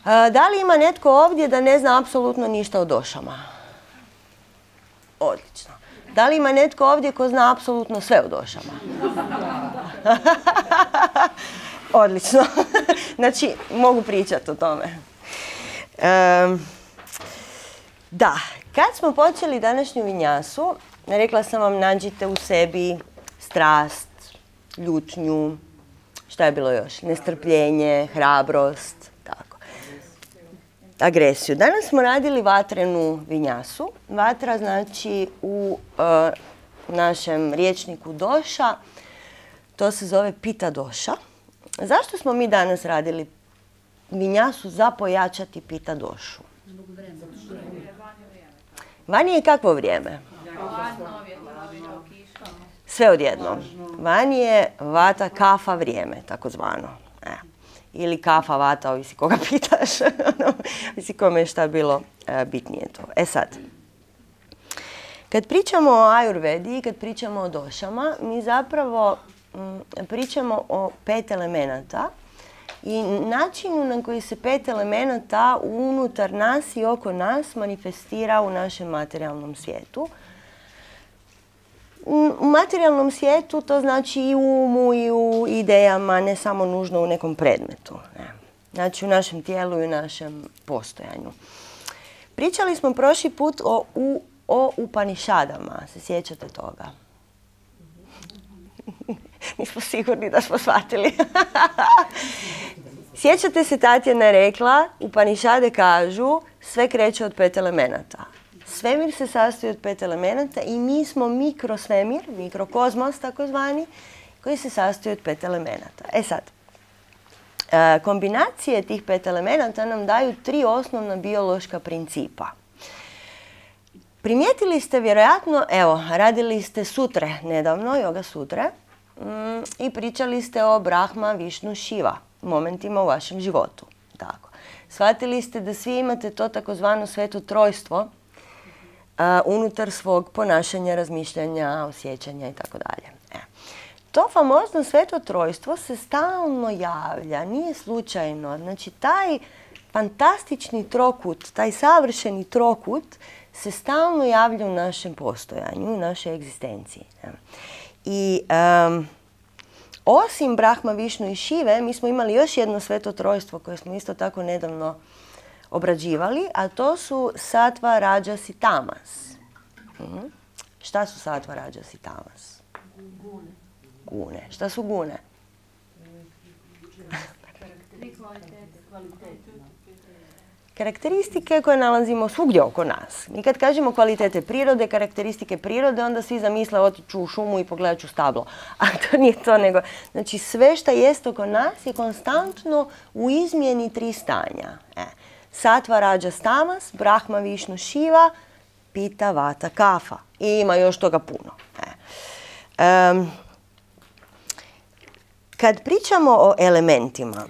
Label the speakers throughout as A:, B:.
A: Da li ima netko ovdje da ne zna apsolutno ništa o došama? Odlično. Da li ima netko ovdje ko zna apsolutno sve o došama? Odlično. Znači, mogu pričati o tome. Da, kad smo počeli današnju vinjasu, rekla sam vam nađite u sebi strast, ljutnju, šta je bilo još? Nestrpljenje, hrabrost, tako. Agresiju. Danas smo radili vatrenu vinjasu. Vatra znači u našem rječniku doša, to se zove pita doša. Zašto smo mi danas radili vinjasu za pojačati pita došu? Vani je kakvo vrijeme? Sve odjednom. Vani je vata kafa vrijeme, takozvano. Ili kafa vata, ovisi koga pitaš. Ovisi kome je šta bilo bitnije to. E sad, kad pričamo o ajurvedi i kad pričamo o došama, mi zapravo pričamo o 5 elemenata i načinu na koji se 5 elemenata unutar nas i oko nas manifestira u našem materijalnom svijetu. U materijalnom svijetu to znači i u umu i u idejama, ne samo nužno u nekom predmetu. Znači u našem tijelu i u našem postojanju. Pričali smo prošli put o Upanišadama. Se sjećate toga? Nismo sigurni da smo shvatili. Sjećate se, Tatjana je rekla, Upanišade kažu sve kreće od 5 elemenata. Svemir se sastoji od 5 elemenata i mi smo mikrosvemir, mikrokozmos takozvani, koji se sastoji od 5 elemenata. E sad, kombinacije tih 5 elemenata nam daju 3 osnovna biološka principa. Primijetili ste vjerojatno, evo, radili ste sutre nedavno, yoga sutre, i pričali ste o Brahma, Višnu, Šiva momentima u vašem životu. Tako. Shvatili ste da svi imate to takozvano sveto trojstvo unutar svog ponašanja, razmišljanja, osjećanja i tako dalje. To famozno sveto trojstvo se stalno javlja, nije slučajno. Znači, taj fantastični trokut, taj savršeni trokut se stalno javlja u našem postojanju, u našoj egzistenciji. I osim Brahma, Višnu i Šive, mi smo imali još jedno sveto trojstvo koje smo isto tako nedavno obrađivali, a to su Sattva, Rajas i Tamas. Šta su Sattva, Rajas i Tamas? Gune. Šta su gune? Karakteristike koje nalazimo svugdje oko nas. Mi kad kažemo kvalitete prirode, karakteristike prirode, onda svi zamisle otiću u šumu i pogledat ću stablo. A to nije to, nego znači sve što jest oko nas je konstantno u izmjeni 3 stanja. Sattva, Rajas, Tamas, Brahma, Višnu, Šiva, Pita, Vata, Kafa. I ima još toga puno. Kad pričamo o elementima,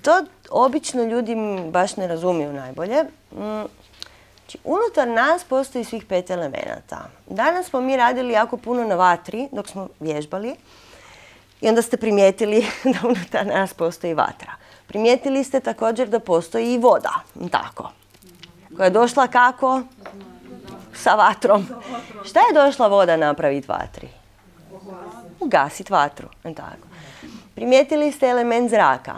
A: to obično ljudi baš ne razumiju najbolje. Znači, unutar nas postoji svih 5 elemenata. Danas smo mi radili jako puno na vatri dok smo vježbali i onda ste primijetili da unutar nas postoji vatra. Primijetili ste također da postoji i voda, tako, koja je došla kako? Sa vatrom. Šta je došla voda napraviti vatri? Ugasiti vatru, tako. Primijetili ste element zraka.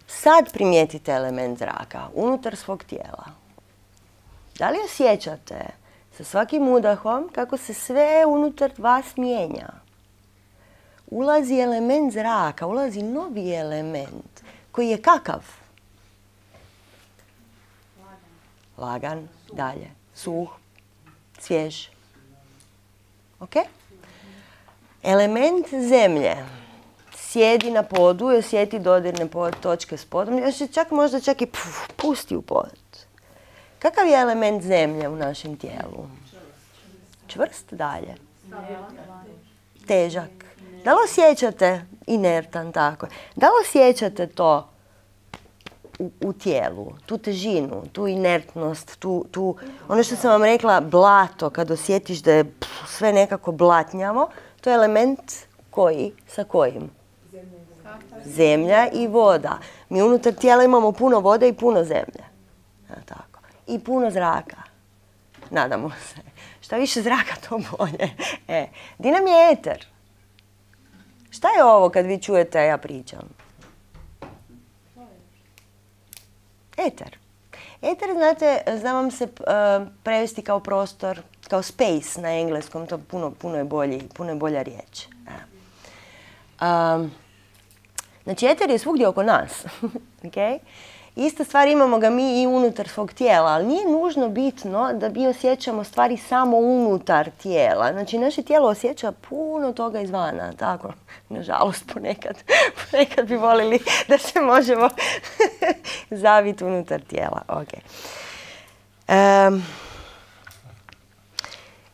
A: Sad primijetite element zraka unutar svog tijela. Da li osjećate sa svakim udahom kako se sve unutar vas mijenja? Ulazi element zraka, ulazi novi element koji je kakav? Lagan, dalje, suh, svjež. Ok? Element zemlje sjedi na podu i osjeti dodirne točke s podom. Možda čak i pusti u pod. Kakav je element zemlje u našem tijelu? Čvrst, dalje. Težak. Da li osjećate inertan, tako? Da li osjećate to u tijelu, tu težinu, tu inertnost, ono što sam vam rekla, blato, kad osjetiš da je sve nekako blatnjavo, to je element koji, sa kojim? Zemlja i voda. Mi unutar tijela imamo puno vode i puno zemlje. Tako. I puno zraka. Nadamo se. Šta više zraka, to bolje. Di nam je eter? Šta je ovo kad vi čujete ja pričam? Eter. Eter, znate, zna vam se prevesti kao prostor, kao space na engleskom, to puno je bolja riječ. Znači, eter je svugdje oko nas. Okay? Ista stvar imamo ga mi i unutar svog tijela, ali nije nužno bitno da mi osjećamo stvari samo unutar tijela. Znači, naše tijelo osjeća puno toga izvana, tako, nažalost, ponekad bi volili da se možemo zaviti unutar tijela. Okay.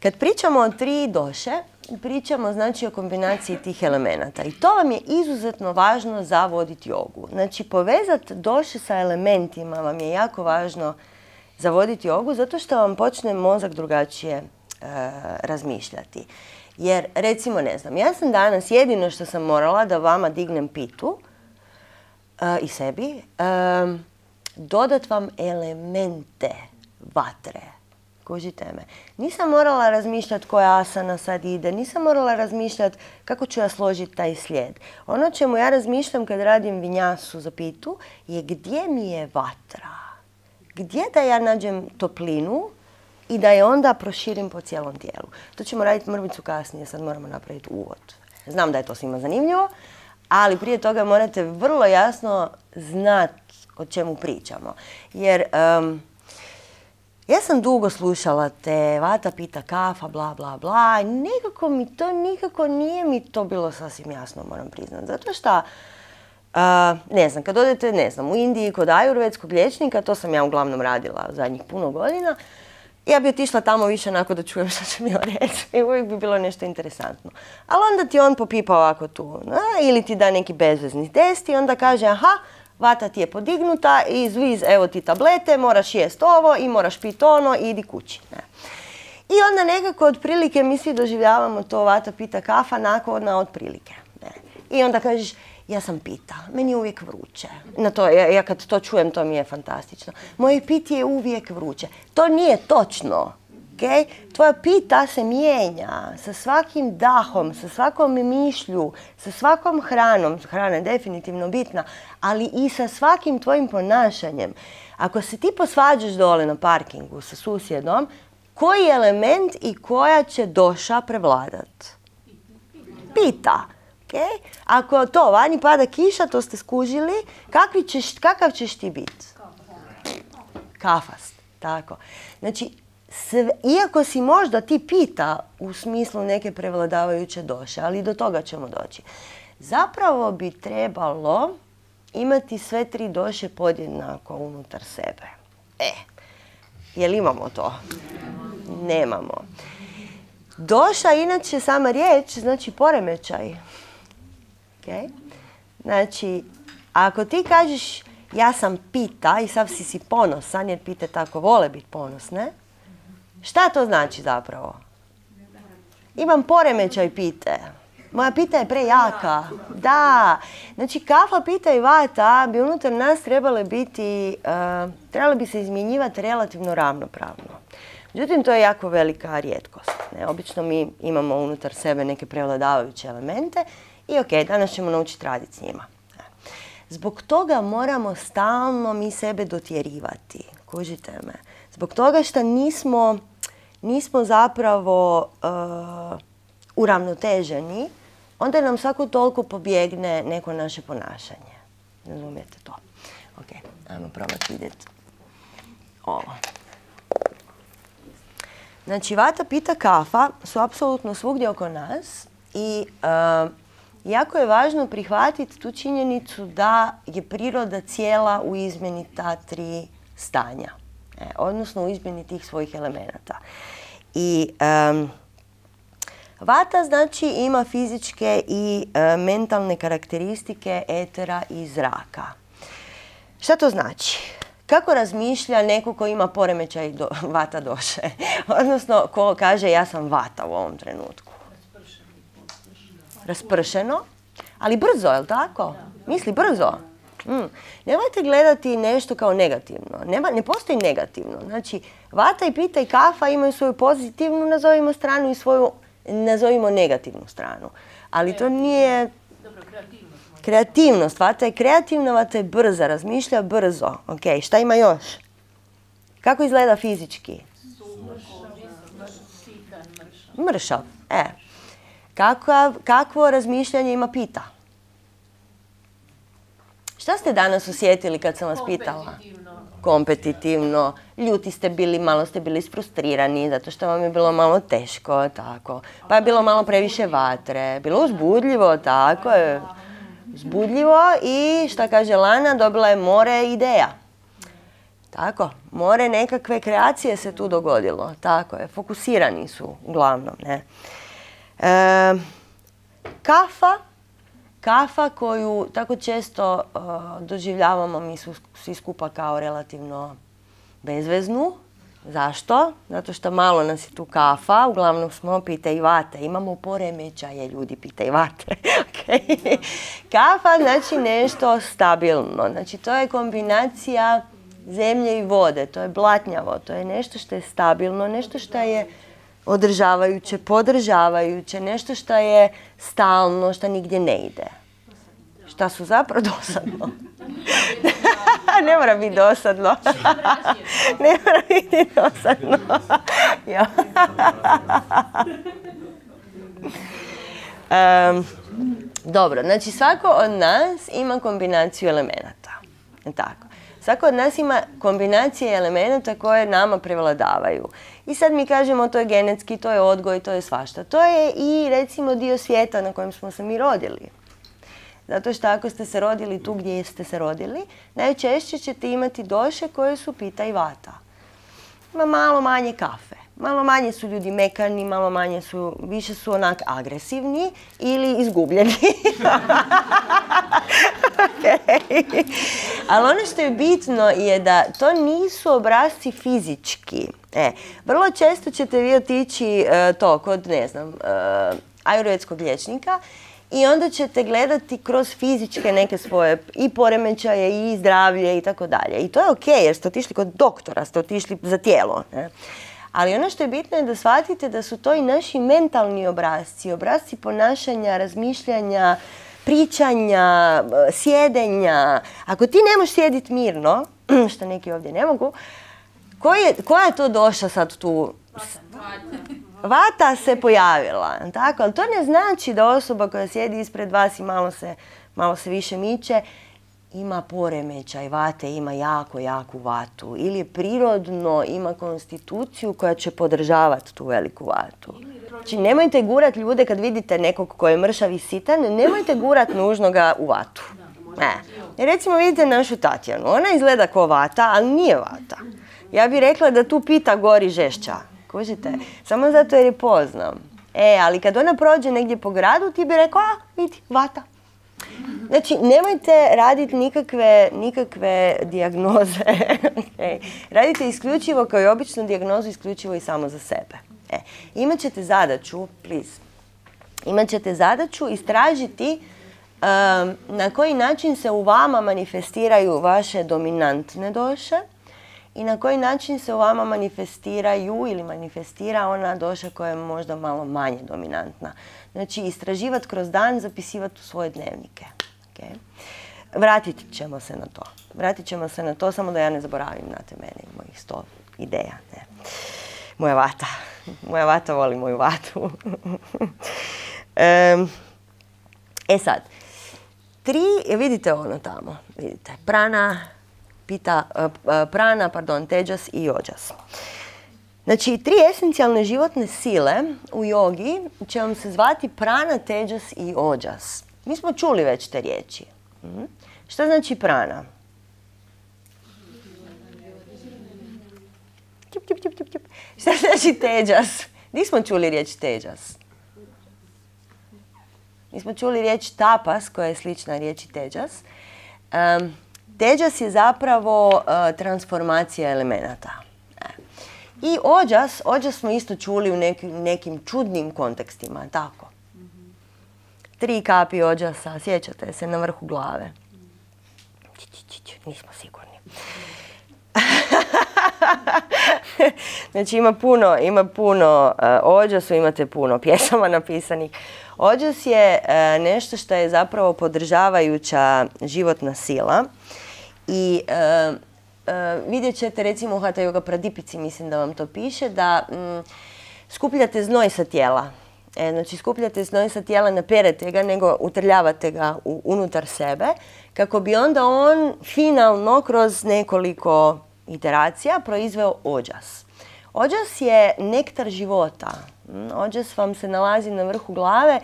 A: Kad pričamo o 3 doše, pričamo znači o kombinaciji tih elemenata i to vam je izuzetno važno za voditi jogu. Znači, povezati doše sa elementima vam je jako važno za voditi jogu zato što vam počne mozak drugačije razmišljati. Jer, recimo, ne znam, ja sam danas jedino što sam morala da vama dignem pitu i sebi, dodat vam elemente vatre. Kužite me. Nisam morala razmišljati koja asana sad ide, nisam morala razmišljati kako ću ja složiti taj slijed. Ono čemu ja razmišljam kad radim vinjasu za pitu je gdje mi je vatra. Gdje da ja nađem toplinu i da je onda proširim po cijelom tijelu. To ćemo raditi mrvicu kasnije, sad moramo napraviti uvod. Znam da je to svima zanimljivo, ali prije toga morate vrlo jasno znati o čemu pričamo. Jer ja sam dugo slušala te vata, pita, kafa, bla, bla, bla. Nikako nije mi to bilo sasvim jasno, moram priznati. Zato što, ne znam, kad odete, ne znam, u Indiji kod ajurvedskog liječnika, to sam ja uglavnom radila zadnjih puno godina, ja bi otišla tamo više onako da čujem što će mi reći i uvijek bi bilo nešto interesantno. Ali onda ti on popipa ovako tu, ili ti da neki bezvezni test i onda kaže, aha, vata ti je podignuta i zviz, evo ti tablete, moraš jest ovo i moraš piti ono i idi kući. Ne. I onda nekako otprilike mi svi doživljavamo to vata, pita, kafa, nakon otprilike. Ne. I onda kažeš, ja sam pita, meni je uvijek vruće. Ja kad to čujem, to mi je fantastično. Moje piti je uvijek vruće. To nije točno. Okay? Tvoja pita se mijenja sa svakim dahom, sa svakom mišlju, sa svakom hranom. Hrana je definitivno bitna, ali i sa svakim tvojim ponašanjem. Ako se ti posvađaš dole na parkingu sa susjedom, koji element i koja će doša prevladat? Pita. Okay? Ako to vani pada kiša, to ste skužili, kakav ćeš ti biti? Kafast. Tako. Znači, iako si možda ti pita u smislu neke prevladavajuće doše, ali do toga ćemo doći. Zapravo bi trebalo imati sve 3 doše podjednako unutar sebe. Jel imamo to? Nemamo. Doša, inače, sama riječ, znači poremećaj. Okay? Znači, ako ti kažeš ja sam pita i sav si ponosan, jer pite tako vole biti ponosne, šta to znači zapravo? Imam poremećaj pite. Moja pita je prejaka. Da. Znači, kafa, pita i vata bi unutar nas trebale bi se izmjenjivati relativno ravnopravno. Međutim, to je jako velika rijetkost. Ne? Obično mi imamo unutar sebe neke prevladavajuće elemente i ok, danas ćemo naučiti raditi s njima. Zbog toga moramo stalno mi sebe dotjerivati. Kužite me. Zbog toga što nismo zapravo uravnoteženi, onda nam svako toliko pobjegne neko naše ponašanje. Razumijete to? Ok, ajmo probati vidjeti ovo. Znači, vata, pita, kafa su apsolutno svugdje oko nas i jako je važno prihvatiti tu činjenicu da je priroda cijela u izmjeni ta 3 stanja. Odnosno u izmjeni tih svojih elemenata. I vata znači ima fizičke i mentalne karakteristike etera i zraka. Šta to znači? Kako razmišlja neko ko ima poremećaj vata doše? Odnosno, ko kaže ja sam vata u ovom trenutku? Raspršeno. Ali brzo, je li tako? Misli brzo. Nemojte gledati nešto kao negativno. Ne postoji negativno. Znači, vata i pita i kafa imaju svoju pozitivnu, nazovimo stranu, i svoju, nazovimo negativnu stranu. Ali to nije... Kreativnost. Vata je kreativna, vata je brza, razmišlja brzo. Ok, šta ima još? Kako izgleda fizički? Mršav. Kakvo razmišljanje ima pita? Šta ste danas osjetili kad sam vas pitala? Kompetitivno. Ljuti ste bili, malo ste bili isfrustrirani zato što vam je bilo malo teško, tako. Pa je bilo malo previše vatre. Bilo uzbudljivo, tako je. Uzbudljivo i šta kaže Lana, dobila je more ideja. Tako, more nekakve kreacije se tu dogodilo. Tako je, fokusirani su uglavnom, ne. Kafa koju tako često doživljavamo mi svi skupa kao relativno bezveznu. Zašto? Zato što malo nas je tu kafa, uglavnom smo pita i vate. Imamo poremećaje, ljudi pita i vate. Kafa znači nešto stabilno. Znači to je kombinacija zemlje i vode. To je blatnjavo, to je nešto što je stabilno, nešto što je održavajuće, podržavajuće, nešto što je stalno, što nigdje ne ide. Šta su zapravo dosadno? Ne mora biti dosadno. Ne mora biti dosadno. Dobro, znači svako od nas ima kombinaciju elemenata. Tako. Svako od nas ima kombinacije elemenata koje nama prevladavaju. I sad mi kažemo to je genetski, to je odgoj, to je svašta. To je i recimo dio svijeta na kojem smo se mi rodili. Zato što ako ste se rodili tu gdje ste se rodili, najčešće ćete imati doše koje su pita i vata. Ima malo manje kafe. Malo manje su ljudi mekani, malo manje su, više su onak agresivni ili izgubljeni. Ali ono što je bitno je da to nisu obrasci fizički. Vrlo često ćete vi otići kod, ne znam, ajurvedskog liječnika i onda ćete gledati kroz fizičke neke svoje i poremećaje i zdravlje i tako dalje. I to je ok jer ste otišli kod doktora, ste otišli za tijelo. Ali ono što je bitno je da shvatite da su to i naši mentalni obrasci, obrasci ponašanja, razmišljanja, pričanja, sjedenja. Ako ti ne možeš sjediti mirno, što neki ovdje ne mogu, koja je to došla sad tu? Vata se pojavila, tako? Ali to ne znači da osoba koja sjedi ispred vas i malo se više miče, ima poremećaj vate, ima jaku vatu. Ili prirodno ima konstituciju koja će podržavati tu veliku vatu. Znači nemojte gurat ljude kad vidite nekog koji je mršav i sitan, nemojte gurat nužno ga u vatu. Recimo vidite našu Tatjanu, ona izgleda kao vata, ali nije vata. Ja bih rekla da tu pita gori žešća. Kužite? Samo zato jer je poznam. Ali kad ona prođe negdje po gradu, ti bi rekao, vidi, vata. Znači, nemojte raditi nikakve dijagnoze. Radite isključivo, kao i običnu dijagnozu, isključivo i samo za sebe. Imaćete zadaću, imaćete zadaću istražiti na koji način se u vama manifestiraju vaše dominantne doše i na koji način se u vama manifestiraju ili manifestira ona doša koja je možda malo manje dominantna. Znači, istraživati kroz dan, zapisivati u svoje dnevnike. Vratit ćemo se na to. Vratit ćemo se na to, samo da ja ne zaboravim, znate, mene i mojih 100 ideja. Moja vata. Moja vata voli moju vatu. Sad, vidite ono tamo, vidite, prana, teđas i ođas. Znači, 3 esencijalne životne sile u jogi će vam se zvati prana, teđas i ođas. Mi smo čuli već te riječi. Šta znači prana? Šta znači teđas? Gdje smo čuli riječ teđas? Mi smo čuli riječ tapas, koja je slična riječi teđas. Teđas je zapravo transformacija elemenata. I ođas smo isto čuli u nekim čudnim kontekstima, tako. 3 kapi ođasa, sjećate se, na vrhu glave. Nismo sigurni. Znači ima puno ođasu, imate puno pjesama napisanih. Ođas je nešto što je zapravo podržavajuća životna sila i vidjet ćete recimo u Hatha Yoga Pradipici, mislim da vam to piše, da skupljate znoj sa tijela. Znači skupljate znoj sa tijela, ne perete ga, nego utrljavate ga unutar sebe, kako bi onda on finalno kroz nekoliko iteracija proizveo ođas. Ođas je nektar života. Ođas vam se nalazi na vrhu glave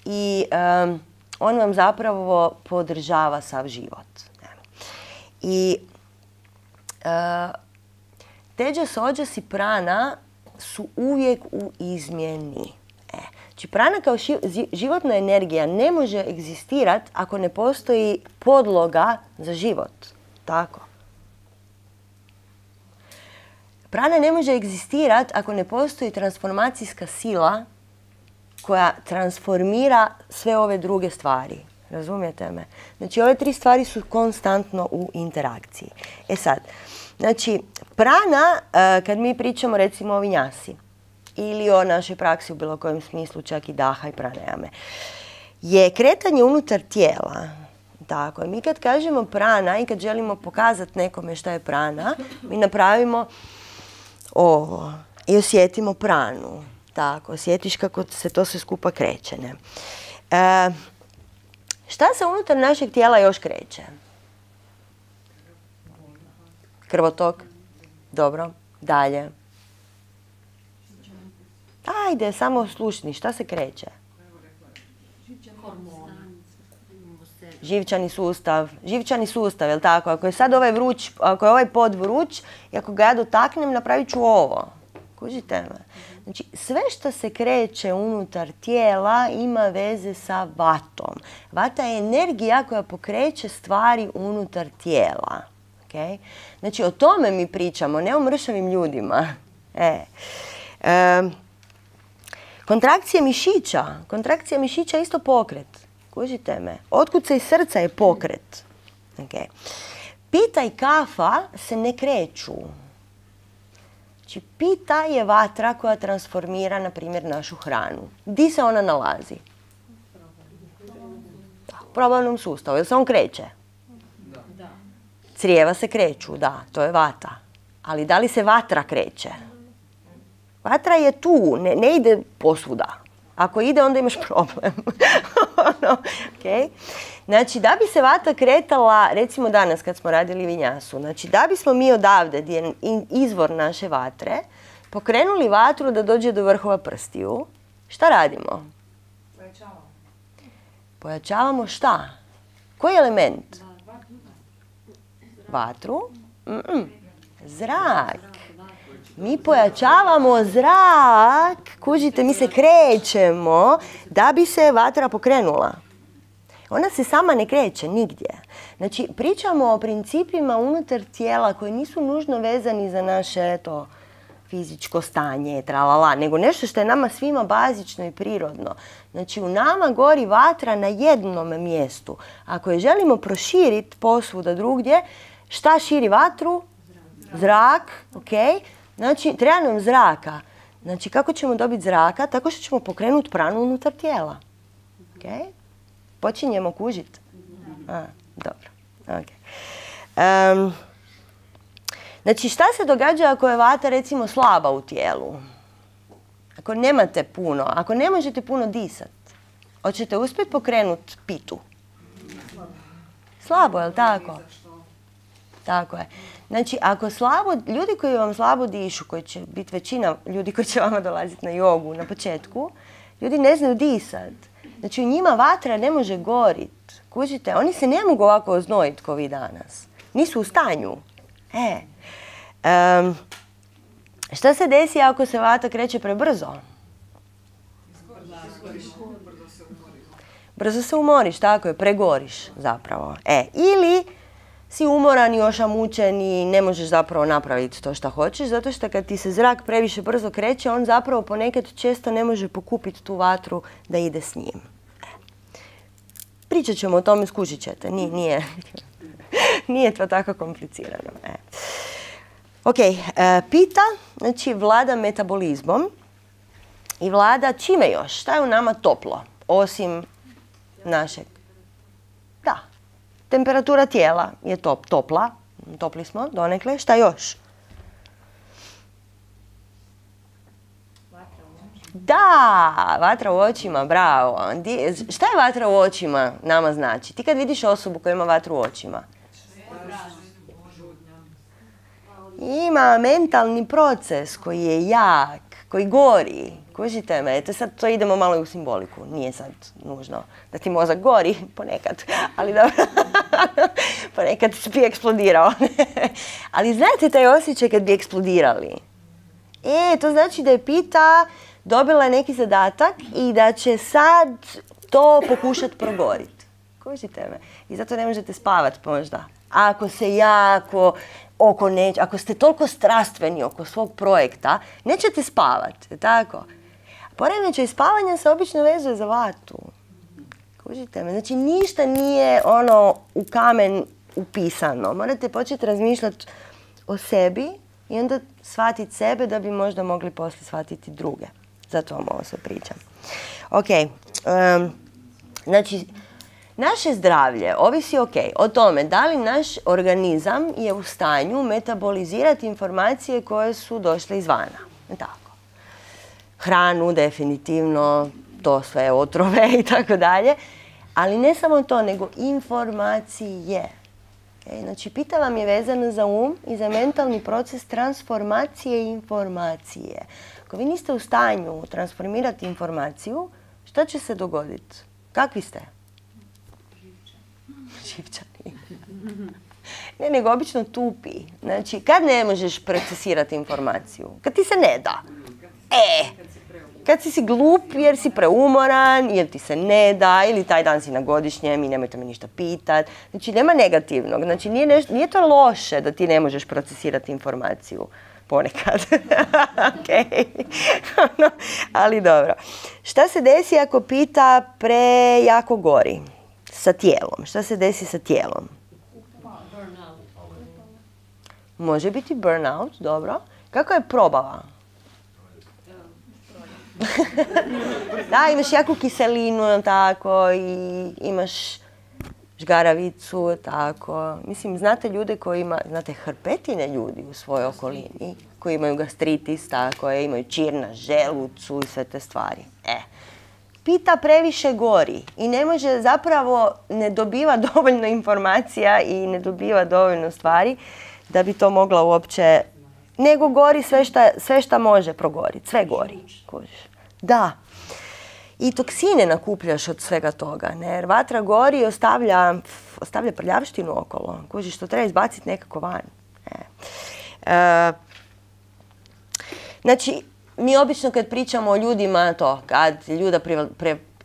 A: i on vam zapravo podržava sav život. I teđas, ođas i prana su uvijek u izmjeni. Znači prana kao životna energija ne može egzistirati ako ne postoji podloga za život. Tako. Prana ne može egzistirati ako ne postoji transformacijska sila koja transformira sve ove druge stvari. Razumijete me? Znači ove 3 stvari su konstantno u interakciji. E sad, znači prana, kad mi pričamo recimo o vinjasi ili o našoj praksi u bilo kojem smislu, čak i daha i pranajame, je kretanje unutar tijela. Tako, mi kad kažemo prana i kad želimo pokazati nekome šta je prana, mi napravimo ovo i osjetimo pranu. Tako, osjetiš kako se to sve skupa kreće. Ne? Šta se unutar našeg tijela još kreće? Krvotok? Dobro. Dalje. Ajde, samo slušni. Šta se kreće? Živčani sustav. Živčani sustav, je li tako? Ako je sad ovaj vruć, ako je ovaj pod vruć i ako ga ja dotaknem, napravit ću ovo. Kužite me? Znači, sve što se kreće unutar tijela ima veze sa vatom. Vata je energija koja pokreće stvari unutar tijela. Okay? Znači, o tome mi pričamo, ne o mršavim ljudima. Kontrakcija mišića. Kontrakcija mišića je isto pokret. Kužite me? Otkucaj srca je pokret. Okay. Pita i kafa se ne kreću. Znači, pita je vatra koja transformira, na primjer, našu hranu. Di se ona nalazi? U probavnom sustavu. Jel se on kreće? Da. Crijeva se kreću, da, to je vata. Ali da li se vatra kreće? Vatra je tu, ne ide posvuda. Ako ide, onda imaš problem. Okay. Znači, da bi se vata kretala, recimo danas kad smo radili vinjasu, znači da bismo mi odavde, gdje je izvor naše vatre, pokrenuli vatru da dođe do vrhova prstiju, šta radimo? Pojačavamo. Pojačavamo šta? Koji element? Vatru? Zrak. Mi pojačavamo zrak, kužite, mi se krećemo da bi se vatra pokrenula. Ona se sama ne kreće nigdje. Znači, pričamo o principima unutar tijela koji nisu nužno vezani za naše fizičko stanje, tralala, nego nešto što je nama svima bazično i prirodno. Znači, u nama gori vatra na jednom mjestu. Ako je želimo proširiti posvuda drugdje, šta širi vatru? Zrak, ok? Znači, treba nam zraka. Znači, kako ćemo dobiti zraka? Tako što ćemo pokrenuti pranu unutar tijela. Okay? Počinjemo kužiti? Dobro. Okay. Znači, šta se događa ako je vata, recimo, slaba u tijelu? Ako nemate puno, ako ne možete puno disati, hoćete uspjeti pokrenuti pitu? Slabo, je li tako? Tako je. Znači, ako slabo, ljudi koji vam slabo dišu, koji će biti većina ljudi koji će vama dolaziti na jogu na početku, ljudi ne znaju disat. Znači, u njima vatra ne može gorit. Kužite, oni se ne mogu ovako oznojiti kao vi danas. Nisu u stanju. Šta se desi ako se vata kreće prebrzo? Brzo se umoriš, tako je, pregoriš zapravo. Ili si umoran i ošamučen i ne možeš zapravo napraviti to što hoćeš, zato što kad ti se zrak previše brzo kreće, on zapravo ponekad često ne može pokupiti tu vatru da ide s njim. Pričat ćemo o tome, skužit ćete. Nije to tako komplicirano. Ok, pita, znači vlada metabolizmom i vlada čime još? Šta je u nama toplo? Osim našeg. Da, temperatura tijela je topla. Topli smo donekle. Šta još? Da, vatra u očima, bravo. Šta je vatra u očima nama znači? Ti kad vidiš osobu koja ima vatru u očima? Ima mentalni proces koji je jak, koji gori. Kužite me, sad to idemo malo i u simboliku. Nije sad nužno da ti mozak gori, ponekad, ali dobro, ponekad bi eksplodirao. Ali znate taj osjećaj kad bi eksplodirali? To znači da je pita dobila neki zadatak i da će sad to pokušati progoriti. Kužite me? I zato ne možete spavati možda. Ako se jako ako ste toliko strastveni oko svog projekta, nećete spavati, tako? Poremećaj spavanja se obično vezuje za vatru. Kužite me? Znači ništa nije u kamen upisano. Morate početi razmišljati o sebi i onda shvatiti sebe da bi možda mogli poslije shvatiti druge. Zato vam ovo sve pričam. Ok, znači naše zdravlje ovisi o tome da li naš organizam je u stanju metabolizirati informacije koje su došle izvana. Tako. Hranu, definitivno, to sve otrove i tako dalje. Ali ne samo to, nego informacije. Znači, pita vam je vezano za i za mentalni proces transformacije informacije. Ako vi niste u stanju transformirati informaciju, šta će se dogoditi? Kakvi ste? Živčani. Ne, nego obično tupi. Znači, kad ne možeš procesirati informaciju? Kad ti se ne da. Kad si glup jer si preumoran, jer ti se ne da, ili taj dan si na godišnjem i nemojte me ništa pitat. Znači, nema negativnog. Znači, nije to loše da ti ne možeš procesirati informaciju. Ponekad. Ali dobro. Šta se desi ako pita prejako gori sa tijelom? Šta se desi sa tijelom? Može biti burnout, dobro. Kako je probava? Da, imaš jaku kiselinu, tako, i imaš žgaravicu, tako. Mislim, znate ljude koji znate hrpetine ljudi u svojoj okolini, koji imaju gastritis, tako, imaju čir na želucu i sve te stvari. Pita previše gori i ne može, zapravo ne dobiva dovoljno informacija i ne dobiva dovoljno stvari da bi to mogla uopće, nego gori sve šta može progoriti, sve gori. Da. I toksine nakupljaš od svega toga, jer vatra gori i ostavlja prljavštinu okolo. Kužiš, to treba izbaciti nekako van. Znači, mi obično kad pričamo o ljudima,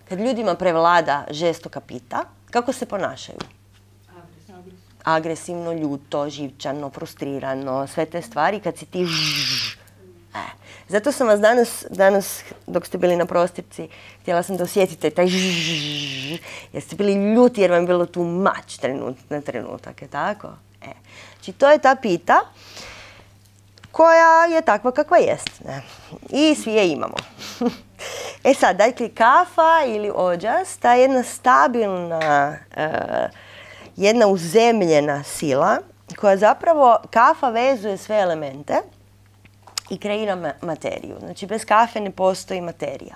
A: kad ljudima prevlada žestoka pita, kako se ponašaju? Agresivno, ljuto, živčano, frustrirano, sve te stvari, kad si ti Zato sam vas danas, dok ste bili na prostirci, htjela sam da osjetite taj jer ste bili ljuti jer vam je bilo tu mač na trenutak, je tako? Znači, to je ta pita koja je takva kakva jest. I svi je imamo. Sad, dakle, kafa ili ođas, ta jedna stabilna, jedna uzemljena sila koja zapravo, kafa vezuje sve elemente i kreira materiju. Znači, bez kafe ne postoji materija.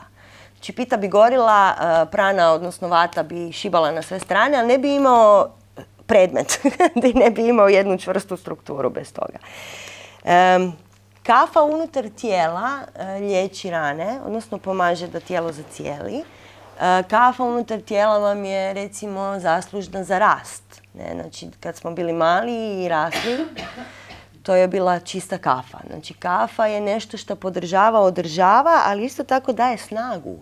A: Znači, pita bi gorila, prana, odnosno vata bi šibala na sve strane, ali ne bi imao predmet, ne bi imao jednu čvrstu strukturu bez toga. Kafa unutar tijela liječi rane, odnosno pomaže da tijelo zacijeli. Kafa unutar tijela vam je, recimo, zaslužna za rast. Znači, kad smo bili mali i rasli, to je bila čista kafa. Znači, kafa je nešto što podržava, održava, ali isto tako daje snagu.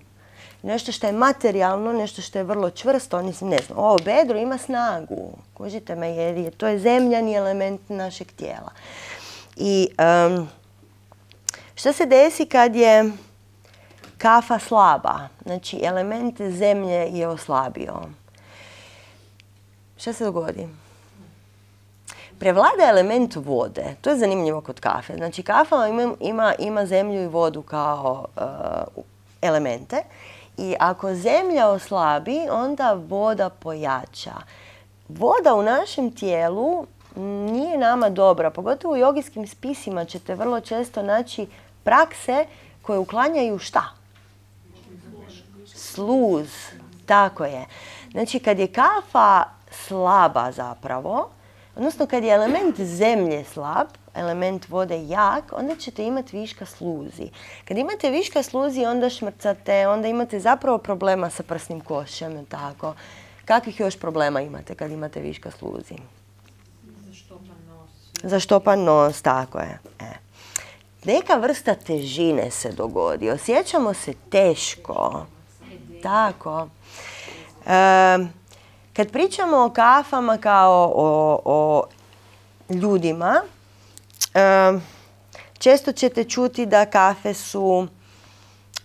A: Nešto što je materijalno, nešto što je vrlo čvrsto, ne znam, ovo bedro ima snagu. Kužite me, jer to je zemljani element našeg tijela. I što se desi kad je kafa slaba? Znači, element zemlje je oslabio. Šta se dogodi? Prevlada element vode. To je zanimljivo kod kafe. Znači, kafa ima zemlju i vodu kao elemente. I ako zemlja oslabi, onda voda pojača. Voda u našem tijelu nije nama dobra. Pogotovo u jogijskim spisima ćete vrlo često naći prakse koje uklanjaju šta? Sluz. Tako je. Znači, kad je kafa slaba zapravo, odnosno kad je element zemlje slab, element vode jak, onda ćete imati viška sluzi. Kad imate viška sluzi, onda šmrcate, onda imate zapravo problema sa prsnim košem, tako. Kakvih još problema imate kad imate viška sluzi? Zaštopan nos, tako je. Neka vrsta težine se dogodi, osjećamo se teško. Tako. Kad pričamo o kafama kao o ljudima, često ćete čuti da kafe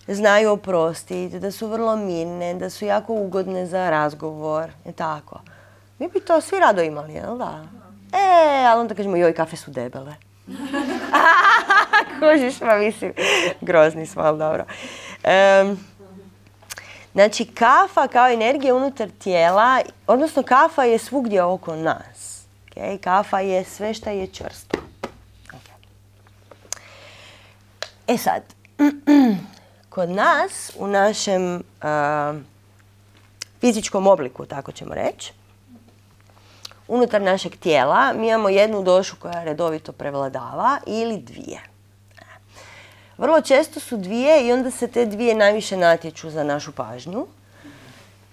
A: znaju oprostiti, da su vrlo mirne, da su jako ugodne za razgovor. Tako. Mi bi to svi rado imali, jel da? Ali onda kažemo, joj, kafe su debele. Kužiš, ma mislim, grozni smo, ali dobro. Znači, kafa kao energija unutar tijela, odnosno kafa je svugdje oko nas. Okay? Kafa je sve što je čvrsto. Okay. Sad, kod nas, u našem fizičkom obliku, tako ćemo reći, unutar našeg tijela mi imamo jednu došu koja redovito prevladava ili dvije. Vrlo često su dvije i onda se te dvije najviše natječu za našu pažnju.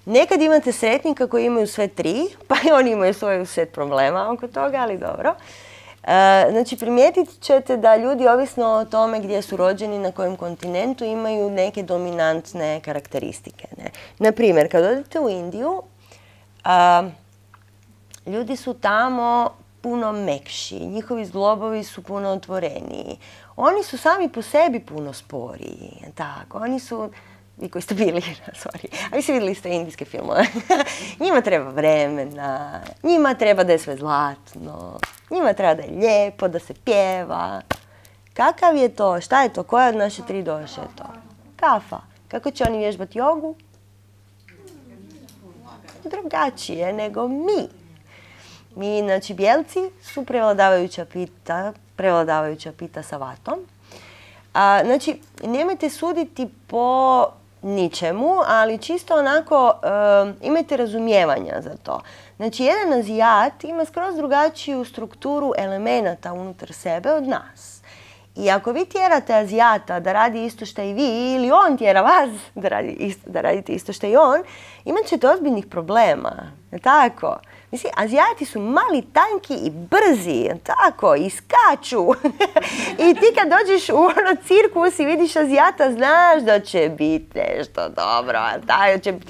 A: Nekad imate sretnika koji imaju sve tri, pa i oni imaju svoj set problema oko toga, ali dobro. Znači, primijetit ćete da ljudi, ovisno o tome gdje su rođeni, na kojem kontinentu, imaju neke dominantne karakteristike. Naprimjer, kad odete u Indiju, ljudi su tamo puno mekši, njihovi zglobovi su puno otvoreniji. Oni su sami po sebi puno sporiji. Tako, oni su, vi koji ste bili, a vi ste vidjeli ste indijske filmove. Njima treba vremena, njima treba da je sve zlatno, njima treba da je lijepo, da se pjeva. Kakav je to? Šta je to? Koja od naše tri doše je to? Kafa. Kako će oni vježbati jogu? Drugačije nego mi. Mi, znači, bijelci su prevladavajuća pita sa vatom. Znači, nemojte suditi po ničemu, ali čisto onako imajte razumijevanja za to. Znači, jedan Azijat ima skroz drugačiju strukturu elemenata unutar sebe od nas. I ako vi tjerate Azijata da radi isto što i vi, ili on tjera vas da radite isto što i on, imat ćete ozbiljnih problema. Tako? Mislim, Azijati su mali, tanki i brzi, tako, i skaču. I ti kad dođeš u ono cirkus i vidiš Azijata, znaš da će biti nešto dobro,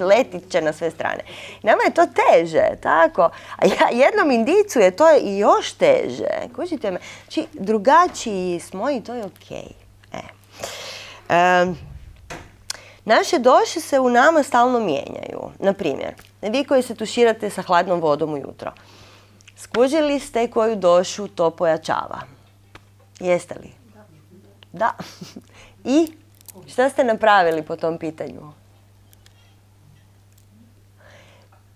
A: letit će na sve strane. Nama je to teže, tako. A jednom Indijcu je to i još teže. Kužite me? Znači, drugačiji smo i to je okej. Naše doše se u nama stalno mijenjaju. Naprimjer, vi koji se tuširate sa hladnom vodom ujutro, skužili ste koju došu to pojačava? Jeste li? Da. I šta ste napravili po tom pitanju?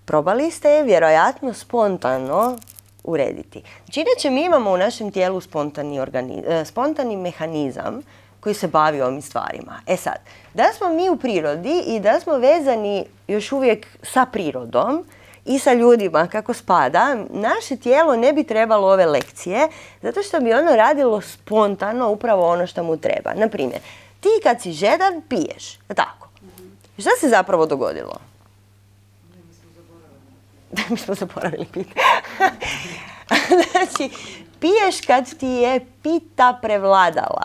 A: Probali ste je vjerojatno spontano urediti. Znači, inače mi imamo u našem tijelu spontani mehanizam koji se bavi ovim stvarima. Sad, da smo mi u prirodi i da smo vezani još uvijek sa prirodom i sa ljudima kako spada, naše tijelo ne bi trebalo ove lekcije, zato što bi ono radilo spontano upravo ono što mu treba. Naprimjer, ti kad si žedan piješ, tako. Šta se zapravo dogodilo? Mi smo zaboravili pitati. Znači, piješ kad ti je pita prevladala.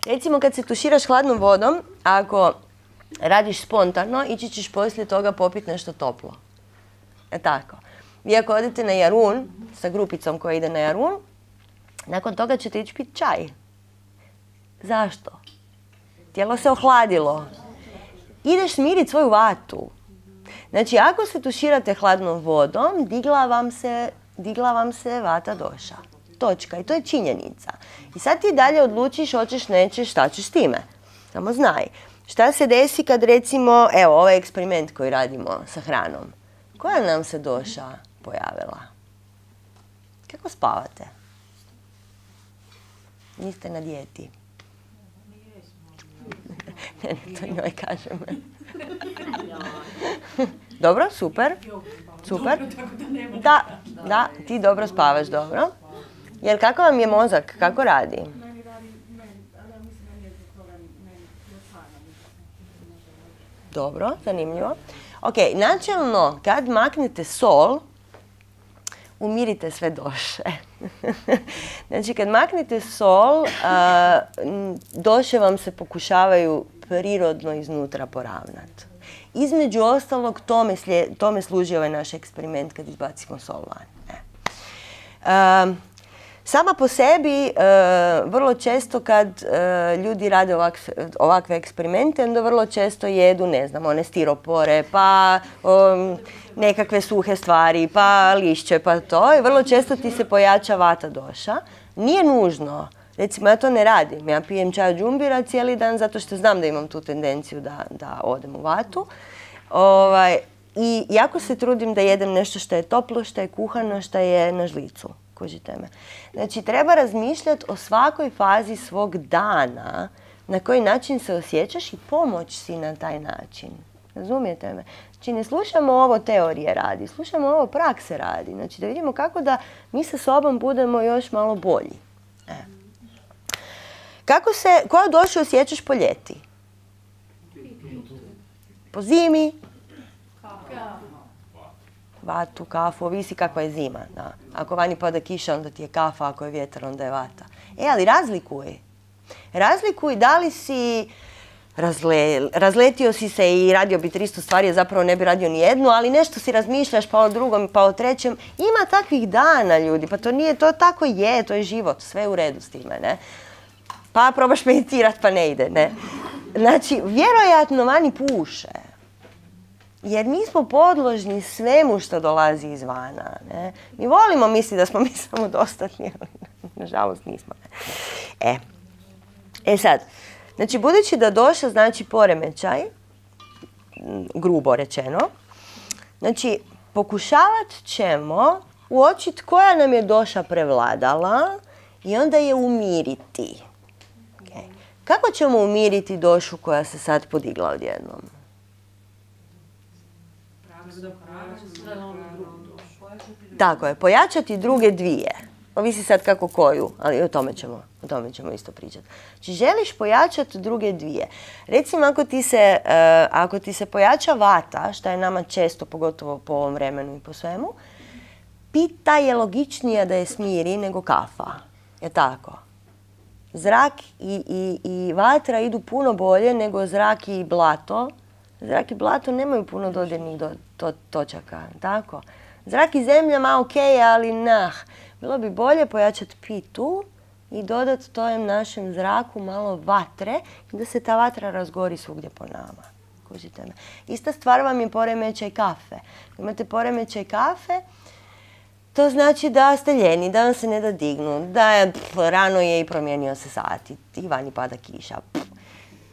A: Recimo kad se tuširaš hladnom vodom, ako radiš spontano, ići ćeš poslije toga popiti nešto toplo. Tako. Vi ako odete na Jarun, sa grupicom koja ide na Jarun, nakon toga ćete ići piti čaj. Zašto? Tijelo se ohladilo. Ideš smiriti svoju vatu. Znači, ako se tuširate hladnom vodom, digla vam se vata doša. Točka. I to je činjenica. I sad ti dalje odlučiš, hoćeš, nećeš, šta ćeš s time. Samo znaj. Šta se desi kad recimo, evo, ovaj eksperiment koji radimo sa hranom. Koja nam se doša pojavila? Kako spavate? Niste na dijeti. Ne, to njoj kažem. Dobro, super. Super. Da, ti dobro spavaš, dobro. Jer kako vam je mozak? Kako radi? Dobro, zanimljivo. Ok, načelno, kad maknete sol, umirite sve doše. Znači, kad maknete sol, doše vam se pokušavaju prirodno iznutra poravnati. Između ostalog, tome služi ovaj naš eksperiment kad izbacimo sol van. Sama po sebi, vrlo često kad ljudi rade ovakve eksperimente, onda vrlo često jedu, ne znam, one stiropore, pa nekakve suhe stvari, pa lišće, pa to. I vrlo često ti se pojača vata doša. Nije nužno. Recimo, ja to ne radim. Ja pijem čaj od džumbira cijeli dan zato što znam da imam tu tendenciju da odem u vatu. I jako se trudim da jedem nešto što je toplo, što je kuhano, što je na žlicu. Kužite me. Znači, treba razmišljati o svakoj fazi svog dana, na koji način se osjećaš i pomoć si na taj način. Razumijete me? Znači, ne slušamo ovo teorije radi, slušamo ovo prakse radi. Znači, da vidimo kako da mi sa sobom budemo još malo bolji. Koju došu osjećaš po ljeti? Po zimi? Vatu, kafu, ovisi kakva je zima. Da. Ako vani pada kiša, onda ti je kafa, ako je vjetar, onda je vata. Ali razlikuj. Razlikuj da li si razletio si se i radio bi 300 stvari, a zapravo ne bi radio ni jednu, ali nešto si razmišljaš pa o drugom, pa o trećem. Ima takvih dana, ljudi, pa to nije, to tako je, to je život, sve je u redu s time, ne? Pa probaš meditirati, pa ne ide, ne? Znači, vjerojatno vani puše. Jer mi smo podložni svemu što dolazi izvana. Ne? Mi volimo misliti da smo mi samodostatni, ali nažalost nismo. Sad, znači budući da doša znači poremećaj, grubo rečeno, znači pokušavat ćemo uočiti koja nam je doša prevladala i onda je umiriti. Okay. Kako ćemo umiriti došu koja se sad podigla odjednom? Tako je, pojačati druge dvije. Ovisi sad kako koju, ali o tome ćemo isto pričati. Znači, želiš pojačati druge dvije. Recimo, ako ti se pojača vata, što je nama često, pogotovo po ovom vremenu i po svemu, pita je logičnija da je smiri nego kafa. Je tako? Zrak i vatra idu puno bolje nego zrak i blato. Zrak i blato nemaju puno dodirnih točaka, tako? Zrak i zemlja ma ok, ali bilo bi bolje pojačati pitu i dodati tojem našem zraku malo vatre i da se ta vatra razgori svugdje po nama. Kužite me. Ista stvar vam je poremećaj kafe. Imate poremećaj kafe, to znači da ste ljeni, da vam se ne da dignu, da rano je i promijenio se sat i vani pada kiša.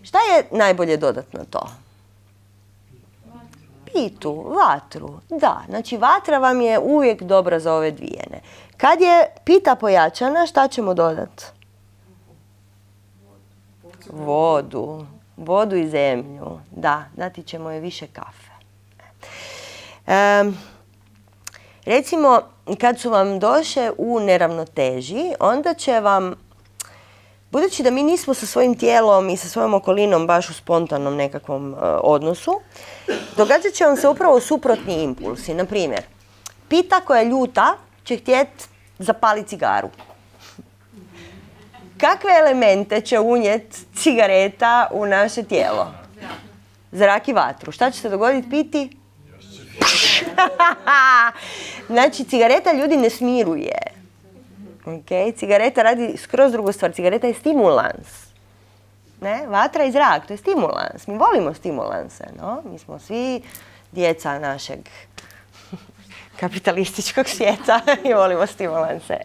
A: Šta je najbolje dodati na to? Pitu, vatru, da. Znači, vatra vam je uvijek dobra za ove dvijene. Kad je pita pojačana, šta ćemo dodati? Vodu. Vodu i zemlju. Da, dati ćemo je više kafe. Recimo, kad su vam doše u neravnoteži, onda će vam, budući da mi nismo sa svojim tijelom i sa svojom okolinom baš u spontanom nekakvom odnosu, događat će vam se upravo suprotni impulsi. Naprimjer, pita koja je ljuta će htjeti zapaliti cigaru. Kakve elemente će unijeti cigareta u naše tijelo? Zrak i vatru. Šta će se dogoditi piti? Znači, cigareta ljudi ne smiruje. Okay? Cigareta radi skroz drugu stvar. Cigareta je stimulans. Ne? Vatra i zrak, to je stimulans. Mi volimo stimulanse. No? Mi smo svi djeca našeg kapitalističkog svijeta i volimo stimulanse.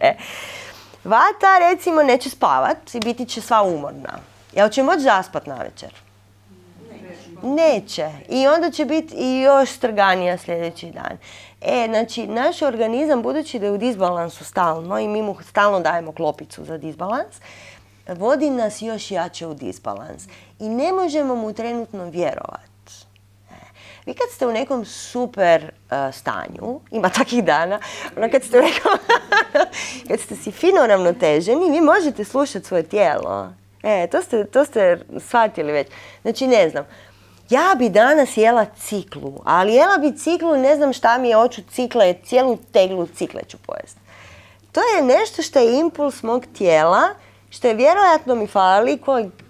A: Vata, recimo, neće spavat i biti će sva umorna. Jel će moći zaspat navečer? Neće. I onda će biti i još strganija sljedeći dan. Znači, naš organizam, budući da je u disbalansu stalno i mi mu stalno dajemo klopicu za disbalans, vodi nas još jače u disbalans. I ne možemo mu trenutno vjerovati. Vi kad ste u nekom super stanju, ima takvih dana, kad ste u nekom, kad ste si fino ravnoteženi, vi možete slušati svoje tijelo. To ste shvatili već. Znači, ne znam, ja bi danas jela ciklu, ali jela bi ciklu, ne znam šta mi je, hoću cikle, cijelu teglu cikle ću pojesti. To je nešto što je impuls mog tijela, što je vjerojatno mi fali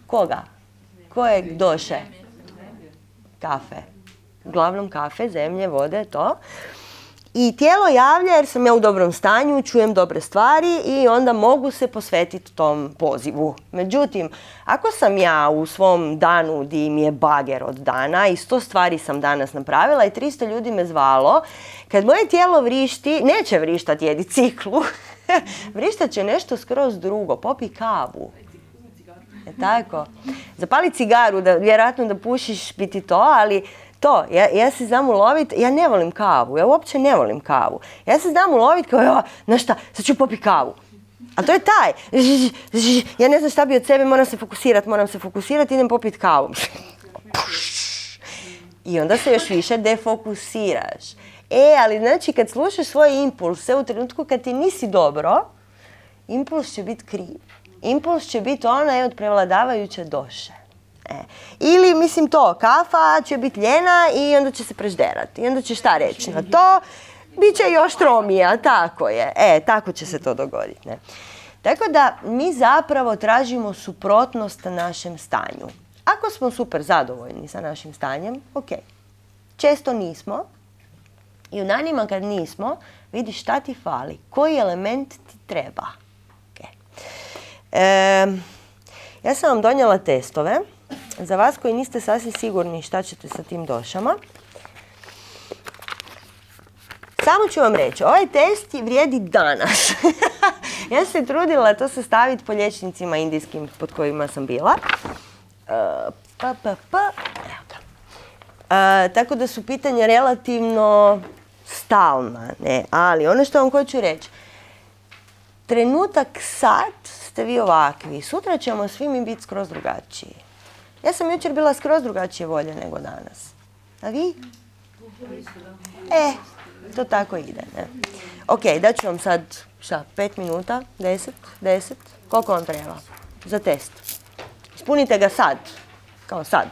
A: koga? Kojeg doše? Kafe. Uglavnom kafe, zemlje, vode, to. I tijelo javlja jer sam ja u dobrom stanju, čujem dobre stvari i onda mogu se posvetiti tom pozivu. Međutim, ako sam ja u svom danu di mi je bager od dana i 100 stvari sam danas napravila i 300 ljudi me zvalo, kad moje tijelo vrišti, neće vrištati jedi ciklu, vrištat će nešto skroz drugo, popi kavu. Tako? Zapali cigaru, vjerojatno da pušiš biti to, ali to, ja se znam uloviti, ja ne volim kavu, ja uopće ne volim kavu. Ja se znam uloviti kao, znaš šta, sad ću popiti kavu. A to je taj, ja ne znam šta bi od sebe, moram se fokusirati, idem popiti kavu. I onda se još više defokusiraš. Ali znači kad slušaš svoje impulse u trenutku kad ti nisi dobro, impuls će biti kriv. Impuls će biti onaj od prevladavajuće doše. Ili, mislim to, kafa će biti ljena i onda će se prežderati. I onda će šta reći na to? Biće još tromija, tako je. Tako će se to dogoditi. Ne? Tako da mi zapravo tražimo suprotnost našem stanju. Ako smo super zadovoljni sa našim stanjem, ok. Često nismo. I u danima kad nismo, vidiš šta ti fali. Koji element ti treba. Ja sam vam donijela testove. Za vas koji niste sasvim sigurni šta ćete sa tim došama. Samo ću vam reći, ovaj test vrijedi danas. Ja sam se trudila to sastaviti po liječnicima indijskim pod kojima sam bila. Evo ga. Tako da su pitanja relativno stalna. Ne? Ali ono što vam hoću reći, trenutak sad ste vi ovakvi. Sutra ćemo svi mi biti skroz drugačiji. Ja sam jučer bila skroz drugačije volje nego danas. A vi? To tako ide. Ne? Ok, daću vam sad, 5 minuta, 10, koliko vam treba za test? Ispunite ga sad, kao sad.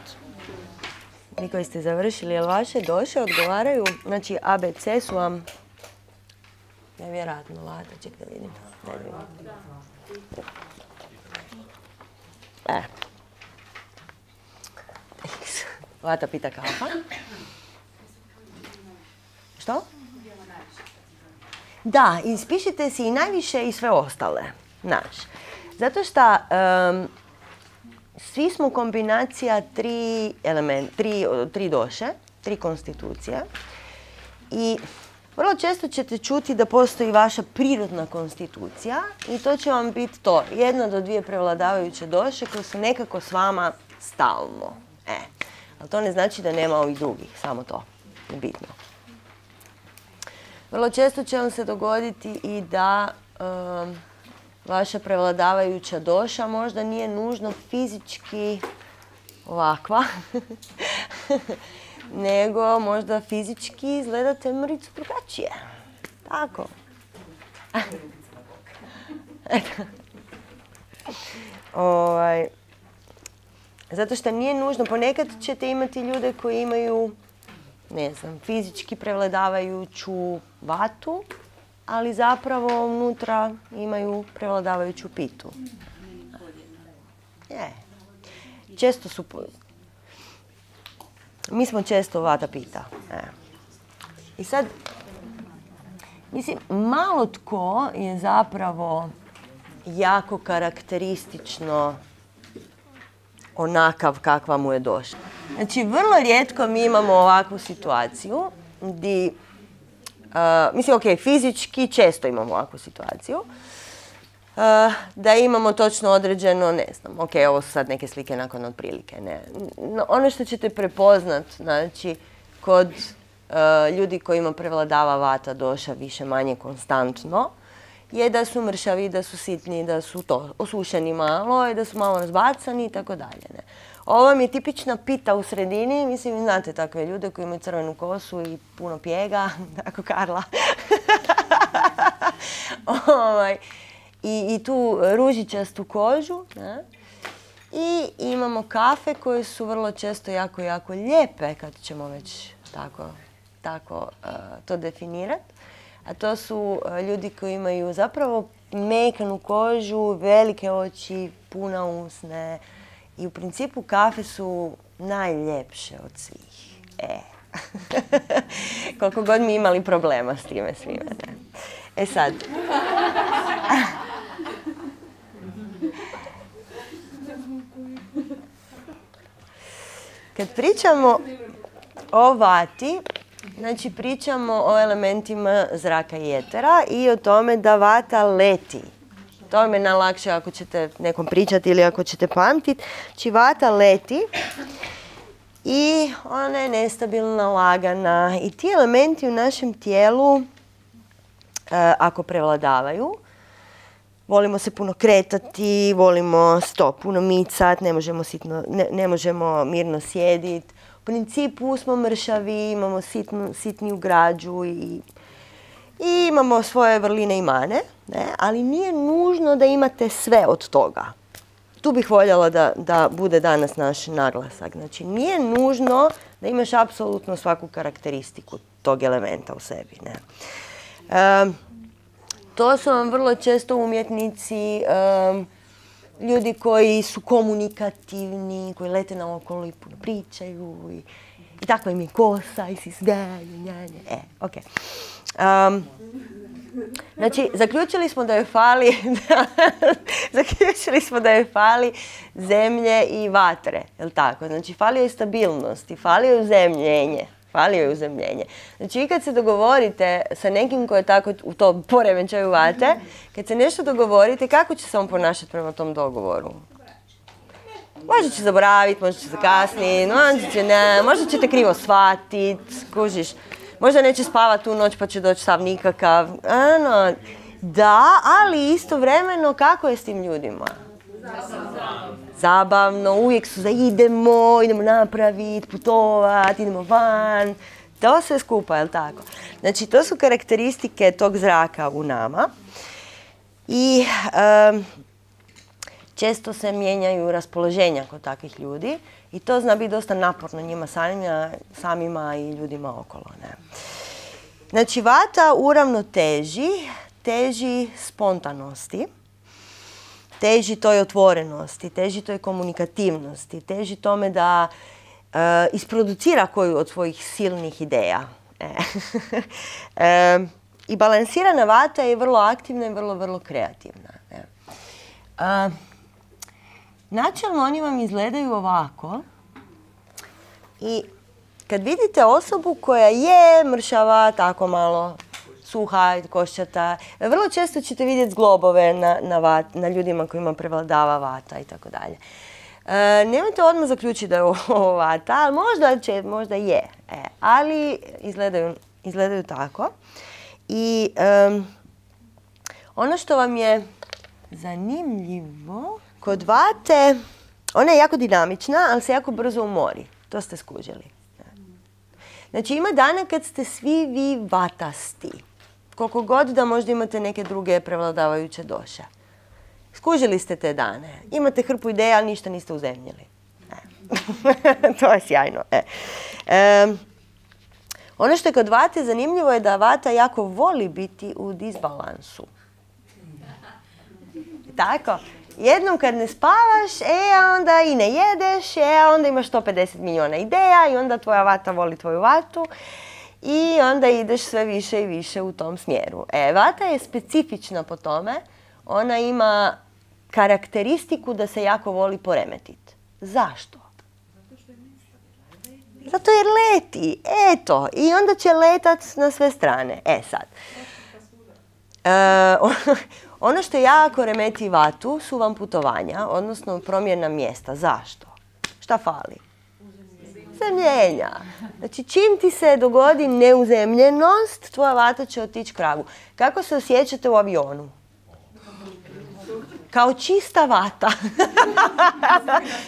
A: Vi koji ste završili, jel vaše doše odgovaraju? Znači, ABC su vam nevjerojatno lata, ček da vidim. Vata pita kafa. Što? Da, ispišite si i najviše i sve ostale. Zato što svi smo kombinacija tri doše, 3 konstitucije. I vrlo često ćete čuti da postoji vaša prirodna konstitucija i to će vam biti to. 1 do 2 prevladavajuće doše koje su nekako s vama stalno. Ali to ne znači da nema ovih drugih, samo to je bitno. Vrlo često će vam se dogoditi i da vaša prevladavajuća doša možda nije nužno fizički ovakva, nego možda fizički izgledate mricu drugačije. Tako. Zato što nije nužno, ponekad ćete imati ljude koji imaju, ne znam, fizički prevladavajuću vatu, ali zapravo unutra imaju prevladavajuću pitu. Često su... Mi smo često vata pita. I sad, mislim, malo tko je zapravo jako karakteristično onakav kakva mu je došla. Znači, vrlo rijetko mi imamo ovakvu situaciju gdje, mislim, ok, fizički često imamo ovakvu situaciju, da imamo točno određeno, ne znam, ok, ovo su sad neke slike nakon otprilike, ne. No, ono što ćete prepoznat, znači, kod ljudi kojima prevladava vata doša više manje konstantno, je da su mršavi, da su sitni, da su to osušeni malo i da su malo razbacani i tako dalje. Ne. Ovo vam je tipična pita u sredini, mislim, znate takve ljude koji imaju crvenu kosu i puno pjega, tako Karla. I tu ružičastu kožu. Ne. I imamo kafe koje su vrlo često jako, jako lijepe, kad ćemo već tako to definirati. A to su ljudi koji imaju zapravo mekanu kožu, velike oči, puna usne. I u principu kafe su najljepše od svih. Koliko god mi imali problema s time svime. Ne? E sad. Kad pričamo o vati, znači pričamo o elementima zraka i etera i o tome da vata leti. To je najlakše ako ćete nekom pričati ili ako ćete pamtiti. Znači vata leti i ona je nestabilna, lagana i ti elementi u našem tijelu, ako prevladavaju, volimo se puno kretati, volimo puno micati, ne možemo mirno sjediti. U principu smo mršavi, imamo sitniju građu i imamo svoje vrline i mane, ne? Ali nije nužno da imate sve od toga. Tu bih voljela da bude danas naš naglasak. Znači, nije nužno da imaš apsolutno svaku karakteristiku tog elementa u sebi. Ne? To su vam vrlo često umjetnici, ljudi koji su komunikativni, koji lete naokolo i puno pričaju i tako im je kosa i si smijaju, ok. Znači, zaključili smo da joj fali zemlje i vatre, jel tako? Znači, fali joj stabilnost i fali joj uzemljenje. Znači, i kad se dogovorite sa nekim ko je tako u tom poremećaju vate, kad se nešto dogovorite, kako će se on ponašati prema tom dogovoru? Možda će zaboraviti, možda će zakasniti, možda ćete krivo shvatiti, kužiš. Možda neće spavati tu noć pa će doći sav nikakav. Da, ali istovremeno kako je s tim ljudima? Zabavno, uvijek su za idemo napraviti, putovati, idemo van. To sve skupa, je li tako? Znači, to su karakteristike tog zraka u nama. I često se mijenjaju raspoloženja kod takvih ljudi. I to zna biti dosta naporno njima samima i ljudima okolo. Ne? Znači, vata u ravnoteži teži spontanosti, teži toj otvorenosti, teži toj komunikativnosti, teži tome da isproducira koju od svojih silnih ideja. I balansirana vata je vrlo aktivna i vrlo, vrlo kreativna. Ne? Načelno oni vam izgledaju ovako i kad vidite osobu koja je mršava, tako malo suha i koščata, vrlo često ćete vidjeti zglobove na ljudima kojima prevladava vata i tako dalje. Nemojte odmah zaključiti da je ovo vata, ali možda je, ali izgledaju tako. I ono što vam je zanimljivo, kod vate, ona je jako dinamična, ali se jako brzo umori. To ste skužili. Znači, ima dana kad ste svi vi vatasti. Koliko god da možda imate neke druge prevladavajuće doše. Skužili ste te dane. Imate hrpu ideja, ali ništa niste uzemljili. To je sjajno. Ono što je kod vate zanimljivo je da vata jako voli biti u disbalansu. Tako? Jednom kad ne spavaš, onda i ne jedeš, onda imaš 150 milijuna ideja i onda tvoja vata voli tvoju vatu i onda ideš sve više i više u tom smjeru. Vata je specifična po tome, ona ima karakteristiku da se jako voli poremetiti. Zašto? Zato jer leti, eto, i onda će letat na sve strane. Sad. Ono što jako remeti vatu su vam putovanja, odnosno promjena mjesta. Zašto? Šta fali? Uzemljenja. Znači, čim ti se dogodi neuzemljenost, tvoja vata će otići k vragu. Kako se osjećate u avionu? Kao čista vata.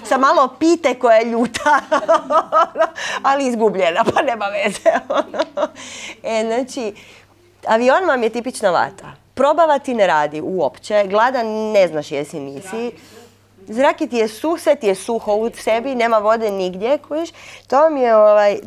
A: Sa malo pite koja je ljuta. Ali izgubljena, pa nema veze. Znači, avion vam je tipična vata. Probavati ne radi uopće. Gladan ne znaš jesi nisi. Zrak ti je suh, sve ti je suho u sebi, nema vode nigdje.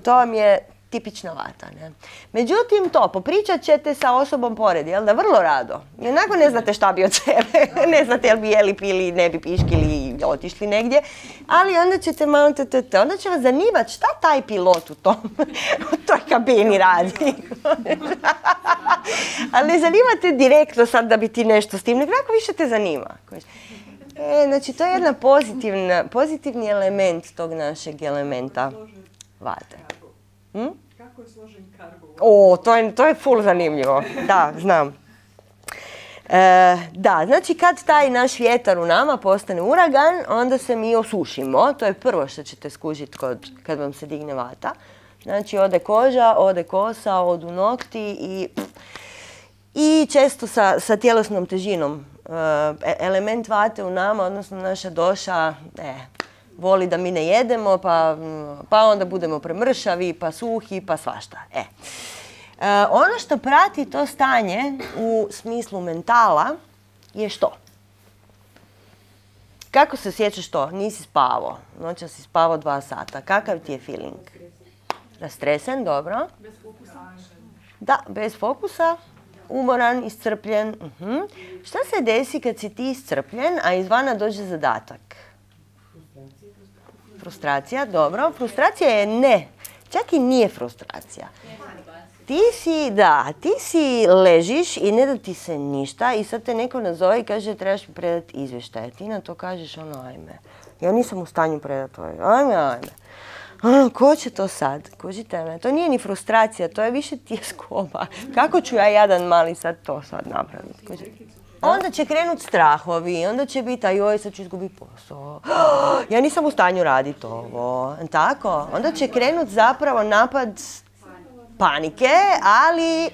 A: To vam je tipična vata. Ne? Međutim, popričat ćete sa osobom pored, jel da? Vrlo rado. I onako ne znate šta bi od sebe. Ne znate jel bi jeli, pili, ne bi piškili i otišli negdje. Ali onda ćete malo... Onda će vas zanimati šta taj pilot u toj kabini radi. Ali ne zanimate direktno sad da bi ti nešto s tim, nego više te zanima. Znači, to je jedan pozitivni element tog našeg elementa vate.
B: Kako je složen kargo?
A: To je full zanimljivo. Da, znam. Da, znači kad taj naš vjetar u nama postane uragan, onda se mi osušimo. To je prvo što ćete skužiti kad vam se digne vata. Znači, ode koža, ode kosa, odu nokti i često sa tjelesnom težinom. Element vate u nama, odnosno naša doša, voli da mi ne jedemo, pa onda budemo premršavi, pa suhi, pa svašta. Ono što prati to stanje u smislu mentala je što? Kako se sjećaš to? Nisi spavao. Noća si spavao 2 sata. Kakav ti je feeling? Rastresen, dobro.
B: Bez fokusa.
A: Da, bez fokusa. Umoran, iscrpljen. Šta se desi kad si ti iscrpljen, a izvana dođe zadatak? Frustracija, dobro. Frustracija je ne. Čak i nije frustracija. Ti si ležiš i ne da ti se ništa i sad te neko nazove i kaže trebaš mi predati izvještaj. Ti na to kažeš ajme. Ja nisam u stanju predati ajme. Ko će to sad? Kužite me? To nije ni frustracija, to je više tjeskoba. Kako ću ja jadan mali sad to napraviti? Kužite? Onda će krenut strahovi, onda će biti, joj, sad ću izgubiti posao. Ja nisam u stanju raditi ovo. Tako? Onda će krenut zapravo napad panike, ali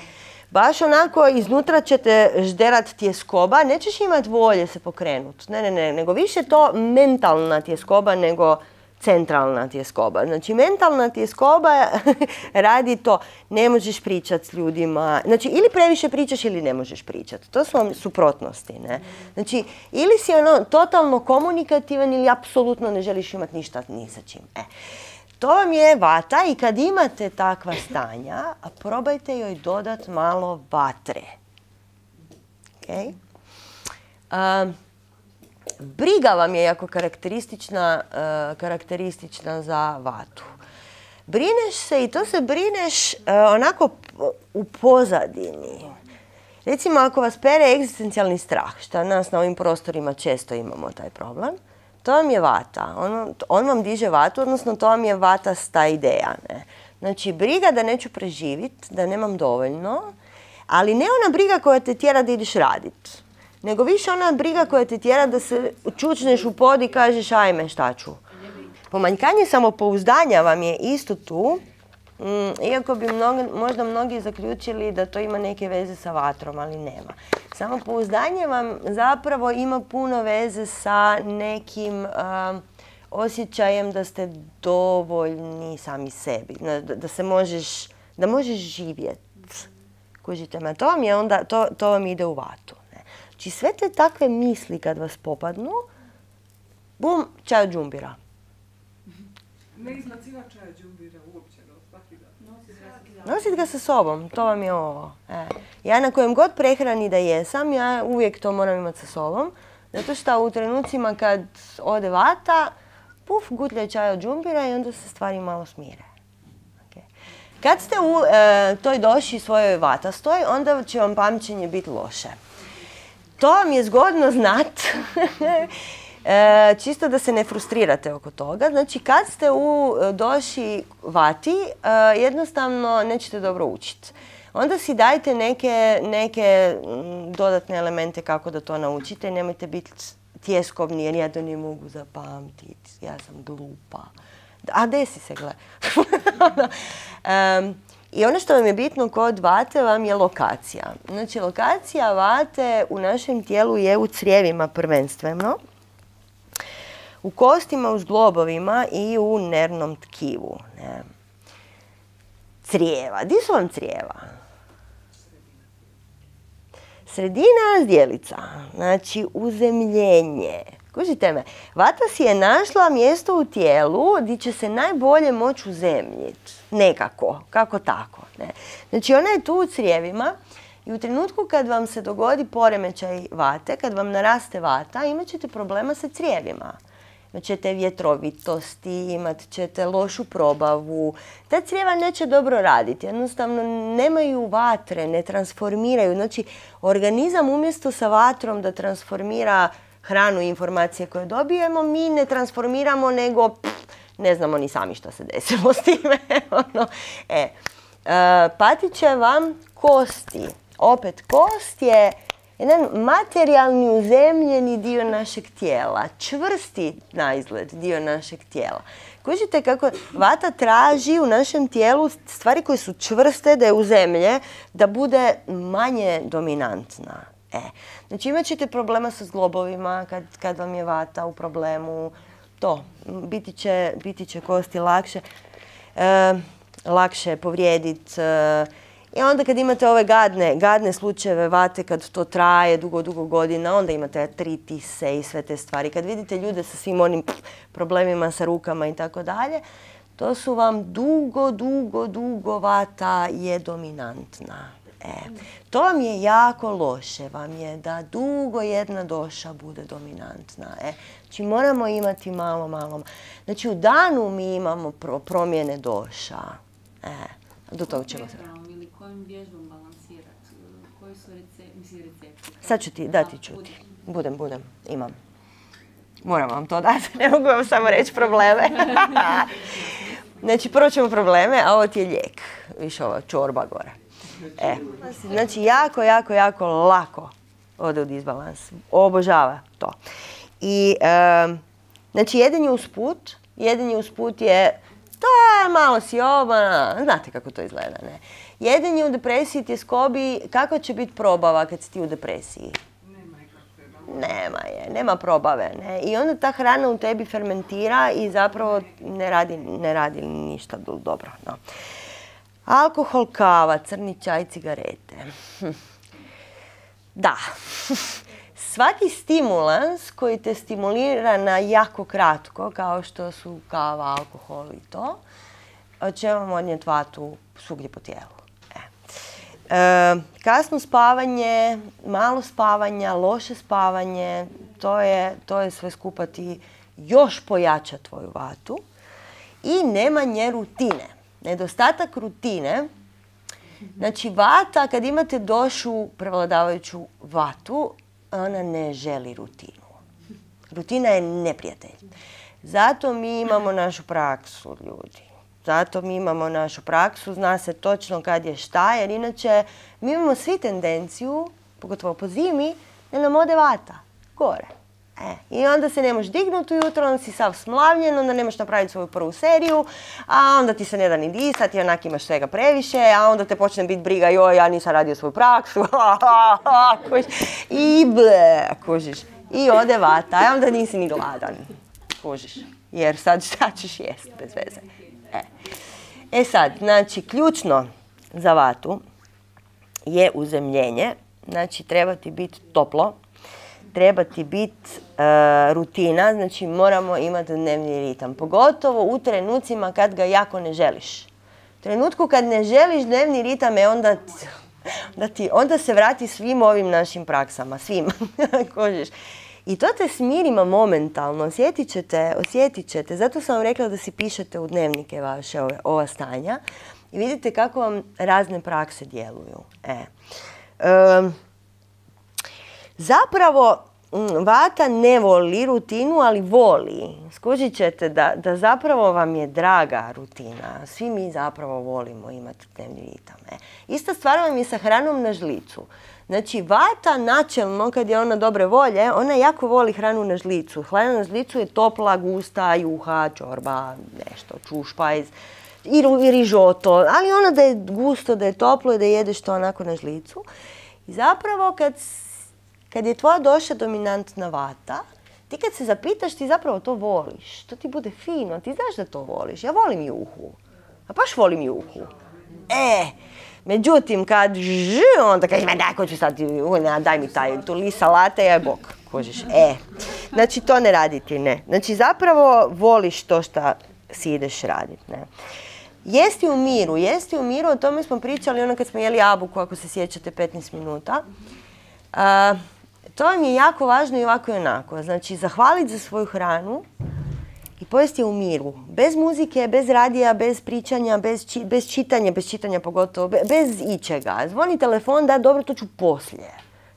A: baš onako iznutra će te žderat tjeskoba. Nećeš imati volje se pokrenut. Ne, nego više to mentalna tjeskoba nego centralna tjeskoba. Znači, mentalna tjeskoba radi to, ne možeš pričati s ljudima. Znači, ili previše pričaš ili ne možeš pričati. To su vam suprotnosti, ne? Znači, ili si totalno komunikativan ili apsolutno ne želiš imati ništa ni sa čim. To vam je vata i kad imate takva stanja, probajte joj dodat malo vatre. Okay? Briga vam je jako karakteristična za vatu. Brineš se i to se brineš onako u pozadini. Recimo, ako vas pere egzistencijalni strah, što nas na ovim prostorima često imamo taj problem, to vam je vata. On vam diže vatu, odnosno to vam je vatasta ideja. Ne? Znači, briga da neću preživjeti, da nemam dovoljno, ali ne ona briga koja te tjera da ideš raditi. Nego više ona briga koja te tjera da se čučneš u pod i kažeš ajme šta ću. Pomanjkanje samopouzdanja vam je isto tu, iako bi možda mnogi zaključili da to ima neke veze sa vatrom, ali nema. Samopouzdanje vam zapravo ima puno veze sa nekim osjećajem da ste dovoljni sami sebi, da možeš živjeti. Kužite me, to vam ide u vatu. Znači, sve te takve misli kad vas popadnu, bum, čaj od džumbira.
B: Ne iznaciva čaj od džumbira uopće, svaki dan.
A: Nosit ga sa sobom, to vam je ovo. Ja na kojem god prehrani da jesam, ja uvijek to moram imati sa sobom. Zato što u trenucima kad ode vata, puf, gutljaj čaj od džumbira i onda se stvari malo smire. Okay. Kad ste u toj doši svojoj vatastoj, onda će vam pamćenje biti loše. To vam je zgodno znat Čisto da se ne frustrirate oko toga. Znači, kad ste u doši vati, jednostavno nećete dobro učiti. Onda si dajte neke dodatne elemente kako da to naučite. Nemojte biti tjeskovni jer ja to ne mogu zapamtiti. Ja sam glupa. A desi se, gle. I ono što vam je bitno kod vate vam je lokacija. Znači, lokacija vate u našem tijelu je u crijevima prvenstveno, u kostima, u zglobovima i u nervnom tkivu. Crijeva. Di su vam crijeva? Sredina zdjelica. Znači, uzemljenje. Kužite me, vata si je našla mjesto u tijelu gdje će se najbolje moći uzemljiti. Nekako, kako tako. Ne? Znači, ona je tu u crijevima i u trenutku kad vam se dogodi poremećaj vate, kad vam naraste vata, imat ćete problema sa crijevima. Imat ćete vjetrovitosti, imat ćete lošu probavu. Ta crijeva neće dobro raditi. Jednostavno, nemaju vatre, ne transformiraju. Znači, organizam umjesto sa vatrom da transformira hranu i informacije koje dobijemo, mi ne transformiramo, nego ne znamo ni sami što se desilo s time. Patit će vam kosti. Opet, kost je jedan materijalni uzemljeni dio našeg tijela. Čvrsti na izgled dio našeg tijela. Kužite kako vata traži u našem tijelu stvari koje su čvrste, da je uzemlje, da bude manje dominantna. Znači, imat ćete problema sa zglobovima kad vam je vata u problemu. To, biti će kosti lakše povrijediti. I onda kad imate ove gadne slučajeve vate, kad to traje dugo godina, onda imate artritise i sve te stvari. Kad vidite ljude sa svim onim problemima sa rukama i tako dalje, to su vam dugo vata je dominantna. To vam je jako loše, vam je da dugo jedna doša bude dominantna. Znači, moramo imati malo. Znači, u danu mi imamo promjene doša. Do toga ćemo se...
C: Ili kojim vježbom balansirati? Koji su recepti?
A: Sad ću ti dati čuti. Budem, imam. Moram vam to dati, ne mogu vam samo reći probleme. Znači, prvo ćemo probleme, a ovo ti je lijek. Više ova čorba gore. Znači, jako lako ode u disbalans. Obožava to. I, znači, jedenje usput je, to je malo siobana, znate kako to izgleda, ne? Jedenje u depresiji ti je skobi, kako će biti probava kad si ti u depresiji? Nema probave. Ne? I onda ta hrana u tebi fermentira i zapravo ne radi ništa dobro. No. Alkohol, kava, crni čaj, cigarete. Da. Svaki stimulans koji te stimulira na jako kratko, kao što su kava, alkohol i to, će vam odnijeti vatu svugdje po tijelu. Kasno spavanje, malo spavanja, loše spavanje, to je sve skupa ti još pojača tvoju vatu. I nemanje rutine. Nedostatak rutine, znači vata, kad imate došu prevladavajuću vatu, ona ne želi rutinu. Rutina je neprijatelj. Zato mi imamo našu praksu, ljudi. Zato mi imamo našu praksu, zna se točno kad je šta, jer inače mi imamo svi tendenciju, pogotovo po zimi, da nam ode vata gore. I onda se ne možeš dignuti ujutro, onda si sav smlavljen, onda ne možeš napraviti svoju prvu seriju, a onda ti se ne da ni disati, onak imaš svega previše, a onda te počne biti briga, joj, ja nisam radio svoju praksu, i ble, kužiš. I ode vata, a onda nisi ni gladan, kužiš, jer sad šta ćeš jest bez veze. Sad, znači, ključno za vatu je uzemljenje, znači treba ti biti toplo, treba ti biti rutina, znači moramo imati dnevni ritam, pogotovo u trenucima kad ga jako ne želiš. U trenutku kad ne želiš dnevni ritam, onda se vrati svim ovim našim praksama, svim, kožiš. I to te smirima momentalno, osjetit ćete. Zato sam vam rekla da si pišete u dnevnike vaše ova stanja i vidite kako vam razne prakse djeluju. Zapravo, vata ne voli rutinu, ali voli. Skužit ćete da zapravo vam je draga rutina. Svi mi zapravo volimo imati dnevni ritam. Ista stvar vam je sa hranom na žlicu. Znači, vata načelno, kad je ona dobre volje, ona jako voli hranu na žlicu. Hrana na žlicu je topla, gusta, juha, čorba, nešto, čušpajz i rižoto. Ali ono da je gusto, da je toplo i da jedeš to onako na žlicu. I zapravo, kad je tvoja duša dominantna vata, ti kad se zapitaš, ti zapravo to voliš. To ti bude fino, ti znaš da to voliš. Ja volim juhu. A baš volim juhu. Međutim, kad onda kažeš, daj, ko ću sad, daj mi tu list salate, ja bok, kožiš. Znači, to ne raditi, ne. Znači, zapravo voliš to što si ideš raditi, ne. Jesti u miru, o tome smo pričali ono kad smo jeli jabuku, ako se sjećate, 15 minuta. To vam je jako važno i ovako i onako. Znači, zahvaliti za svoju hranu i pojesti je u miru. Bez muzike, bez radija, bez pričanja, bez čitanja pogotovo, bez ičega. Zvoni telefon, da, dobro, to ću poslije.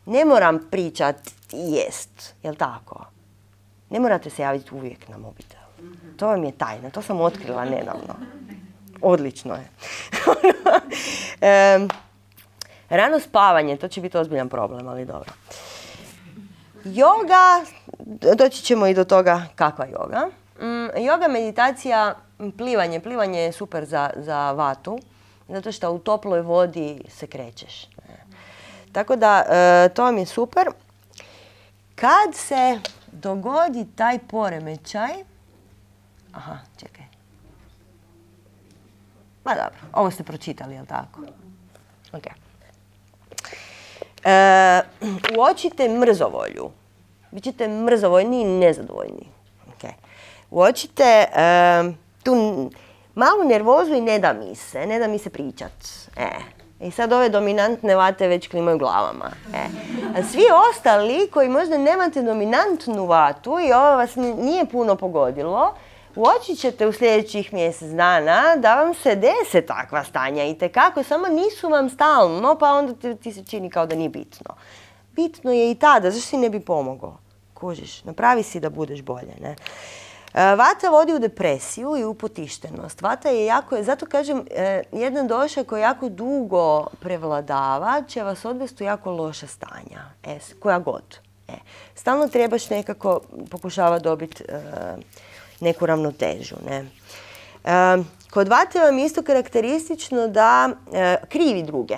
A: Ne moram pričat i jest, jel tako? Ne morate se javiti uvijek na mobitel. To vam je tajna, to sam otkrila nedavno. Odlično je. Rano spavanje, to će biti ozbiljan problem, ali dobro. Joga, doći ćemo i do toga kakva joga. Joga, meditacija, plivanje. Plivanje je super za vatu, zato što u toploj vodi se krećeš. Tako da, to vam je super. Kad se dogodi taj poremećaj... Aha, čekaj. Ma dobro, ovo ste pročitali, jel tako? Ok. Uočite mrzovolju. Bićete mrzovoljni i nezadovoljni. Uočite tu malu nervozu i ne da mi se pričat. I sad ove dominantne vate već klimaju glavama. A svi ostali koji možda nemate dominantnu vatu i ovo vas nije puno pogodilo, uočit ćete u sljedećih mjesec dana da vam se dese takva stanja itekako, samo nisu vam stalno, pa onda ti se čini kao da nije bitno. Bitno je i tada, zašto si ne bi pomogao? Kužiš, napravi si da budeš bolje, ne? Vata vodi u depresiju i u potištenost. Vata je jako, zato kažem, jedna doša koja jako dugo prevladava će vas odvesti u jako loša stanja, koja god. Stalno trebaš nekako pokušavati dobiti neku ravnotežu. Ne? Kod vate vam je isto karakteristično da krivi druge.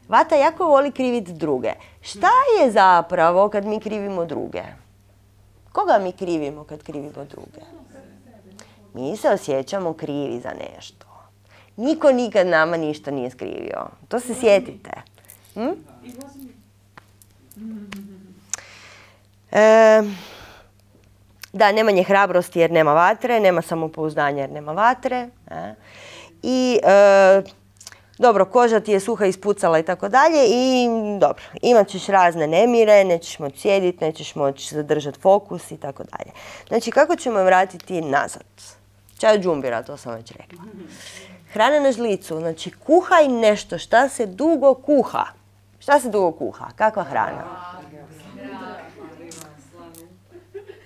A: Vata jako voli kriviti druge. Šta je zapravo kad mi krivimo druge? Koga mi krivimo kad krivimo druge? Mi se osjećamo krivi za nešto. Niko nikad nama ništa nije skrivio. To se sjetite. Da, nemanje hrabrosti jer nema vatre, nema samopouzdanja jer nema vatre. I dobro, koža ti je suha ispucala i tako dalje i dobro, imat ćeš razne nemire, nećeš moći sjediti, nećeš moći zadržati fokus i tako dalje. Znači, kako ćemo vratiti nazad? Čaj od džumbira, to sam već rekla. Hrana na žlicu, znači kuhaj nešto, šta se dugo kuha. Šta se dugo kuha? Kakva hrana?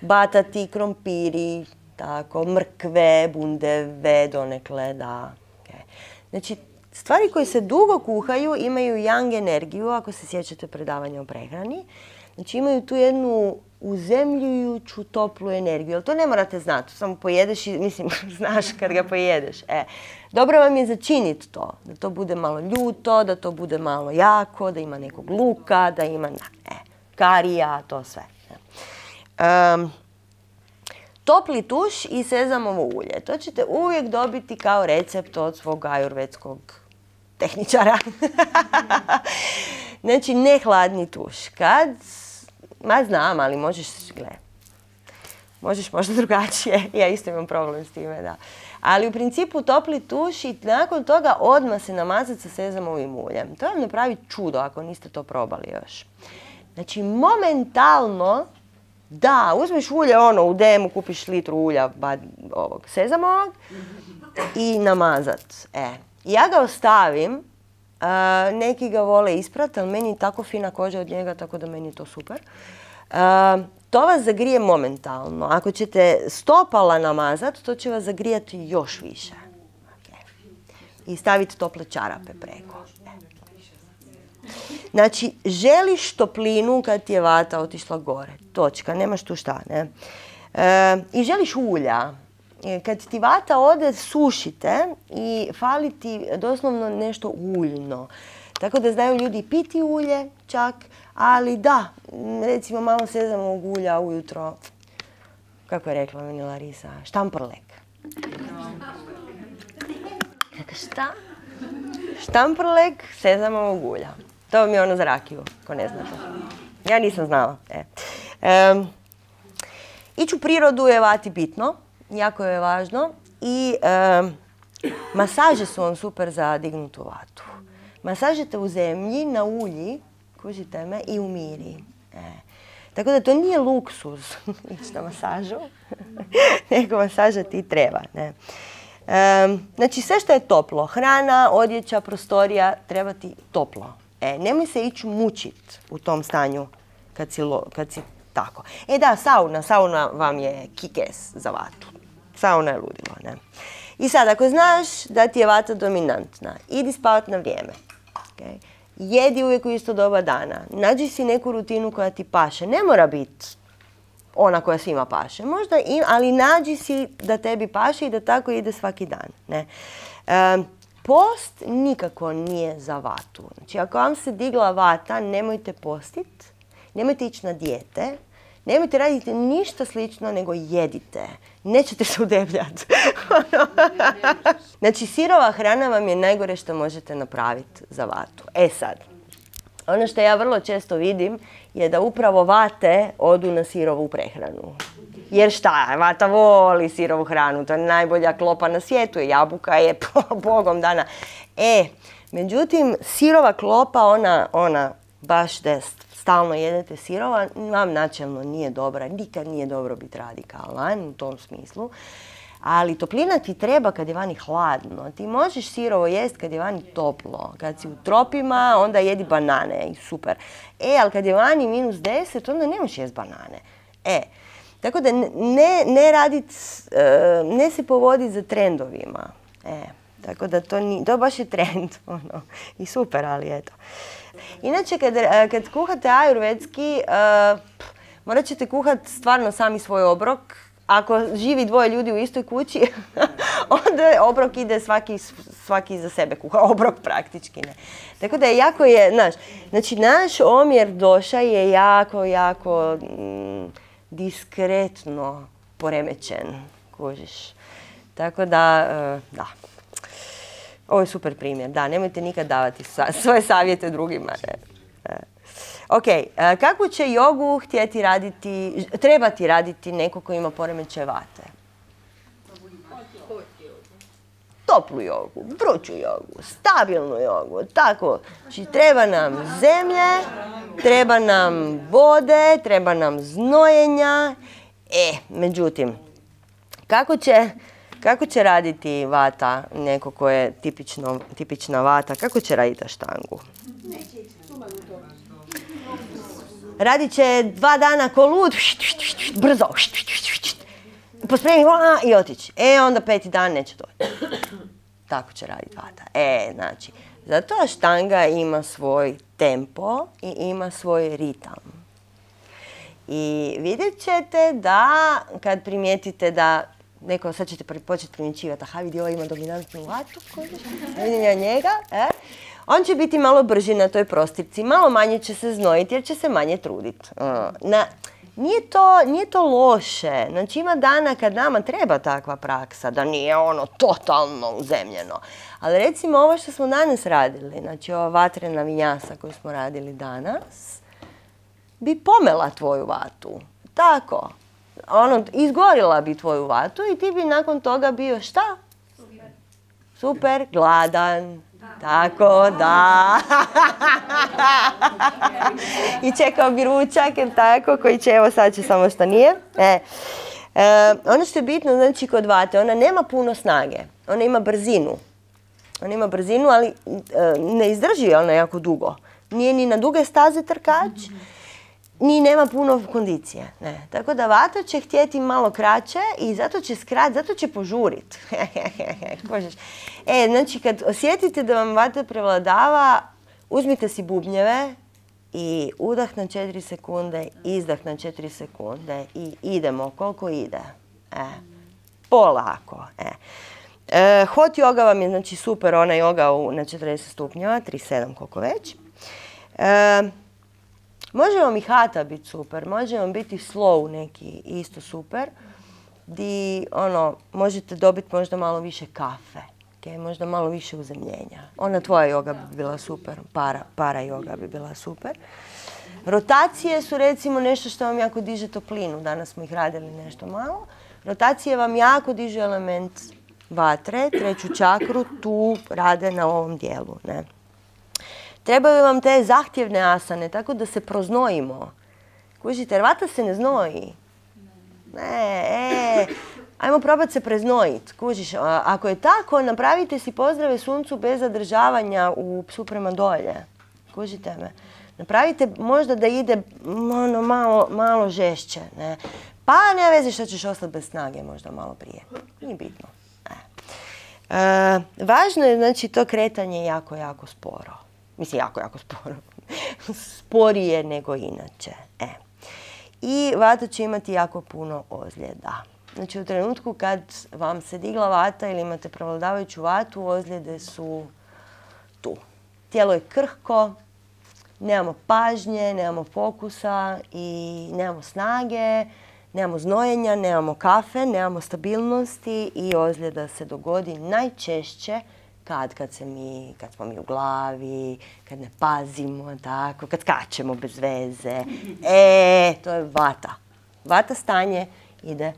A: Batati, krompiri, tako, mrkve, bundeve, donekle, da. Znači, stvari koje se dugo kuhaju imaju yang energiju, ako se sjećate predavanja o prehrani. Znači imaju tu jednu uzemljujuću toplu energiju. Ali to ne morate znati, samo pojedeš i, mislim, znaš kad ga pojedeš. Dobro vam je začiniti to, da to bude malo ljuto, da to bude malo jako, da ima nekog luka, da ima karija, to sve. Topli tuš i sezamovo ulje. To ćete uvijek dobiti kao recept od svog ajurvedskog tehničara. Znači, ne hladni tuš. Znam, ali možeš možda drugačije. Ja isto imam problem s time, da. Ali u principu topli tuš i nakon toga odmah se namazati sa sezamovim uljem. To vam napravi čudo ako niste to probali još. Znači, momentalno, da, uzmeš ulje, u DM-u kupiš litru ulja ovog sezamovog i namazat. Ja ga ostavim, neki ga vole isprat, ali meni je tako fina koža od njega, tako da meni je to super. To vas zagrije momentalno. Ako ćete stopala namazati, to će vas zagrijati još više. I staviti tople čarape preko. Znači, želiš toplinu kad ti je vata otišla gore. Točka, nemaš tu šta, ne? I želiš ulja. Kad ti vata ode, sušite i fali ti doslovno nešto uljno. Tako da znaju ljudi piti ulje čak, ali da, recimo malo sezamovog ulja ujutro, kako je rekla meni Larisa, štamprlek. Šta? Štamprlek sezamovog ulja. To vam je ono za rakiju, ko ne znate. Ja nisam znala. Ići u prirodu je vati bitno, jako je važno i masaže su vam super za dignutu vatu. Masažete u zemlji, na ulji, kužite me, i u miri. Tako da to nije luksuz ići na masažu, nego masaža ti treba. Ne? Znači sve što je toplo, hrana, odjeća, prostorija, treba ti toplo. Nemoj se ići mučit u tom stanju kad si tako. Da, sauna vam je kikes za vatu. Sauna je ludilo, ne? I sad, ako znaš da ti je vata dominantna, idi spavat na vrijeme. Okay? Jedi uvijek u isto doba dana. Nađi si neku rutinu koja ti paše. Ne mora biti ona koja svima paše. Možda ali nađi si da tebi paše i da tako ide svaki dan. Ne? Post nikako nije za vatu. Znači, ako vam se digla vata, nemojte postit, nemojte ići na dijete, nemojte raditi ništa slično, nego jedite. Nećete se udebljati. Znači, sirova hrana vam je najgore što možete napraviti za vatu. Sad, ono što ja vrlo često vidim je da upravo vate odu na sirovu prehranu. Jer šta, vata voli sirovu hranu, to je najbolja klopa na svijetu, jabuka je bogom dana. Međutim, sirova klopa, ona baš da stalno jedete sirova, vam načelno nije dobra, nikad nije dobro biti radikalan u tom smislu. Ali toplina ti treba kad je vani hladno. Ti možeš sirovo jest kad je vani toplo. Kad si u tropima, onda jedi banane i super. Ali kad je vani -10, onda ne možeš jest banane. Tako da ne se povoditi za trendovima. Tako da to baš je trend. I super, ali eto. Inače, kad kuhate ajurvedski, morat ćete kuhati stvarno sami svoj obrok. Ako živi dvoje ljudi u istoj kući, onda obrok ide svaki za sebe kuha. Obrok praktički, ne. Tako da jako je, znači naš omjer doša je jako diskretno poremećen, kužiš. Tako da, da. Ovo je super primjer, da, nemojte nikad davati svoje savjete drugima. Ok, kakvu će jogu trebati raditi neko ko ima poremećaj vate? Toplu jogu, vruću jogu, stabilnu jogu, tako. Znači, treba nam zemlje, treba nam vode, treba nam znojenja. Međutim, kako će raditi vata, neko ko je tipična vata, kako će raditi aštangu? Radit će 2 dana ko lud, brzo, pospremi i otići. Onda 5. dan neće doći. Tako će raditi vata. Znači, zato aštanga ima svoj tempo i ima svoj ritam. I vidjet ćete da, kad primijetite da neko, sad ćete početi primjećivati, aha, vidi, ovo ima dominantnu vatu, vidim ja njega, on će biti malo brži na toj prostirci, malo manje će se znojiti jer će se manje truditi. Nije to loše. Znači, ima dana kad nama treba takva praksa, da nije ono totalno uzemljeno. Ali recimo ovo što smo danas radili, znači ova vatrena vinjasa koju smo radili danas, bi pomela tvoju vatu. Tako. Izgorila bi tvoju vatu i ti bi nakon toga bio šta? Super, gladan. Tako, da. I čekao bi ručak, tako, koji će, evo sad će samo što nije. Ono što je bitno, znači, kod vate, ona nema puno snage. Ona ima brzinu. Ali ne izdrži ona jako dugo. Nije ni na duge staze trkač, ni nema puno kondicije. Ne. Tako da vata će htjeti malo kraće i zato će skrat, zato će požurit. Znači kad osjetite da vam vata prevladava, uzmite si bubnjeve i udah na 4 sekunde, izdah na 4 sekunde i idemo koliko ide. Polako. Hot yoga vam je znači super, ona yoga na 40 stupnjeva, 37 koliko već. Može vam i hata biti super, može vam biti slow neki isto super, di možete dobiti možda malo više kafe, možda malo više uzemljenja. Ona tvoja yoga bi bila super, para yoga bi bila super. Rotacije su recimo nešto što vam jako diže toplinu, danas smo ih radili nešto malo. Rotacije vam jako dižu element vatre, 3. čakru, tu rade na ovom dijelu. Ne? Trebaju vam te zahtjevne asane, tako da se proznojimo. Kužite, jer vata se ne znoji. Ajmo probati se preznojiti. Kužiš, ako je tako, napravite si pozdrave suncu bez zadržavanja u psu prema dolje. Kužite me. Napravite možda da ide malo žešće. Ne? Pa nema veze što ćeš ostati bez snage možda malo prije. Nije bitno. Važno je znači to kretanje jako sporo. Mislim, jako sporo. Sporije nego inače. I vata će imati jako puno ozljeda. Znači, u trenutku kad vam se digla vata ili imate prevladavajuću vatu, ozljede su tu. Tijelo je krhko, nemamo pažnje, nemamo fokusa i nemamo snage, nemamo znojenja, nemamo kafe, nemamo stabilnosti i ozljeda se dogodi najčešće kad smo mi u glavi, kad ne pazimo, tako, kad skačemo bez veze. To je vata. Vata stanje ide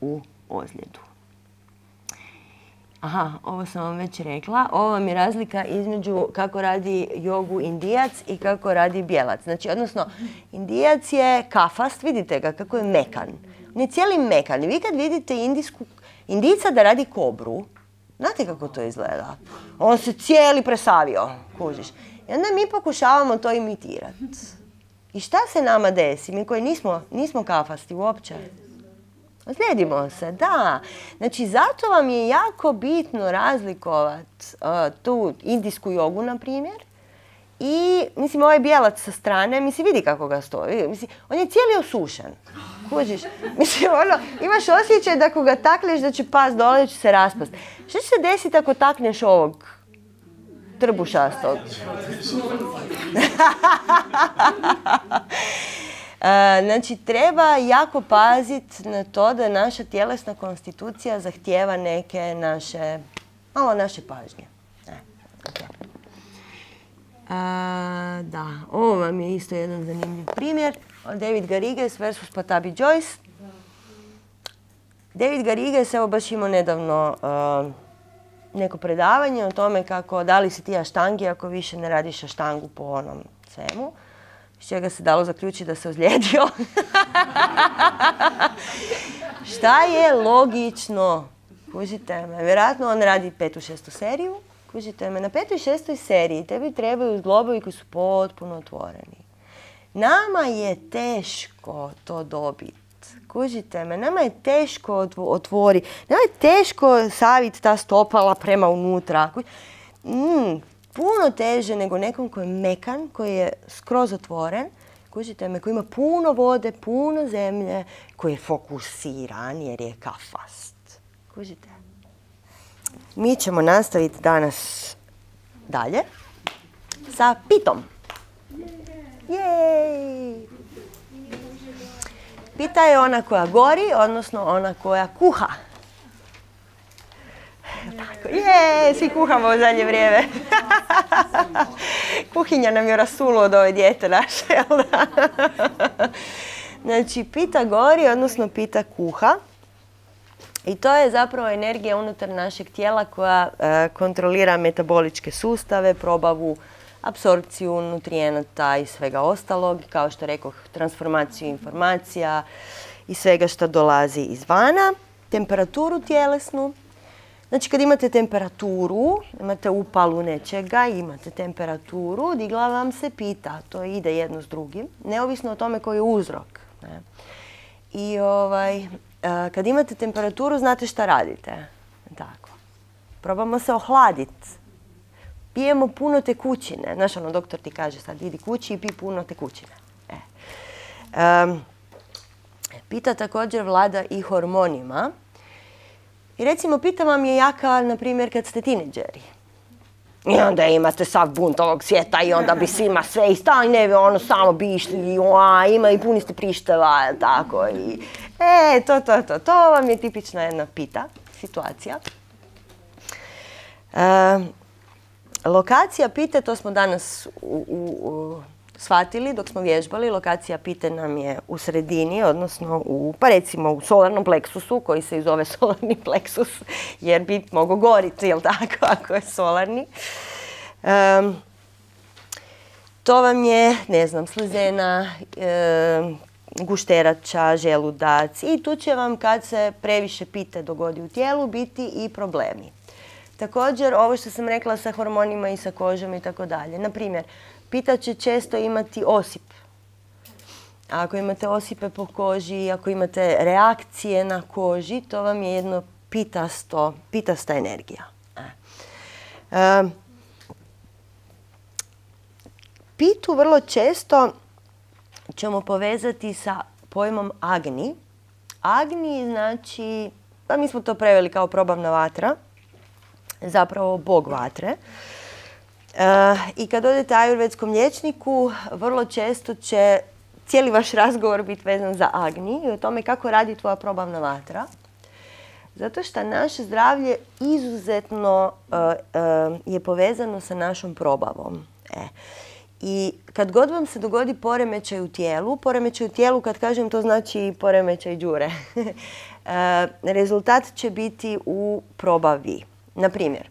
A: u ozljedu. Aha, ovo sam vam već rekla. Ovo vam je razlika između kako radi jogu Indijac i kako radi Bijelac. Znači, odnosno, Indijac je kafast, vidite ga kako je mekan. On je cijeli mekan. I vi kad vidite Indijca da radi kobru, znate kako to izgleda? On se cijeli presavio, kužiš. I onda mi pokušavamo to imitirati. I šta se nama desi? Mi koji nismo kafasti uopće. Ozlijedimo se, da. Znači, zato vam je jako bitno razlikovati tu indijsku jogu, na primjer. I, mislim, ovaj Bijelac sa strane, mislim, vidi kako ga stoji. Mislim, on je cijeli osušen. Kužiš? Mislim, imaš osjećaj da ako ga takneš da će pas dole, da će se raspast. Što će se desiti ako takneš ovog trbušastog? Znači, treba jako paziti na to da naša tjelesna konstitucija zahtijeva neke malo naše pažnje. Da, ovo vam je isto jedan zanimljiv primjer. David Garrigues versus Pattabhi Jois. David Garrigues, evo baš imao nedavno neko predavanje o tome kako da li si ti aštangi ako više ne radiš aštangu po onom svemu. Iz čega se dalo zaključiti da se ozlijedio. Šta je logično? Kužite me, vjerojatno on radi 5. 6. seriju. Kužite me, na 5. i 6. seriji tebi trebaju zglobovi koji su potpuno otvoreni. Nama je teško to dobiti. Kužite me, nama je teško otvoriti. Nama je teško saviti ta stopala prema unutra. Puno teže nego nekom koji je mekan, koji je skroz otvoren. Kužite me, koji ima puno vode, puno zemlje, koji je fokusiran jer je kafast. Kužite? Mi ćemo nastaviti danas dalje sa pitom. Jej! Pita je ona koja gori, odnosno ona koja kuha. Svi kuhamo u zadnje vrijeme. Kuhinja nam je rasulo od ove dijete naše, jel da? Znači, pita gori, odnosno pita kuha. I to je zapravo energija unutar našeg tijela koja kontrolira metaboličke sustave, probavu, apsorpciju nutrijenata i svega ostalog, kao što rekoh, transformaciju informacija i svega što dolazi izvana, temperaturu tjelesnu. Znači kad imate temperaturu, imate upalu nečega, imate temperaturu, digla vam se pita, to ide jedno s drugim, neovisno o tome koji je uzrok. Ne? I kad imate temperaturu, znate šta radite. Tako. Probamo se ohladiti. Pijemo puno tekućine. Znaš, doktor ti kaže sad, idi kući i pi puno tekućine. Pita također vlada i hormonima. I recimo, pita vam je jaka, na primjer, kad ste tineđeri. I onda imate sav bunt ovog svijeta i onda bi svima sve i stajne, samo bi išli, ima i puni ste prišteva, tako i... To vam je tipična jedna pita, situacija. Lokacija pite, to smo danas shvatili dok smo vježbali. Lokacija pite nam je u sredini, odnosno pa recimo u solarnom pleksusu, koji se i zove solarni pleksus, jer bi mogao goriti, jel tako, ako je solarni. To vam je, ne znam, slezena, gušterača, želudac i tu će vam, kad se previše pite dogodi u tijelu, biti i problemi. Također, ovo što sam rekla sa hormonima i sa kožom i tako dalje. Naprimjer, pita će često imati osip. Ako imate osipe po koži, ako imate reakcije na koži, to vam je jedno pitasta energija. Pitu vrlo često ćemo povezati sa pojmom Agni. Agni znači, pa mi smo to preveli kao probavna vatra, zapravo bog vatre. I kad odete ajurvedskom liječniku, vrlo često će cijeli vaš razgovor biti vezan za Agni i o tome kako radi tvoja probavna vatra. Zato što naše zdravlje izuzetno je povezano sa našom probavom. I kad god vam se dogodi poremećaj u tijelu, kad kažem to znači poremećaj đure, rezultat će biti u probavi. Naprimjer,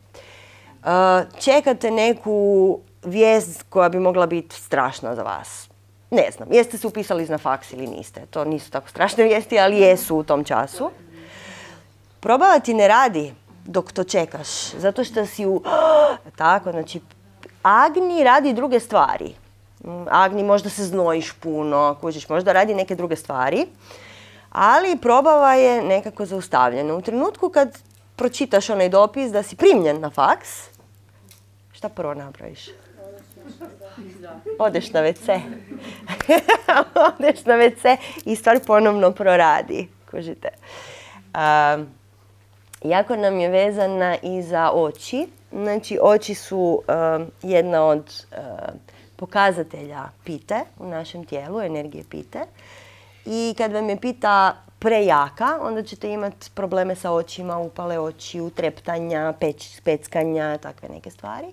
A: čekate neku vijest koja bi mogla biti strašna za vas. Ne znam, jeste se upisali na faks ili niste. To nisu tako strašne vijesti, ali jesu u tom času. Probava ti ne radi dok to čekaš, zato što si tako, znači, Agni radi druge stvari. Agni možda se znojiš puno, kužiš, možda radi neke druge stvari, ali probava je nekako zaustavljena. U trenutku kad pročitaš onaj dopis da si primljen na faks, šta prvo napraviš? Odeš na WC. Odeš na WC i stvar ponovno proradi. Kužite. Jako nam je vezana i za oči. Znači, oči su jedna od pokazatelja pite u našem tijelu, energije pite. I kad vam je pita prejaka, onda ćete imati probleme sa očima, upale očiju, treptanja, peckanja, takve neke stvari.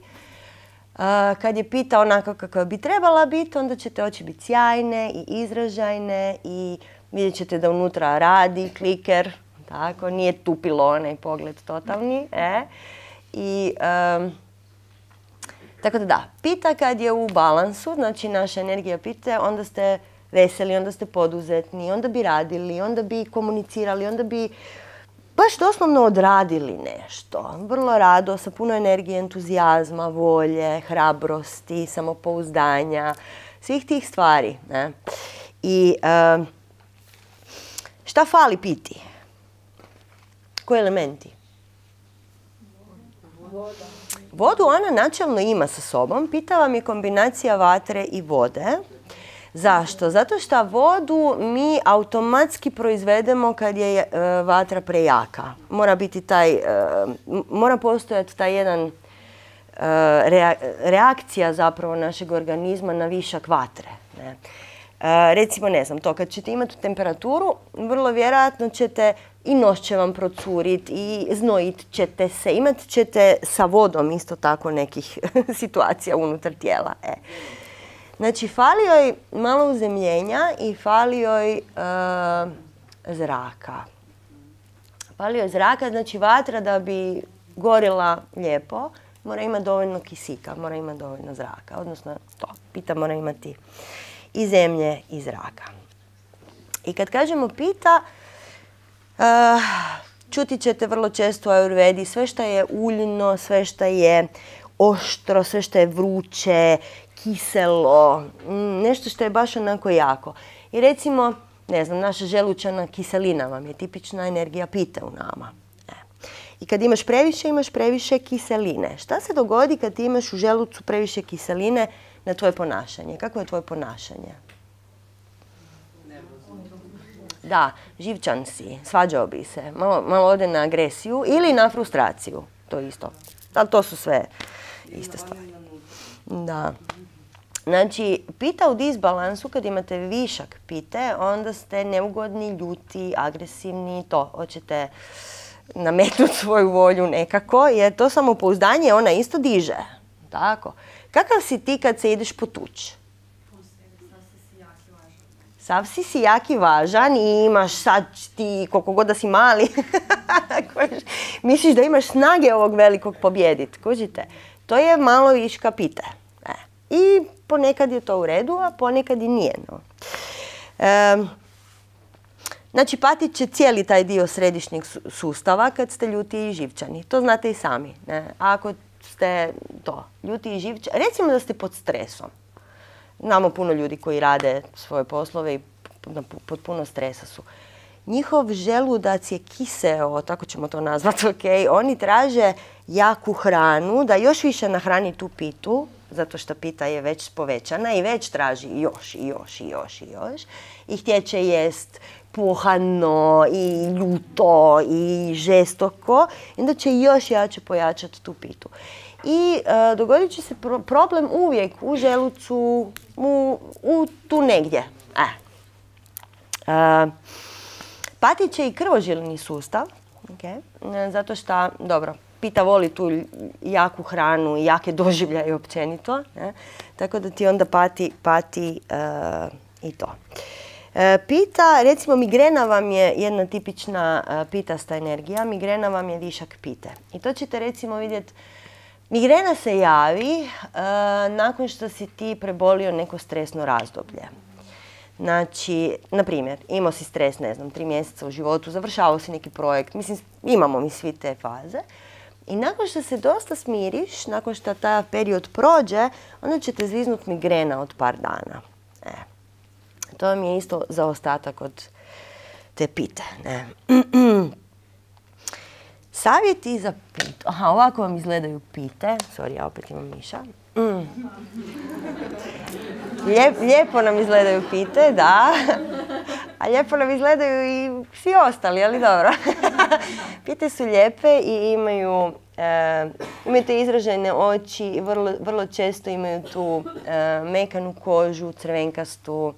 A: Kad je pita onako kako bi trebala biti, onda ćete oči biti sjajne i izražajne i vidjet ćete da unutra radi kliker, tako, nije tupilo onaj pogled totalni. Tako da, pita kad je u balansu, znači naša energija pite, onda ste veseli, onda ste poduzetni, onda bi radili, onda bi komunicirali, onda bi baš doslovno odradili nešto. Vrlo rado, sa puno energije, entuzijazma, volje, hrabrosti, samopouzdanja, svih tih stvari. Ne? I šta fali piti? Koji elementi? Vodu ona načelno ima sa sobom. Pita vam je kombinacija vatre i vode. Zašto? Zato što vodu mi automatski proizvedemo kad je vatra prejaka. Mora postojati taj jedan reakcija zapravo našeg organizma na višak vatre. Ne? Recimo, ne znam, to kad ćete imati temperaturu, vrlo vjerojatno ćete i nos će vam procuriti i znojit ćete se. Imat ćete sa vodom isto tako nekih situacija unutar tijela. Znači, fali joj malo uzemljenja i fali joj zraka. Fali joj zraka, znači vatra da bi gorila lijepo, mora imati dovoljno kisika, mora imati dovoljno zraka. Odnosno, pita mora imati i zemlje i zraka. I kad kažemo pita, čuti ćete vrlo često u Ayurvedi sve što je uljno, sve što je oštro, sve što je vruće, kiselo, nešto što je baš onako jako. I recimo, ne znam, naša želučana kiselina vam je tipična energija pite u nama. I kad imaš previše kiseline. Šta se dogodi kad ti imaš u želucu previše kiseline na tvoje ponašanje? Kako je tvoje ponašanje? Da, živčan si, svađao bi se, malo ode na agresiju ili na frustraciju, to isto. Ali to su sve iste stvari. Da. Znači, pita u disbalansu, kad imate višak pite, onda ste neugodni, ljuti, agresivni, to, hoćete nametnuti svoju volju nekako, jer to samopouzdanje ona isto diže. Tako. Kakav si ti kad se ideš potući? Sav si jak i važan i imaš sad ti, koliko god da si mali, misliš da imaš snage ovog velikog pobjediti. Kužite? To je malo viška pite. I ponekad je to u redu, a ponekad i nije. No. Znači, patit će cijeli taj dio središnjeg sustava kad ste ljuti i živčani. To znate i sami. Ne? Ako ste ljuti i živčani, recimo da ste pod stresom. Znamo puno ljudi koji rade svoje poslove i pod puno stresa su. Njihov želudac je kiseo, tako ćemo to nazvati, ok? Oni traže jaku hranu, da još više nahrani tu pitu, zato što pita je već povećana i već traži još. I htjeće jest pohano i ljuto i žestoko. I onda će još jače pojačati tu pitu. I dogodit će se problem uvijek u želucu, tu negdje. Patit će i krvožilni sustav, zato što, dobro, pita voli tu jaku hranu i jake doživljaje općenito, tako da ti onda pati i to. Pita, recimo migrena vam je jedna tipična pitasta energija, migrena vam je višak pite. I to ćete recimo vidjeti. Migrena se javi nakon što si ti prebolio neko stresno razdoblje. Znači, na primjer, imao si stres, ne znam, 3 mjeseca u životu, završavao si neki projekt, mislim, imamo mi svi te faze. I nakon što se dosta smiriš, nakon što taj period prođe, onda će te zviznut migrena od par dana. To vam je isto zaostatak od te pite. Savjeti za pitu. Aha, ovako vam izgledaju pite. Sorry, ja opet imam miša. Lijepo nam izgledaju pite, da. A lijepo nam izgledaju i svi ostali, ali dobro. Pite su lijepe i imaju te izražene oči i vrlo često imaju tu mekanu kožu, crvenkastu.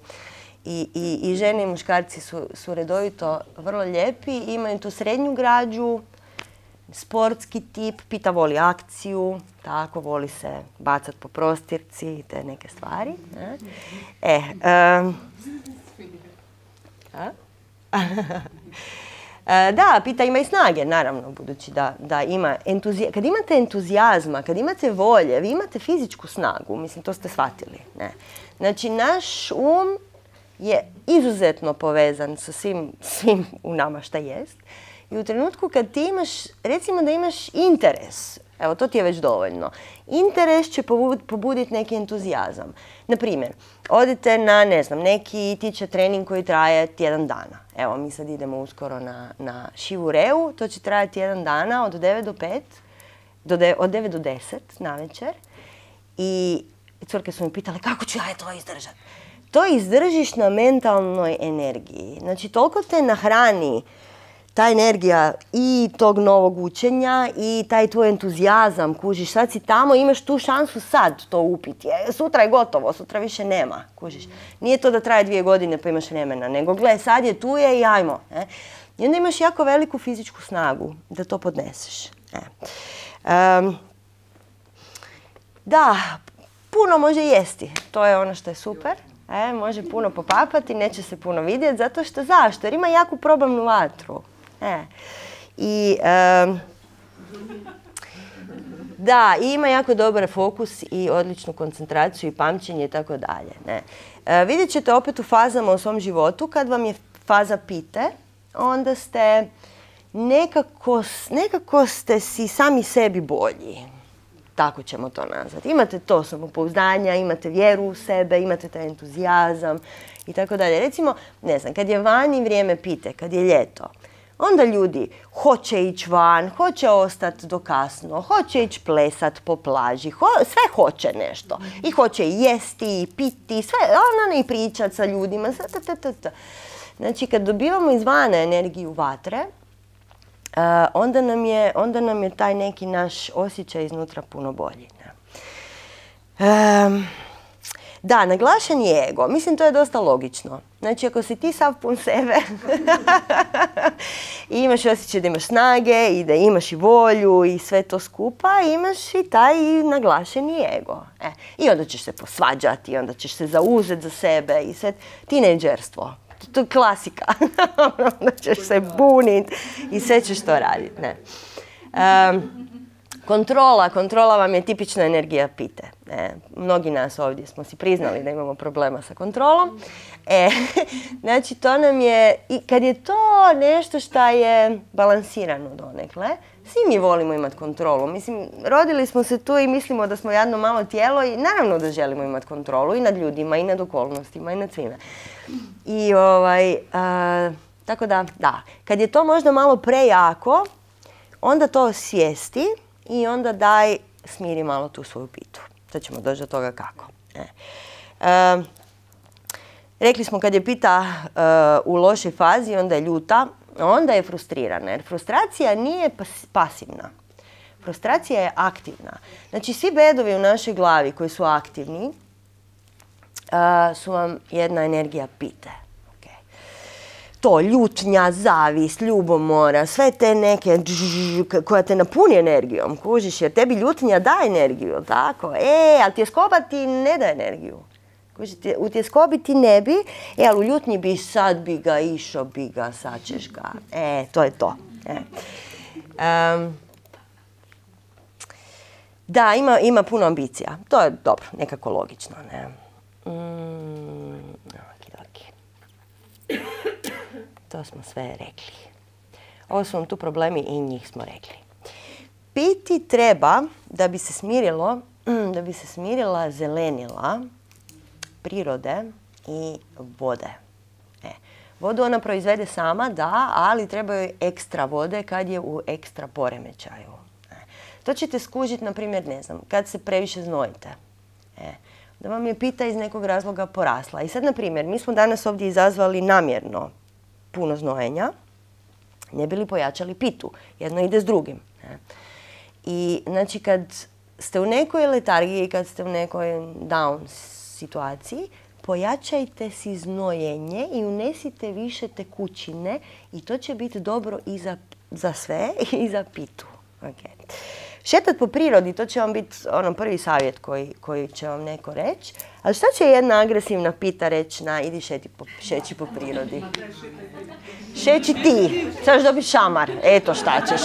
A: I žene i muškarci su redovito vrlo lijepi. Imaju tu srednju građu, sportski tip, pita voli akciju, tako, voli se bacat po prostirci i te neke stvari. Da, pita ima i snage, naravno, budući da ima entuzijazma. Kad imate entuzijazma, kad imate volje, vi imate fizičku snagu, mislim, to ste shvatili. Znači, naš je izuzetno povezan sa svim u nama šta jest. I u trenutku kad ti imaš, recimo da imaš interes, evo to ti je već dovoljno, interes će pobuditi neki entuzijazam. Naprimjer, odite na, ne znam, neki tiče trening koji traje tjedan dana. Evo, mi sad idemo uskoro na Shivu Reu, to će trajati tjedan dana od 9 do 5, od 9 do 10 navečer. I curke su mi pitale kako ću ja to izdržati. To izdržiš na mentalnoj energiji. Znači, toliko te nahrani ta energija i tog novog učenja i taj tvoj entuzijazam, kužiš, sad si tamo, imaš tu šansu sad to upiti. Sutra je gotovo, sutra više nema, kužiš. Nije to da traje 2 godine pa imaš vremena, nego gle, sad je tu je i ajmo. I onda imaš jako veliku fizičku snagu da to podneseš. Da, puno može jesti, to je ono što je super. Može puno popapati, neće se puno vidjeti, zato što zašto? Jer ima jaku probavnu vatru. Da, ima jako dobar fokus i odličnu koncentraciju i pamćenje i tako dalje. Vidjet ćete opet u fazama u svom životu, kad vam je faza pite, onda ste nekako ste si sami sebi bolji. Tako ćemo to nazvati. Imate to samopouzdanja, imate vjeru u sebe, imate taj entuzijazam i tako dalje. Recimo, ne znam, kad je vani vrijeme pite, kad je ljeto, onda ljudi hoće ići van, hoće ostati do kasno, hoće ići plesat po plaži, sve hoće nešto. I hoće jesti, i piti, sve, i pričati sa ljudima. Znači, kad dobivamo izvana energiju vatre, onda nam je taj neki naš osjećaj iznutra puno bolji. Da, naglašen je ego. Mislim, to je dosta logično. Znači, ako si ti sav pun sebe i imaš osjećaj da imaš snage i da imaš i volju i sve to skupa, imaš i taj naglašeni ego. I onda ćeš se posvađati, onda ćeš se zauzeti za sebe i sve. Tinejdžerstvo. To je klasika. Onda ćeš se buniti i sve ćeš to raditi. Kontrola vam je tipična energija pite. Mnogi nas ovdje smo si priznali da imamo problema sa kontrolom. Znači, to nam je, i kad je to nešto što je balansirano donekle, svi mi volimo imati kontrolu. Mislim, rodili smo se tu i mislimo da smo jedno malo tijelo i naravno da želimo imati kontrolu i nad ljudima, i nad okolnostima, i nad svime. I tako da, kad je to možda malo prejako, onda to osvijesti i onda daj smiri malo tu svoju pitu. Sad ćemo doći do toga kako. Rekli smo kad je pita u lošoj fazi, onda je ljuta, onda je frustrirana. Jer frustracija nije pasivna. Frustracija je aktivna. Znači, svi bedovi u našoj glavi koji su aktivni su vam jedna energija pite. To, ljutnja, zavist, ljubomora, sve te neke koja te napuni energijom, kužiš, jer tebi ljutnja da energiju, tako? Ali tjeskoba ti ne da energiju. Kužiš, u tjeskobi ti ne bi, ali u ljutnji bi sad bi ga, išao bi ga, sad ćeš ga. To je to. Da, ima puno ambicija. To je dobro, nekako logično, ne? To smo sve rekli. Ovo su vam tu problemi i njih smo rekli. Piti treba da bi se smirila zelenila prirode i vode. Vodu ona proizvede sama, da, ali treba joj ekstra vode kad je u ekstra poremećaju. To ćete skužiti, na primjer, ne znam, kad se previše znojite. Da vam je pita iz nekog razloga porasla. I sad, na primjer, mi smo danas ovdje izazvali namjerno puno znojenja, ne bi li pojačali pitu. Jedno ide s drugim. I znači kad ste u nekoj letargiji, kad ste u nekoj down situaciji, pojačajte si znojenje i unesite više tekućine i to će biti dobro i za sve i za pitu. Šetat po prirodi, to će vam biti prvi savjet koji će vam neko reći. Ali šta će jedna agresivna pita reći na idi šeći po prirodi? Šeći ti, ćeš dobiti šamar, eto šta ćeš.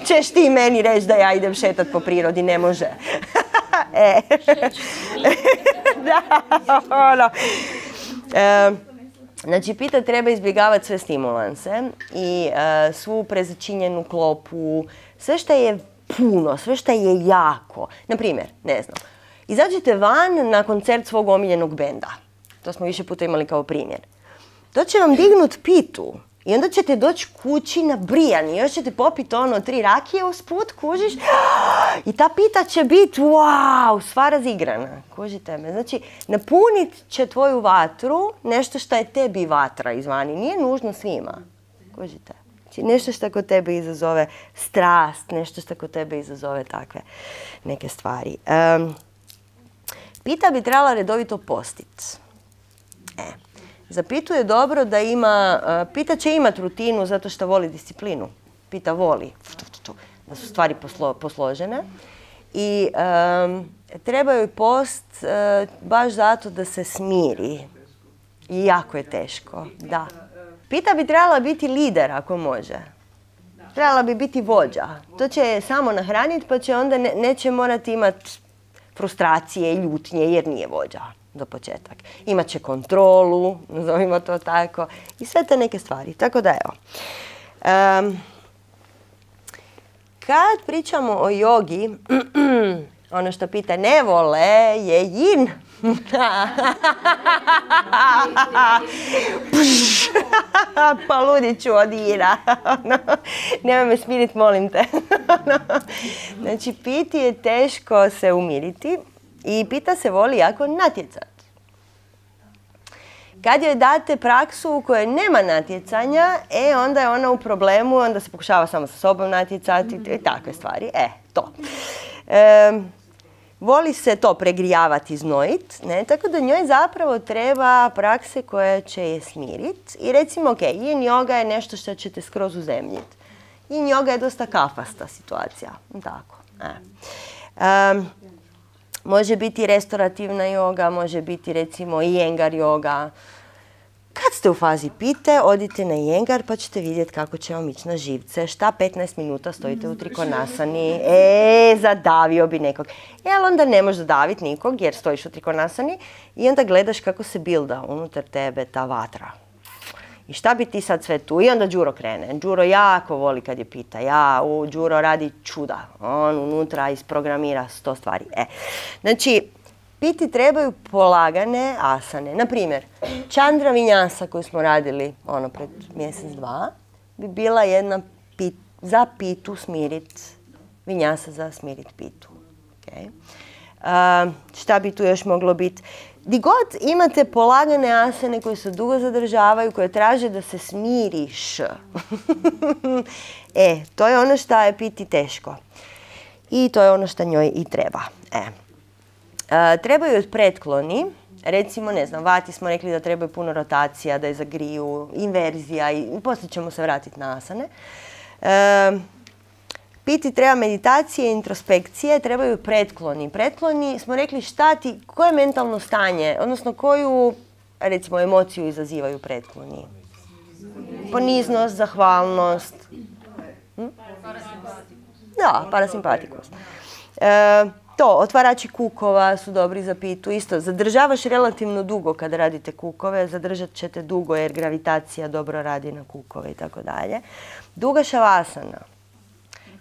A: Ćeš ti meni reći da ja idem šetat po prirodi, ne može. Znači, pita treba izbjegavati sve stimulanse i svu prezačinjenu klopu, sve što je puno, sve što je jako. Naprimjer, ne znam, izađete van na koncert svog omiljenog benda. To smo više puta imali kao primjer. To će vam dignut pitu i onda ćete doći kući nabrijani. Još ćete popiti 3 rakije usput, kužiš. I ta pita će biti, wow, sva razigrana. Kužite me. Znači, napunit će tvoju vatru nešto što je tebi vatra izvani. Nije nužno svima. Kužite. Znači, nešto što kod tebe izazove strast, nešto što kod tebe izazove takve neke stvari. Pita bi trebala redovito postiti. Za pitu je dobro da ima, pita će imati rutinu zato što voli disciplinu. Pita voli da su stvari posložene. I treba joj post baš zato da se smiri. I jako je teško, da. Pita bi trebala biti lider ako može. Trebala bi biti vođa. To će je samo nahraniti pa će onda neće morati imati frustracije i ljutnje jer nije vođa. za početak. Imaće kontrolu, nazovimo to tako, i sve te neke stvari. Tako da evo. Kad pričamo o jogi, ono što pita ne vole je yin. Pa ludit ću od jina. Nemoj me smiriti, molim te. Znači, piti je teško se umiriti i pita se voli jako natjecati. Kad joj date praksu u kojoj nema natjecanja, onda je ona u problemu, onda se pokušava samo sa sobom natjecati i takve stvari. To. Voli se to pregrijavati, znojit, tako da njoj zapravo treba prakse koje će je smiriti. I recimo, yin yoga je nešto što ćete skroz uzemljiti. Yin yoga je dosta kafasta situacija. Tako. Može biti restaurativna joga, može biti recimo Iyengar joga. Kad ste u fazi pite, odite na Iyengar pa ćete vidjeti kako će vam ići na živce. Šta 15 minuta stojite u trikonasani? Zadavio bi nekog. Ali onda ne možeš zadaviti nikog jer stojiš u trikonasani i onda gledaš kako se bilda unutar tebe ta vatra. I šta bi ti sad sve tu? I onda Đuro krene. Đuro jako voli kad je pita. Đuro radi čuda. On unutra isprogramira 100 stvari. Znači, piti trebaju polagane asane. Naprimjer, Chandra Vinyasa koju smo radili pred mjesec, dva, bi bila jedna za pitu smirit, Vinyasa za smirit pitu. Šta bi tu još moglo biti? Di god imate polagane asane koje se dugo zadržavaju, koje traže da se smiriš. To je ono što je piti teško. I to je ono što njoj i treba. Trebaju pretkloni. Recimo, ne znam, vati smo rekli da trebaju puno rotacija, da je zagriju, inverzija i poslije ćemo se vratiti na asane. Piti treba meditacije, introspekcije, trebaju pretkloni. Pretkloni smo rekli koje mentalno stanje, odnosno koju, recimo, emociju izazivaju pretkloni. Poniznost, zahvalnost. Da, parasimpatikus. Otvarači kukova su dobri za pitu. Isto, zadržavaš relativno dugo kada radite kukove, zadržat ćete dugo jer gravitacija dobro radi na kukove i tako dalje. Duga šavasana.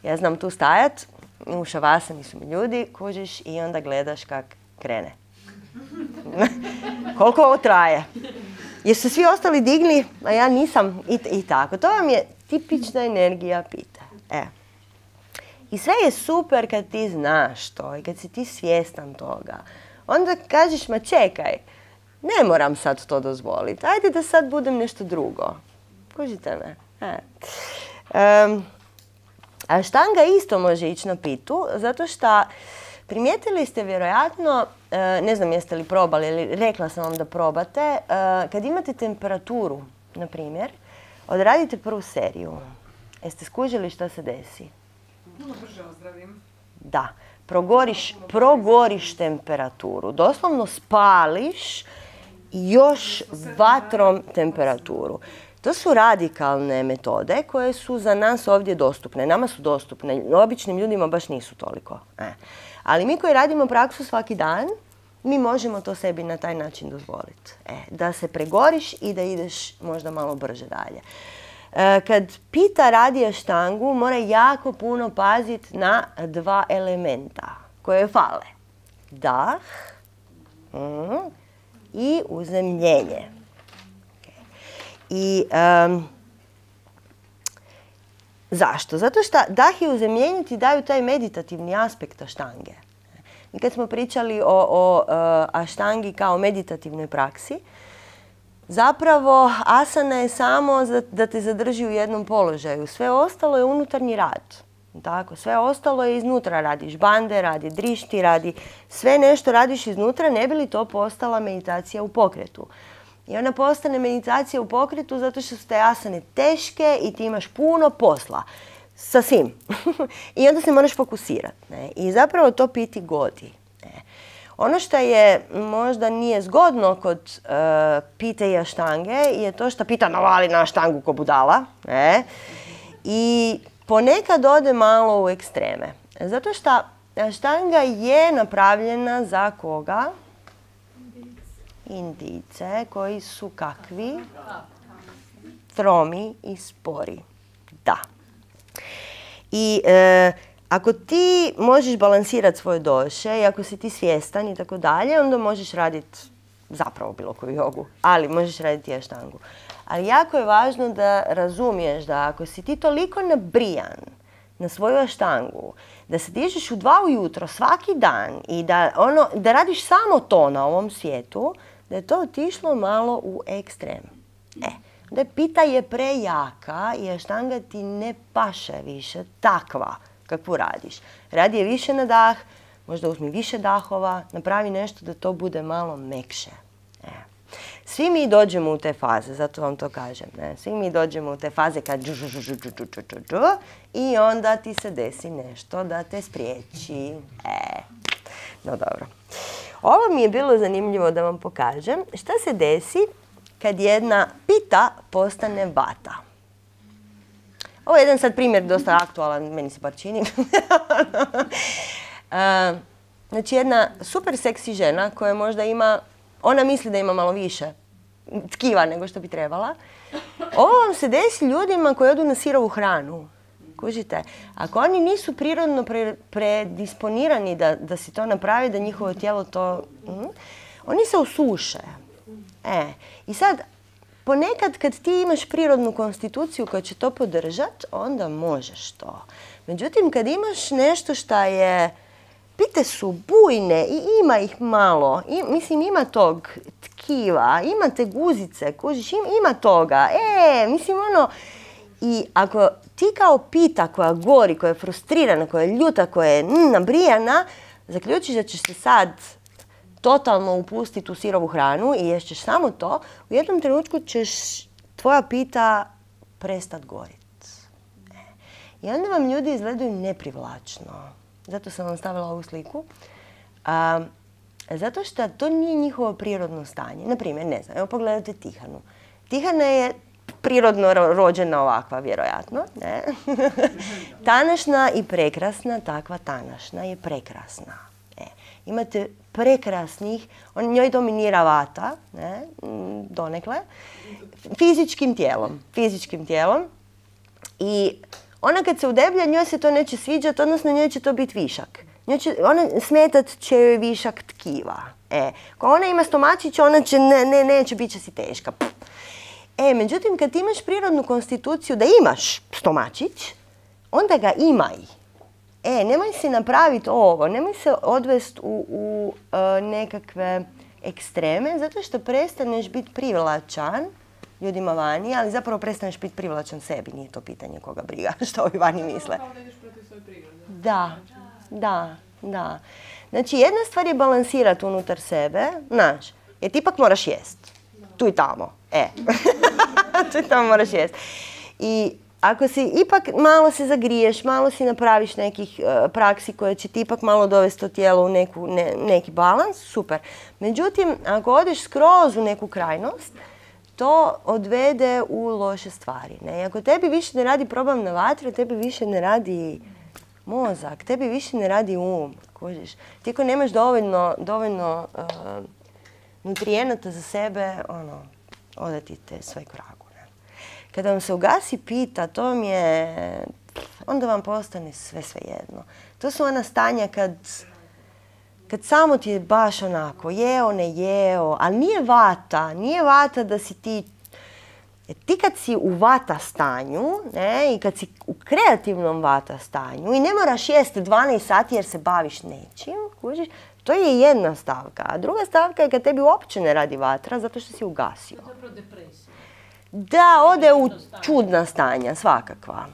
A: Ja znam tu stajat, u šavasani su mi ljudi, kužiš i onda gledaš kak krene. Koliko ovo traje? Jesu svi ostali digli, a ja nisam i tako. To vam je tipična energija pite. I sve je super kad ti znaš to i kad si ti svjestan toga. Onda kažeš, ma čekaj, ne moram sad to dozvoliti. Ajde da sad budem nešto drugo. Kužite me? A štanga isto može ići na pitu, zato što primijetili ste vjerojatno, ne znam jeste li probali, ili rekla sam vam da probate, kad imate temperaturu, na primjer, odradite prvu seriju. Jeste skužili šta se desi?
B: Puno brže ozdravim.
A: Da. Progoriš temperaturu. Doslovno spališ još vatrom temperaturu. To su radikalne metode koje su za nas ovdje dostupne. Nama su dostupne. Običnim ljudima baš nisu toliko. Ali mi koji radimo praksu svaki dan, mi možemo to sebi na taj način dozvoliti. Da se pregoriš i da ideš možda malo brže dalje. Kad pita radi aštangu, mora jako puno paziti na dva elementa koje fale. Dah i uzemljenje. I zašto? Zato što dah i uzemljenje ti daju taj meditativni aspekt aštange. I kad smo pričali o aštangi kao meditativnoj praksi, zapravo asana je samo da te zadrži u jednom položaju. Sve ostalo je unutarnji rad. Tako, sve ostalo je iznutra. Radiš bande, radi drišti, radi sve nešto radiš iznutra, ne bi li to postala meditacija u pokretu. I ona postane meditacija u pokretu zato što su te asane teške i ti imaš puno posla. Sa svim. I onda se moraš fokusirati. I zapravo to piti godi. Ono što je možda nije zgodno kod pite i aštange je to što pita navali na aštangu ko budala. I ponekad ode malo u ekstreme. Zato što aštanga je napravljena za koga? Indijce koji su kakvi? Tromi i spori. Da. I ako ti možeš balansirati svoje doše i ako si ti svjestan i tako dalje, onda možeš raditi zapravo bilo koju jogu, ali možeš raditi i aštangu. Ali jako je važno da razumiješ da ako si ti toliko nabrijan na svoju aštangu, da se dižeš u 2 ujutro svaki dan i da radiš samo to na ovom svijetu, da je to otišlo malo u ekstrem. Da pita je prejaka i aštanga ti ne paše više takva kakvu radiš. Radi je više na dah, možda uzmi više dahova, napravi nešto da to bude malo mekše. Svi mi dođemo u te faze, zato vam to kažem. Svi mi dođemo u te faze kad i onda ti se desi nešto da te spriječi. No dobro. Ovo mi je bilo zanimljivo da vam pokažem. Šta se desi kad jedna pita postane vata? Ovo je jedan sad primjer dosta aktualan, meni se bar čini. Znači jedna super seksi žena koja možda ima, ona misli da ima malo više tkiva nego što bi trebala. Ovo vam se desi ljudima koji odu na sirovu hranu. Kužite? Ako oni nisu prirodno predisponirani da si to napravi, da njihovo tijelo to... oni se usuše. I sad, ponekad kad ti imaš prirodnu konstituciju koja će to podržati, onda možeš to. Međutim, kad imaš nešto šta je... Pite su bujne i ima ih malo. Mislim, ima tog tkiva, ima te guzice, kužiš, ima toga. Mislim, I ako ti kao pita koja gori, koja je frustrirana, koja je ljuta, koja je nabrijana, zaključiš da ćeš se sad totalno upustiti u sirovu hranu i ješćeš samo to, u jednom trenutku ćeš tvoja pita prestat gorit. I onda vam ljudi izgledaju neprivlačno. Zato sam vam stavila ovu sliku. Zato što to nije njihovo prirodno stanje. Naprimjer, ne znam, evo pogledajte Tihanu. Tihana je prirodno rođena ovakva, vjerojatno. Ne? Tanašna i prekrasna, takva tanašna je prekrasna. Imate prekrasnih, njoj dominira vata, ne? Donekle, fizičkim tijelom. I ona kad se udeblja, njoj se to neće sviđati, odnosno njoj će to biti višak. Smetat će joj višak tkiva. Ako ona ima stomačić, ona će, neće, bit će si teška. Međutim, kad ti imaš prirodnu konstituciju da imaš stomačić, onda ga imaj. Nemoj si napraviti ovo, nemoj se odvesti u nekakve ekstreme, zato što prestaneš biti privlačan ljudima vani, ali zapravo prestaneš biti privlačan sebi, nije to pitanje koga briga, što ovi vani misle.
B: Kao da ideš protiv svoje prirode.
A: Da. Znači, jedna stvar je balansirati unutar sebe, znaš, jer ti ipak moraš jest. Tu i tamo. Tu i tamo moraš jest. I ako si ipak malo se zagriješ, malo si napraviš nekih praksi koje će ti ipak malo dovesti to tijelo u neki balans, super. Međutim, ako odeš skroz u neku krajnost, to odvede u loše stvari. I ako tebi više ne radi probavna vatra, tebi više ne radi mozak, tebi više ne radi kužiš. Ti ako nemaš dovoljno nutrijenata za sebe, ode ti te sve k vragu. Kada vam se ugasi pita, to vam je, onda vam postane sve jedno. To su ona stanja kad samo ti je baš onako, jeo, ne jeo, ali nije vata da si ti, kad si u vata stanju, i kad si u kreativnom vata stanju i ne moraš jesti 12 sati jer se baviš nečim, kužiš, to je jedna stavka. A druga stavka je kad tebi uopće ne radi vatra zato što si ugasio.
C: Zapravo depresija.
A: Da, ode u čudna stanja, svakakva.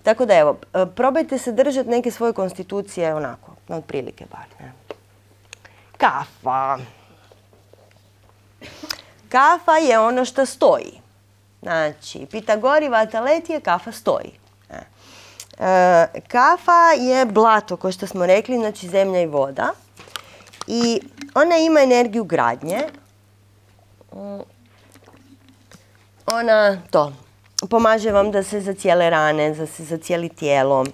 A: Tako da evo, probajte se držati neke svoje konstitucije onako, otprilike bar. Kafa. Kafa je ono što stoji. Znači, Pitagori vataletije, kafa stoji. Kafa je blato, kao što smo rekli, znači zemlja i voda. I ona ima energiju gradnje. Ona pomaže vam da se zacijele rane, da se zacijeli tijelo.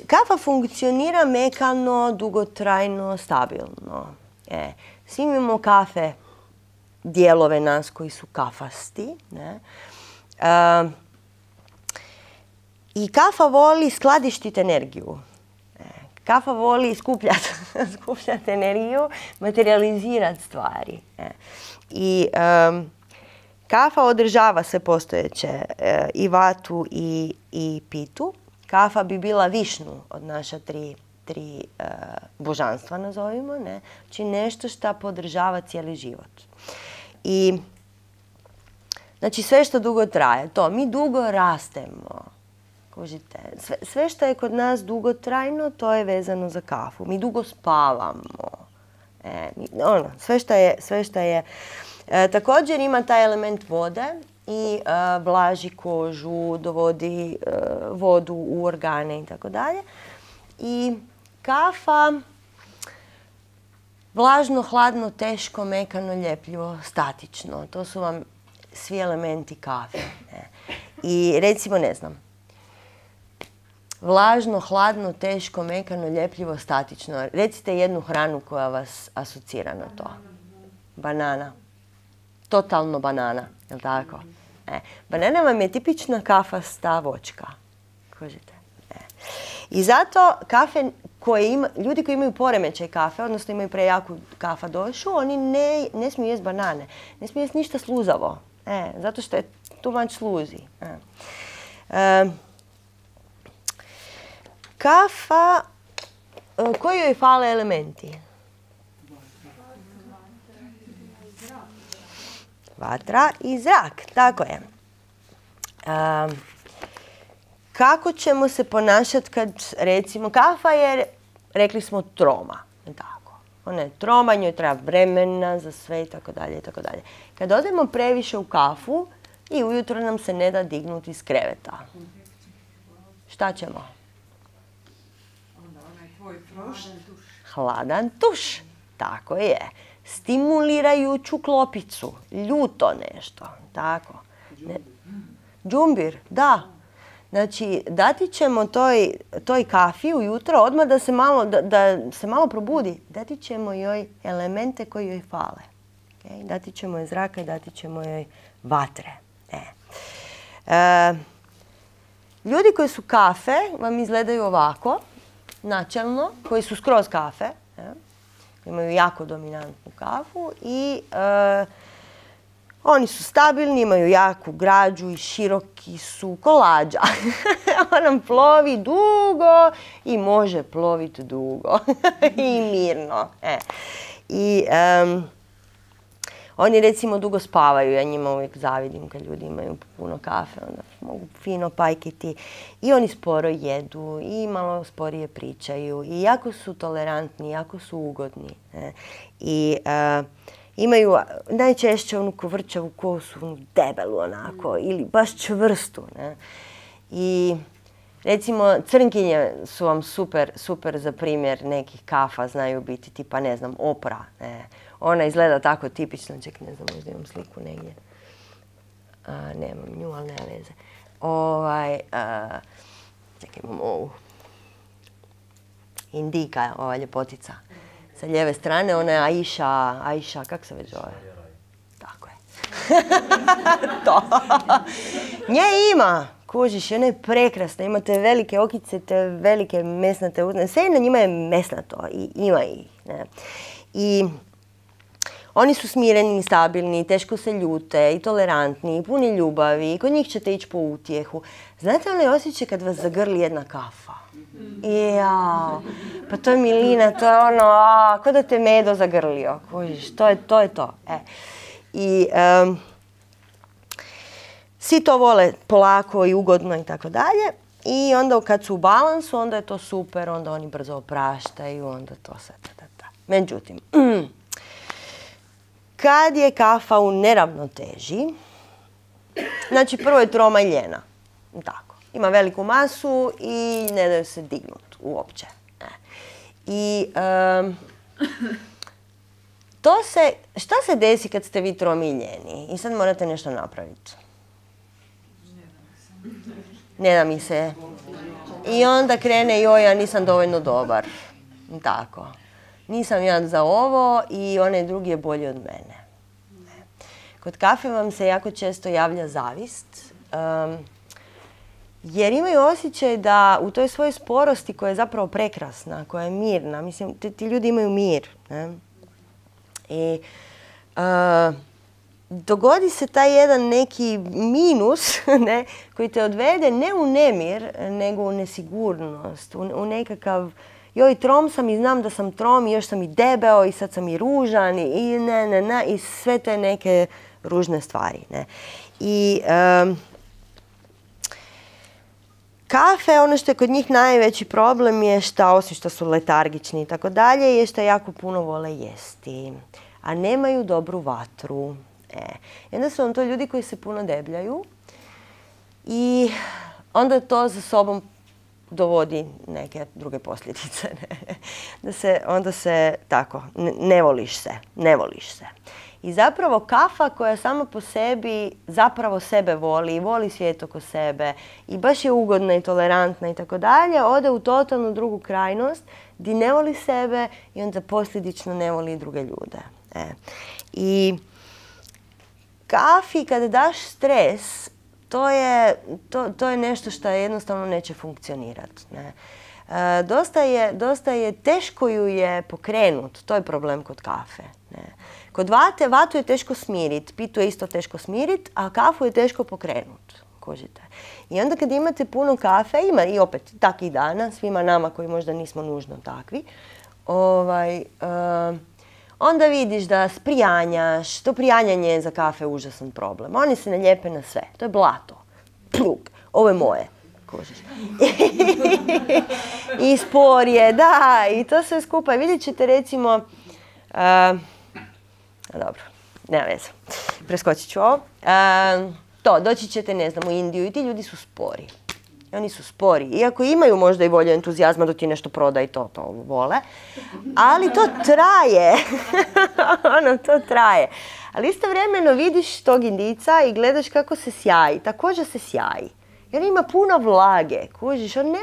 A: Kafa funkcionira mekano, dugotrajno, stabilno. Svi imamo kafe, dijelove nas koji su kafasti. Ne? I kafa voli skladištiti energiju. Kafa voli skupljati energiju, materializirati stvari. I kafa održava sve postojeće, i vatu i pitu. Kafa bi bila višnu od naša tri božanstva, nazovimo. Ne? Znači nešto što podržava cijeli život. I znači sve što dugo traje, to mi dugo rastemo. Kužite, sve što je kod nas dugotrajno, to je vezano za kafu. Mi dugo spavamo. Sve što je. Također ima taj element vode i vlaži kožu, dovodi vodu u organe i tako dalje. I kafa vlažno, hladno, teško, mekano, ljepljivo, statično. To su vam svi elementi kafe. I recimo, ne znam, vlažno, hladno, teško, mekano, ljepljivo, statično. Recite jednu hranu koja vas asocira na to. Banana. Totalno banana, je li tako? Banana vam je tipična kafasta voćka. Kužite? I zato kafe ljudi koji imaju poremećaj kafe, odnosno imaju prejaku kafa došu, oni ne smiju jesti banane. Ne smiju jesti ništa sluzavo. Zato što je too much sluzi. Kafa, koji joj fale elementi? Vatra i zrak, tako je. Kako ćemo se ponašati kad, recimo, kafa je, rekli smo, troma. Tako. Ona je troma, njoj treba vremena za sve i tako dalje i tako dalje. Kad odemo previše u kafu i ujutro nam se ne da dignuti iz kreveta. Šta ćemo? Hladan tuš. Tako je. Stimulirajuću klopicu. Ljuto nešto. Tako. Džumbir, da. Znači, dati ćemo toj kafi ujutro, odmah da se malo probudi. Dati ćemo joj elemente koji joj fale. Dati ćemo joj zraka i dati ćemo joj vatre. Ljudi koji su kafe vam izgledaju ovako, načelno, koji su skroz kafe. Imaju jako dominantnu kafu i oni su stabilni, imaju jaku građu i široki su kolađa. Ona plovi dugo i može ploviti dugo i mirno. I oni recimo dugo spavaju, ja njima uvijek zavidim kad ljudi imaju puno kafe, onda mogu fino pajkiti. I oni sporo jedu i malo sporije pričaju i jako su tolerantni, jako su ugodni. I imaju najčešće onu kovrčavu kosu, debelu onako, ili baš čvrstu. I recimo crnkinje su vam super za primjer nekih kafa, znaju biti tipa, ne znam, Opra. Ona izgleda tako tipično, čekaj, ne znam, možda imam sliku negdje. Nemam nju, ali nema veze. Čekaj, imam ovu. Indika, ova ljepotica. Sa lijeve strane, ona je Aisha, kak se već zove? Tako je. To. Nje ima, kužiš, ona je prekrasna, imate velike okice, te velike mesnate uzne. Sve na njima je mesnato i ima ih. I oni su smireni, stabilni, teško se ljute i tolerantni, i puni ljubavi, i kod njih ćete ići po utjehu. Znate onaj osjećaj kad vas zagrli jedna kafa? Jao, pa to je milina, to je ono, ko da te medo zagrlio, kužiš, to je to. I svi to vole polako i ugodno i tako dalje. I onda kad su u balansu, onda je to super, onda oni brzo opraštaju, onda to sve. Međutim, kad je kafa u neravnoteži, znači prvo je troma i ljena. Tako. Ima veliku masu i ne daju se dignuti uopće. I šta se desi kad ste vi tromi i ljeni? I sad morate nešto napraviti. ne da mi se. I onda krene, joj, ja nisam dovoljno dobar. Tako. Nisam ja za ovo i onaj drugi je bolji od mene. Kod kafe vam se jako često javlja zavist. Jer imaju osjećaj da u toj svojoj sporosti koja je zapravo prekrasna, koja je mirna, mislim, ti ljudi imaju mir. Ne? I dogodi se taj jedan neki minus, ne, koji te odvede ne u nemir, nego u nesigurnost, u nekakav, joj, trom sam i znam da sam trom i još sam i debeo i sad sam i ružan i i sve te neke ružne stvari. Ne. I kafe, ono što je kod njih najveći problem je što, osim što su letargični i tako dalje, je što jako puno vole jesti, a nemaju dobru vatru. I onda su vam to ljudi koji se puno debljaju i onda to za sobom dovodi neke druge posljedice. Onda se tako, ne voliš se. I zapravo kafa koja sama po sebi zapravo sebe voli i voli svijet oko sebe i baš je ugodna i tolerantna i tako dalje, ode u totalnu drugu krajnost gdje ne voli sebe i onda posljedično ne voli i druge ljude. I kafi kada daš stres, to je nešto što jednostavno neće funkcionirati. Dosta je teško ju je pokrenut, to je problem kod kafe. Kod vatu je teško smiriti, pitu je isto teško smiriti, a kafu je teško pokrenut. Kužite. I onda kad imate puno kafe, ima i opet takvih dana, svima nama koji možda nismo nužno takvi, onda vidiš da sprijanjaš, to prijanjanje je za kafe užasan problem. Oni se ne lijepe na sve, to je blato, plug, ovo je moje. Kužiš. I spor je, da, i to sve skupa. Vidjet ćete recimo, dobro, nema veze, preskočit ću ovo. Doći ćete, ne znam, u Indiju i ti ljudi su spori. Oni su spori. Iako imaju možda i volju entuzijazma da ti nešto proda i to vole. Ali to traje. To traje. Ali istovremeno vidiš tog Indijca i gledaš kako se sjaji. Također se sjaji. Jer ima puno vlage. Kužiš, on ne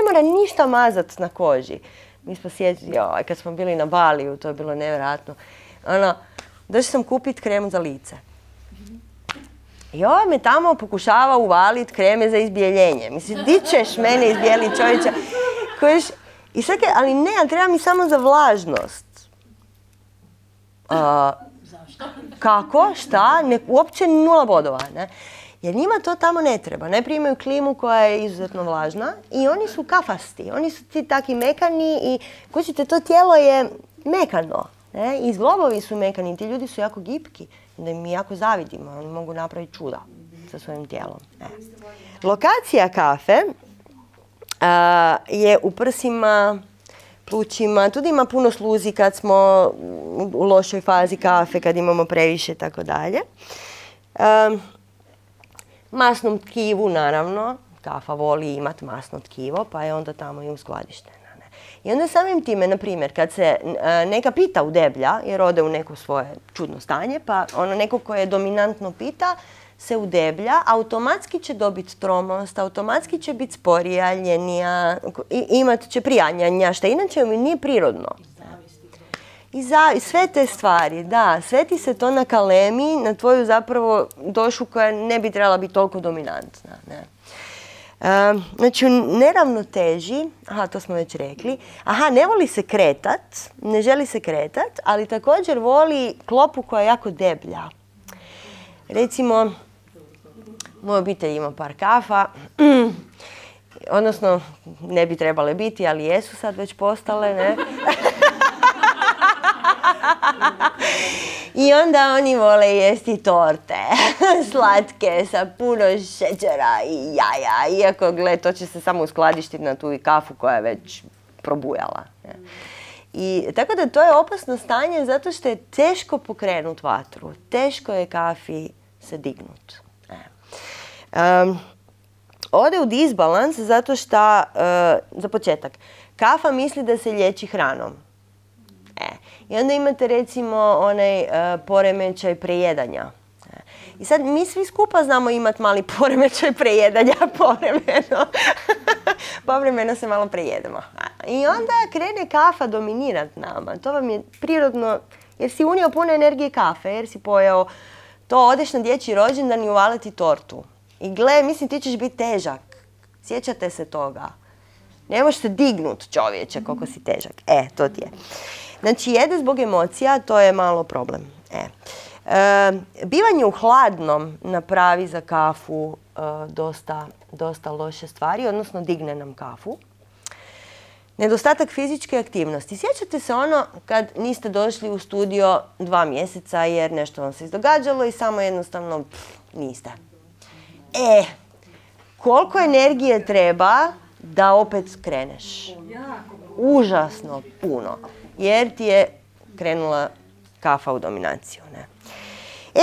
A: mora ništa mazati na koži. Mi smo sjetili, kad smo bili na Baliju, to je bilo nevjerojatno. Došla sam kupiti kremu za lice. I ovaj me tamo pokušava uvaliti kreme za izbjeljenje. Mislim, di ćeš mene izbjeliti, čovječe? I sad, ali ne, treba mi samo za vlažnost.
C: Zašto?
A: Kako? Šta? Uopće 0 bodova, ne? Jer njima to tamo ne treba. Najprije imaju klimu koja je izuzetno vlažna i oni su kafasti. Oni su ti taki mekani i kućite, to tijelo je mekano. Ne? I zglobovi su mekani, ti ljudi su jako gipki. Da mi jako zavidimo, oni mogu napraviti čuda sa svojim tijelom. Lokacija kafe je u prsima, plućima, tu ima puno sluzi kad smo u lošoj fazi kafe, kad imamo previše i tako dalje. Masnom tkivu, naravno, kafa voli imati masno tkivo, pa je onda tamo i uskladištena. I onda samim time, na primjer, kad se neka pita udeblja, jer ode u neko svoje čudno stanje, pa neko koje dominantno pita se udeblja, automatski će dobiti tromost, automatski će biti sporija, ljenija, imat će prijanjanja, što inače mi nije prirodno. I sve te stvari, da, sve ti se to nakalemi na tvoju zapravo došu koja ne bi trebala biti toliko dominantna. Ne? Znači u neravnoteži, to smo već rekli, ne voli se kretat, ne želi se kretat, ali također voli klopu koja je jako deblja. Recimo, moja obitelj ima par kafa, odnosno ne bi trebale biti, ali jesu sad već postale, ne? I onda oni vole jesti torte, slatke, sa puno šećera i jaja, iako, gle, to će se samo uskladištiti na tu kafu koja je već probujala. I tako da to je opasno stanje zato što je teško pokrenuti vatru, teško je kafi se dignut. Ode u disbalans zato što, za početak, kafa misli da se liječi hranom. I onda imate recimo onaj poremećaj prejedanja. I sad mi svi skupa znamo imati mali poremećaj prejedanja povremeno. Povremeno se malo prejedemo. I onda krene kafa dominirati nama. To vam je prirodno, jer si unio puno energije kafe, jer si pojeo to, odeš na dječji rođendan i uvaliti tortu. I gle, mislim ti ćeš biti težak. Sjećate se toga. Ne možeš se dignut, čovječe, koliko si težak. To ti je. Znači, jede zbog emocija, to je malo problem. Bivanje u hladnom napravi za kafu dosta loše stvari, odnosno digne nam kafu. Nedostatak fizičke aktivnosti. Sjećate se ono kad niste došli u studio 2 mjeseca jer nešto vam se izdogađalo i samo jednostavno niste. Koliko energije treba da opet kreneš? Užasno puno. Jer ti je krenula kafa u dominaciju. Ne?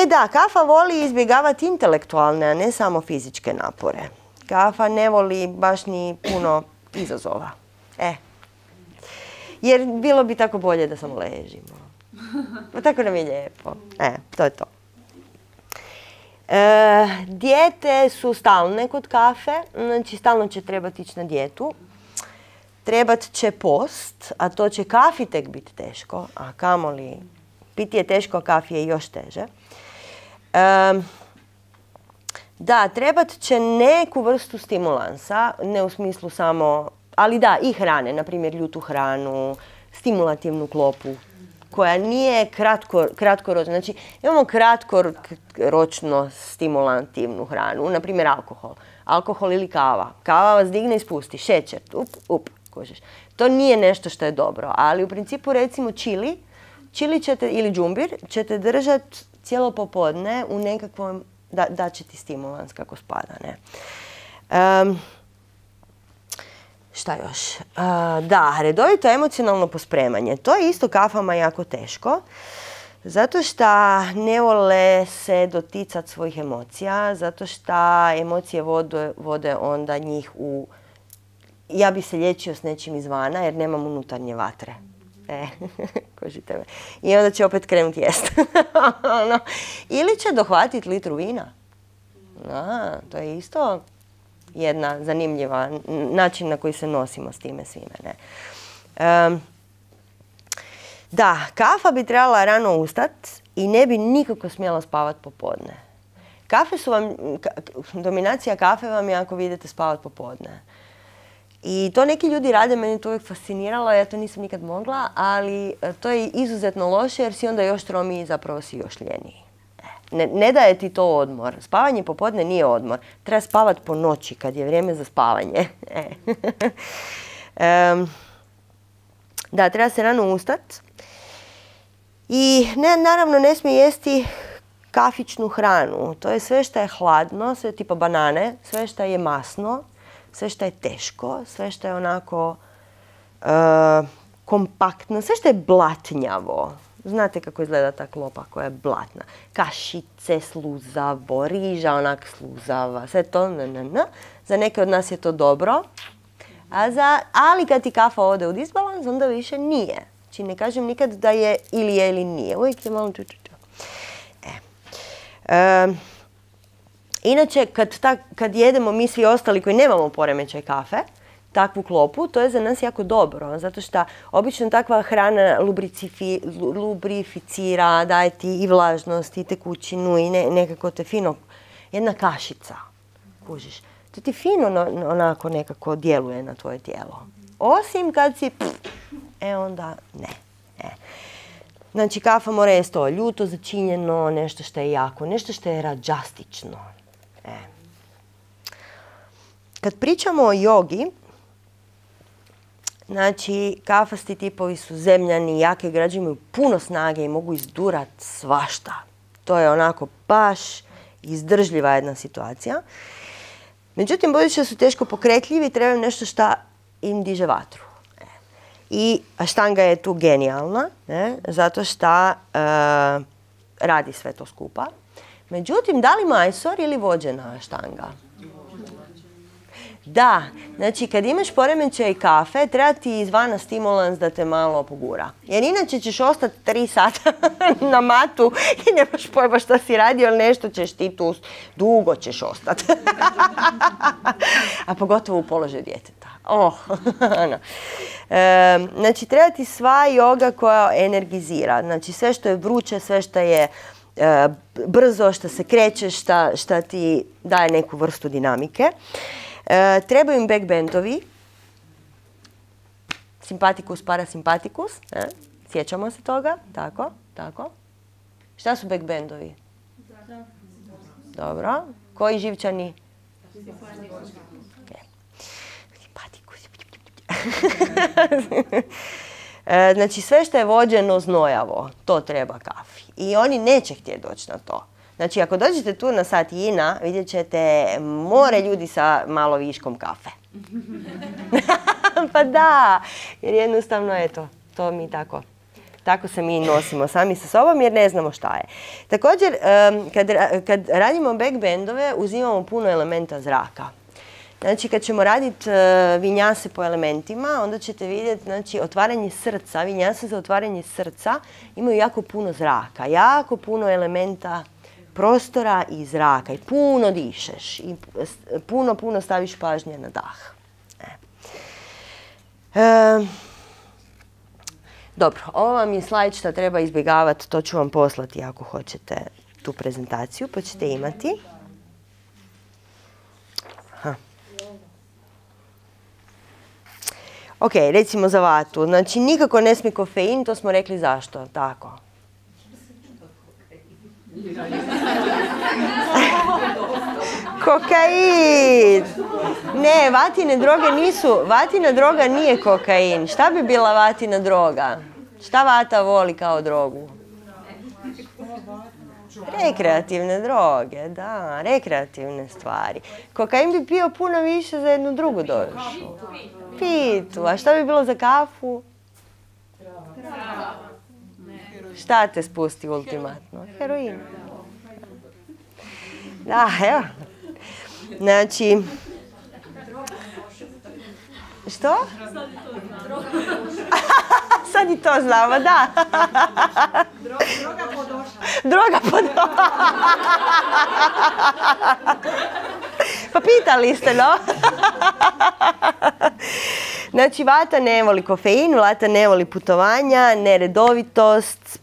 A: Da, kafa voli izbjegavati intelektualne, a ne samo fizičke napore. Kafa ne voli baš ni puno izazova. Jer bilo bi tako bolje da samo ležimo. Pa tako nam je lijepo. To je to. Dijete su stalne kod kafe, znači stalno će trebati ići na dijetu. Trebat će post, a to će kafi tek biti teško, a kamoli piti je teško, a kafi je još teže. Da, trebat će neku vrstu stimulansa, ne u smislu samo, ali da, i hrane, na primjer ljutu hranu, stimulativnu klopu, koja nije kratkoročna. Znači, imamo kratkoročno stimulativnu hranu, na primjer alkohol. Alkohol ili kava. Kava vas digne i spusti, šećer, kužiš. To nije nešto što je dobro, ali u principu recimo čili ćete, ili džumbir ćete držati cijelo popodne u nekakvom, da će ti stimulans kako spada, ne. Šta još? Da, redovito emocionalno pospremanje. To je isto kafama jako teško, zato što ne vole se doticati svojih emocija, zato što emocije vode onda njih u... Ja bi se liječio s nečim izvana jer nemam unutarnje vatre. Kožite me. I onda će opet krenuti jest. Ili će dohvatiti litru vina. To je isto jedna zanimljiva način na koji se nosimo s time svime. Ne? Da, kafa bi trebala rano ustati i ne bi nikako smjela spavati popodne. Dominacija kafe vam je ako vi idete spavati popodne. I to neki ljudi rade, meni to uvijek fasciniralo, ja to nisam nikad mogla, ali to je izuzetno loše jer si onda još tromiji i zapravo si još ljeniji. Ne daje ti to odmor. Spavanje popodne nije odmor. Treba spavati po noći kad je vrijeme za spavanje. Da, treba se rano ustati. I naravno ne smije jesti kafičnu hranu. To je sve što je hladno, sve tipa banane, sve što je masno, sve što je teško, sve što je onako kompaktno, sve što je blatnjavo. Znate kako izgleda ta klopa koja je blatna. Kašice, sluzavo, riža onak sluzava, sve to. Za neke od nas je to dobro. Ali kad ti kafa ode u disbalans, onda više nije. Znači ne kažem nikad da je ili nije. Uvijek je malo Inače, kad jedemo mi svi ostali koji nemamo poremećaj kafe, takvu klopu, to je za nas jako dobro, zato što obično takva hrana lubrificira, daje ti i vlažnost, i tekućinu, i nekako te fino, jedna kašica, kužiš. To ti fino onako nekako djeluje na tvoje tijelo. Osim kad si, onda ne. Znači, kafa mora jesti to ljuto začinjeno, nešto što je jako, nešto što je rađastično. Kad pričamo o jogi, znači, kafasti tipovi su zemljani, jake građe, imaju puno snage i mogu izdurat svašta. To je onako baš izdržljiva jedna situacija. Međutim, budući da su teško pokretljivi, trebaju nešto što im diže vatru. I aštanga je tu genijalna, zato što radi sve to skupa. Međutim, da li majstor ili vođena aštanga? Da, znači kad imaš poremećaj kafe, treba ti izvana stimulans da te malo pogura. Jer inače ćeš ostati 3 sata na matu i nemaš pojma šta si radio, ali nešto ćeš ti tu, dugo ćeš ostati. A pogotovo u položaju djeteta. Znači treba ti sva joga koja energizira. Znači sve što je vruće, sve što je brzo, što se kreće, šta ti daje neku vrstu dinamike. Trebaju im backbendovi, simpatikus, parasimpatikus, sjećamo se toga, tako. Šta su backbendovi? Dobro, koji živčani? Simpatikus. Znači sve što je vođeno znojavo, to treba kafi. I oni neće htjeti doći na to. Znači, ako dođete tu na sat Jina, vidjet ćete more ljudi sa malo viškom kafe. Pa da, jer jednostavno, eto, to mi tako se mi nosimo sami sa sobom jer ne znamo šta je. Također, kad radimo backbendove, uzimamo puno elementa zraka. Znači, kad ćemo raditi vinjase po elementima, onda ćete vidjeti, znači, otvaranje srca, vinjase za otvaranje srca imaju jako puno zraka, jako puno elementa prostora i zraka i puno dišeš i puno staviš pažnje na dah. Dobro, ovo vam je slajd što treba izbjegavati, to ću vam poslati ako hoćete tu prezentaciju, pa ćete imati. Ok, recimo za vatu. Znači, nikako ne smije kofein, to smo rekli zašto, tako. Kokain! Ne, vatine droge nisu, vatina droga nije kokain. Šta bi bila vatina droga? Šta vata voli kao drogu? Rekreativne droge, da, rekreativne stvari. Kokain bi pio puno više za jednu drugu došu. Pitu, a šta bi bilo za kafu? Šta te spusti ultimatno? Heroin. Da, evo. Znači... Što? Sad i to znamo, da. Droga podoša. Pa pitali ste, no? Znači, vata ne voli kofein, vata ne voli putovanja, neredovitost,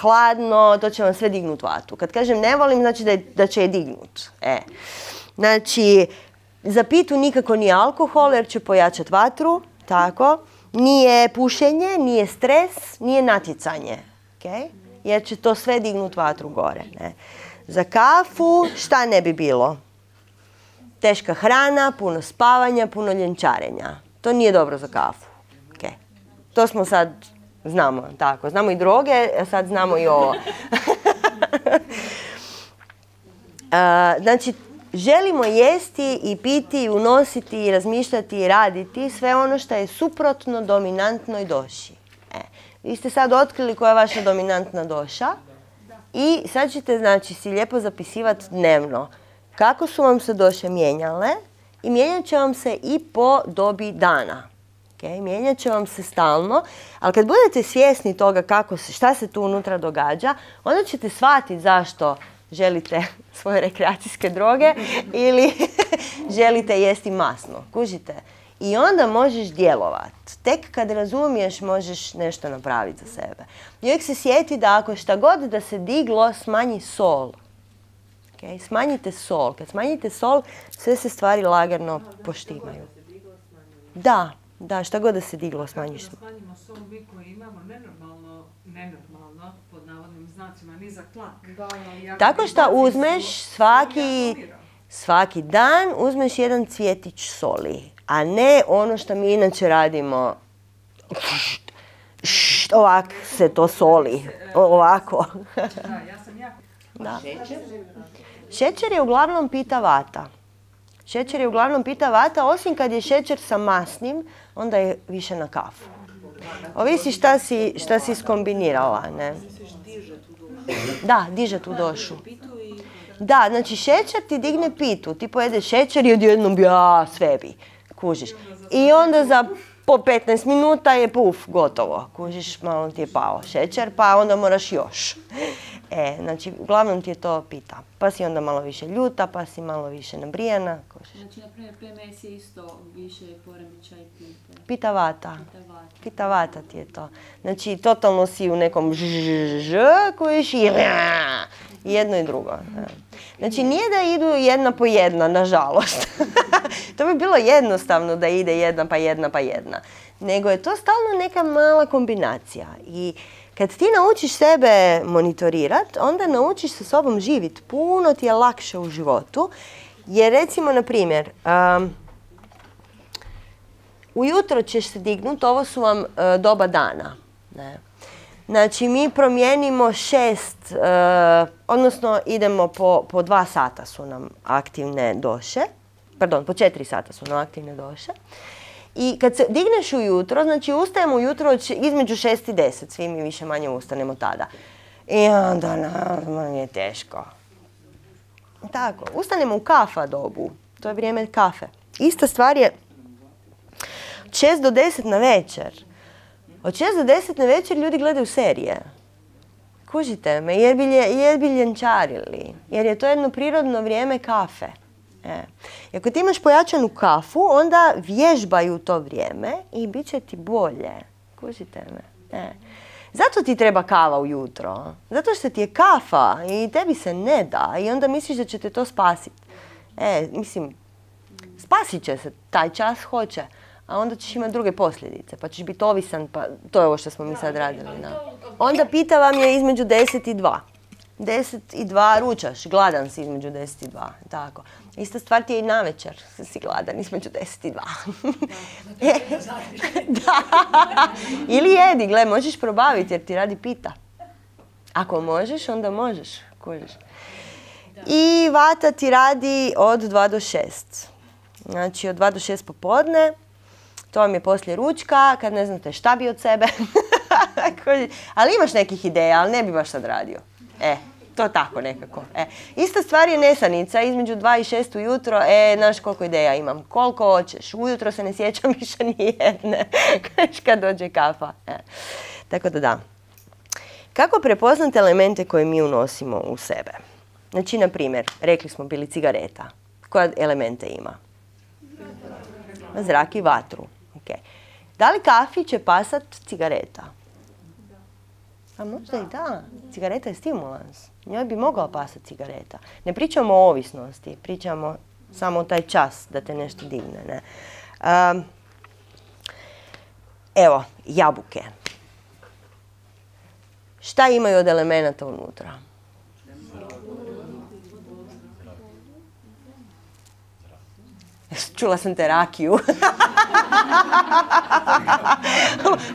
A: hladno, to će vam sve dignuti vatu. Kad kažem ne volim, znači da će je dignut. Znači, za pitu nikako nije alkohol jer će pojačati vatru, tako. Nije pušenje, nije stres, nije natjecanje, jer će to sve dignuti vatru gore. Za kafu šta ne bi bilo? Teška hrana, puno spavanja, puno ljenčarenja. To nije dobro za kafu. To smo sad, znamo, tako. Znamo i droge, a sad znamo i ovo. Znači, želimo jesti i piti, unositi, razmišljati i raditi sve ono što je suprotno dominantnoj doši. Vi ste sad otkrili koja je vaša dominantna doša i sad ćete, znači, si lijepo zapisivati dnevno kako su vam se doše mijenjale i mijenjat će vam se i po dobi dana. Mijenjat će vam se stalno, ali kad budete svjesni toga šta se tu unutra događa, onda ćete shvatiti zašto želite svoje rekreacijske droge ili želite jesti masno. Kužite? I onda možeš djelovati. Tek kad razumiješ možeš nešto napraviti za sebe. I uvijek se sjeti da ako šta god da se diglo, smanji sol. Smanjite sol. Kad smanjite sol, sve se stvari lagano poštimaju. Da, šta god da se diglo, smanjiš.
B: Smanjimo sol, mi koji imamo nenormalno, pod navodnim znacima, nizak tlak.
A: Tako što uzmeš svaki dan, uzmeš jedan cvjetić soli, a ne ono što mi inače radimo. Ovako se to soli. Ovako. Da. Šećer je uglavnom pita vata. Osim kad je šećer sa masnim, onda je više na kafu. Ovisi šta si skombinirala, ne? Da, diže tu došu. Da, znači šećer ti digne pitu, ti pojedeš šećer i odjednom sve bi, kužiš. I onda za po 15 minuta je gotovo, kužiš, malo ti je pao šećer, pa onda moraš još. Znači, uglavnom ti je to pita. Pa si onda malo više ljuta, pa si malo više nabrijana. Kužiš.
C: Znači, na primjer, PMS je isto više poremećaj pite.
A: Pita vata ti je to. Znači, totalno si u nekom kužiš i jedno i drugo. Znači, nije da idu jedna po jedna, nažalost. To bi bilo jednostavno da ide jedna pa jedna pa jedna. Nego je to stalno neka mala kombinacija. I kad ti naučiš sebe monitorirati, onda naučiš sa sobom živjeti. Puno ti je lakše u životu. Jer recimo, na primjer, ujutro ćeš se dignuti, ovo su vam doba dana. Ne? Znači, mi promijenimo 6, odnosno idemo po 2 sata su nam aktivne doše. Pardon, po 4 sata su nam aktivne doše. I kad se digneš ujutro, znači ustajemo ujutro između 6 i 10, svi mi više manje ustanemo tada. I onda nam je teško. Tako, ustanemo u kafa dobu, to je vrijeme kafe. Ista stvar je 6 do 10 na večer. Od 6 do 10 na večer ljudi gledaju serije. Kužite me, jer bi ljenčarili. Jer je to jedno prirodno vrijeme kafe. I ako ti imaš pojačanu kafu, onda vježbaju to vrijeme i bit će ti bolje. Kužite me. Zato ti treba kava ujutro. Zato što ti je kafa i tebi se ne da i onda misliš da će te to spasiti. Mislim, spasit će se, taj čas hoće. A onda ćeš imati druge posljedice, pa ćeš biti ovisan, pa to je ovo što smo mi sad radili. Onda pita vam je između 10 i 2. 10 i 2 ručaš, gladan si između 10 i 2. Tako. Ista stvar ti je i navečer, si gladan između 10 i 2. Da. Ili jedi, gle, možeš probaviti jer ti radi pita. Ako možeš, onda možeš. Kužiš. I vata ti radi od 2 do 6. Znači od 2 do 6 popodne. To vam je poslije ručka, kad ne znate šta bi od sebe. Ali imaš nekih ideja, ali ne bi baš sad radio. To tako nekako. Ista stvar je nesanica, između 2 i 6 ujutro, znaš koliko ideja imam, koliko hoćeš, ujutro se ne sjećam više nijedne, kad dođe kafa. Tako da. Kako prepoznati elemente koje mi unosimo u sebe? Znači, na primjer, rekli smo bili cigareta. Koje elemente ima? Zrak i vatru. Okay. Da li kafi će pasat cigareta? A možda i da. Cigareta je stimulans. Njoj bi mogla pasati cigareta. Ne pričamo o ovisnosti, pričamo samo o taj čas da te nešto digne. Ne? Evo, jabuke. Šta imaju od elemenata unutra? Čula sam te rakiju.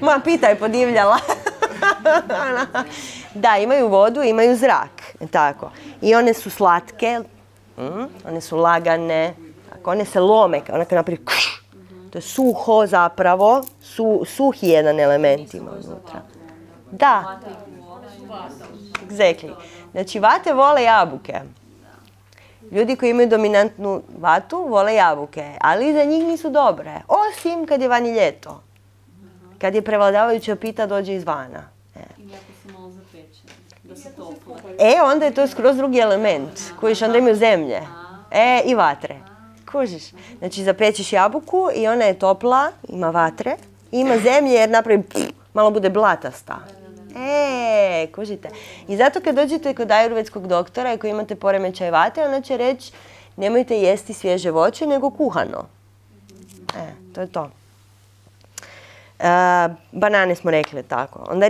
A: Moja pita je podivljala. Da, imaju vodu, imaju zrak. Tako. I one su slatke, one su lagane, tako, one se lome, onako napravi to je suho zapravo, suhi jedan element ima unutra. Da. Exactly. Znači, vate vole jabuke. Ljudi koji imaju dominantnu vatu vole jabuke, ali za njih nisu dobre. Osim kad je vani ljeto. Kad je prevladavajuća pita dođe izvana.
C: Ili ako se malo zapeče, da se toplo.
A: Onda je to skroz drugi element. Kužiš, onda imaju zemlje. I vatre. Kužiš. Znači, zapećeš jabuku i ona je topla, ima vatre, ima zemlje jer napravi malo bude blatasta. Kužite. I zato kad dođete kod ajurvedskog doktora i ako imate poremećaj vate, ona će reći nemojte jesti svježe voće nego kuhano. To je to. Banane smo rekli tako. Onda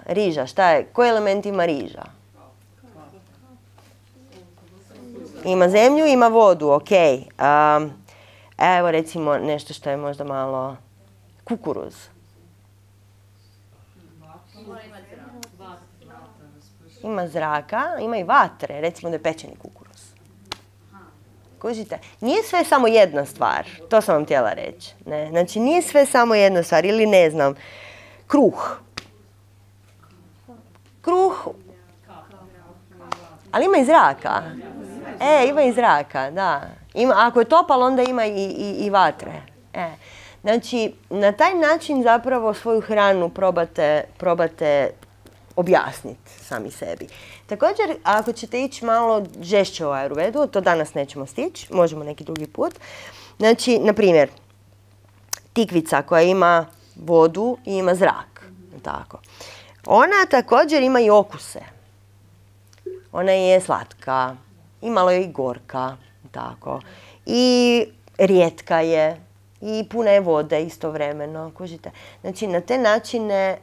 A: riža, šta je? Koji element ima riža? Ima zemlju, ima vodu, ok. Evo recimo nešto što je možda malo kukuruz. Ima zraka, ima i vatre, recimo da je pečeni kukuruz. Kužite? Nije sve samo jedna stvar, to sam vam htjela reći. Ne? Znači, nije sve samo jedna stvar, ili ne znam, kruh. Kruh, ali ima i zraka. Ima i zraka, da. Ako je topal, onda ima i vatre. Znači, na taj način zapravo svoju hranu probate objasniti sami sebi. Također, ako ćete ići malo žešće u Ayurvedu, to danas nećemo stići, možemo neki drugi put. Znači, na primjer, tikvica koja ima vodu i ima zrak. Tako. Ona također ima i okuse. Ona je slatka, i malo je i gorka. Tako. I rijetka je. I puna je vode istovremeno. Kužite? Znači, na te načine,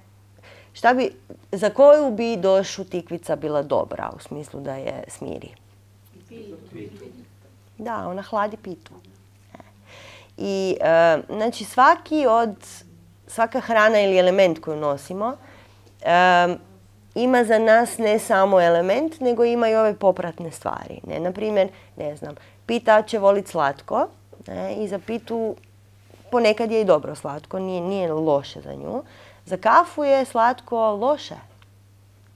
A: za koju bi došu tikvica bila dobra, u smislu da je smiri? Da, ona hladi pitu. I, znači, svaka hrana ili element koju nosimo ima za nas ne samo element, nego ima i ove popratne stvari. Naprimjer, ne znam, pita će voliti slatko i za pitu ponekad je i dobro slatko, nije loše za nju. Za kafu je slatko loše.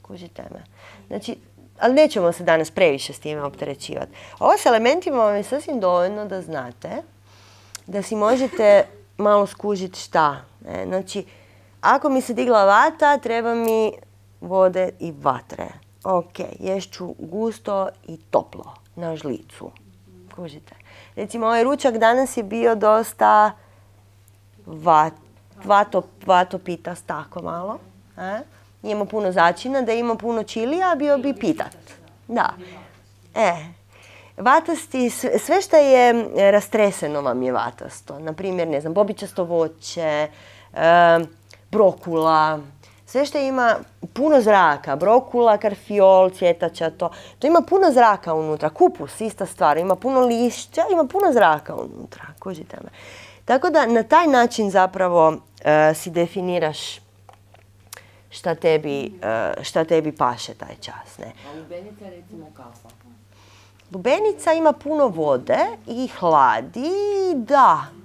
A: Kužite me. Znači, ali nećemo se danas previše s time opterećivati. Ovo s elementima vam je sasvim dovoljno da znate da si možete malo skužiti šta. Znači, ako mi se digla vata, treba mi vode i vatre. Ok, ješću gusto i toplo na žlicu. Kužite. Recimo, ovaj ručak danas je bio dosta vatopitast, tako malo. Imamo puno začina, da ima puno čilija, bio bi pitat. Da. Vatasti, sve što je rastreseno vam je vatasto. Naprimjer, ne znam, bobičasto voće, brokula, sve što ima puno zraka, brokula, karfiol, cvjetača, to ima puno zraka unutra. Kupus, ista stvar, ima puno lišća, ima puno zraka unutra. Kužite me. Tako da na taj način zapravo si definiraš šta tebi paše taj čas. Ne?
D: A lubenica je recimo kafa?
A: Lubenica ima puno vode i hladi,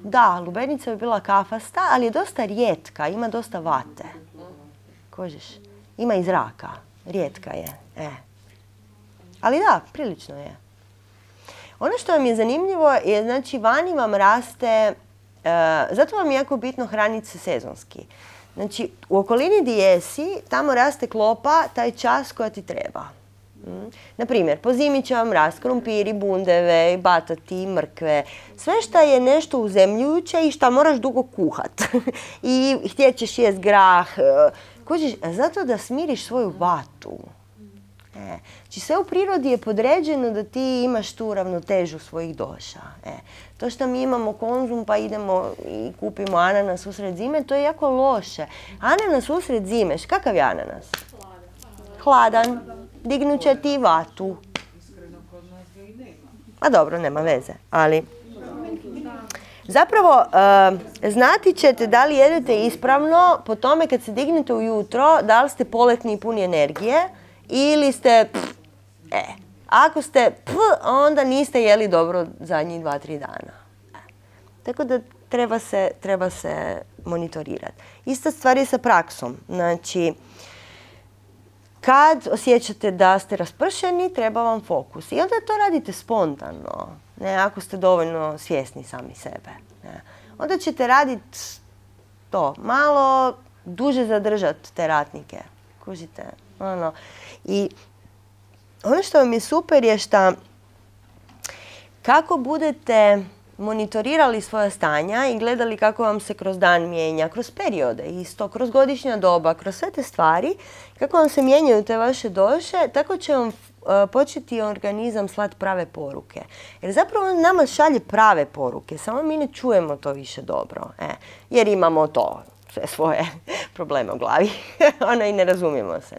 A: da, lubenica bi bila kafasta, ali je dosta rijetka, ima dosta vate. Kožiš? Ima i zraka, rijetka je. Ali da, prilično je. Ono što vam je zanimljivo je, znači, vani vam raste, zato vam je jako bitno hraniti se sezonski. Znači, u okolini gdje jesi, tamo raste klopa taj čas koja ti treba. Naprimjer, po zimi će vam rast krumpiri, bundeve, batati, mrkve. Sve što je nešto uzemljujuće i što moraš dugo kuhat. I htjet ćeš jest grah. Kužiš, zato da smiriš svoju vatu. Znači, sve u prirodi je podređeno da ti imaš tu ravnotežu svojih doša. To što mi imamo konzum pa idemo i kupimo ananas usred zime, to je jako loše. Ananas usred zime, kakav je ananas? Hladan. Dignut će ti vatu. A dobro, nema veze, ali zapravo znati ćete da li jedete ispravno po tome kad se dignete ujutro, da li ste poletni i puni energije ili ste Ako ste onda niste jeli dobro zadnjih 2-3 dana. Tako da treba se monitorirati. Ista stvar je sa praksom. Znači, kad osjećate da ste raspršeni, treba vam fokus. I onda to radite spontano, ako ste dovoljno svjesni sami sebe. Onda ćete raditi to, malo duže zadržati te ratnike. Kužite? I ono što vam je super je što kako budete monitorirali svoja stanja i gledali kako vam se kroz dan mijenja, kroz periode isto, kroz godišnja doba, kroz sve te stvari, kako vam se mijenjaju te vaše doše, tako će vam početi organizam slati prave poruke. Jer zapravo on nama šalje prave poruke, samo mi ne čujemo to više dobro. Jer imamo to, sve svoje probleme u glavi i ne razumijemo se.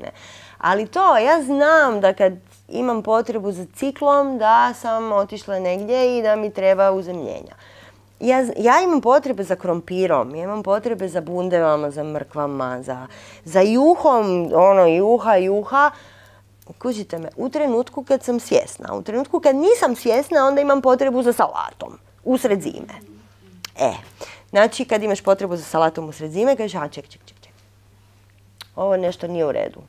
A: Ali to, ja znam da kad imam potrebu za ciklom, da sam otišla negdje i da mi treba uzemljenja. Ja imam potrebe za krompirom, ja imam potrebe za bundevama, za mrkvama, za juhom, juha. Kužite me, u trenutku kad sam svjesna. U trenutku kad nisam svjesna, onda imam potrebu za salatom, usred zime. Znači, kad imaš potrebu za salatom usred zime, kažeš, ček. Ovo nešto nije u redu.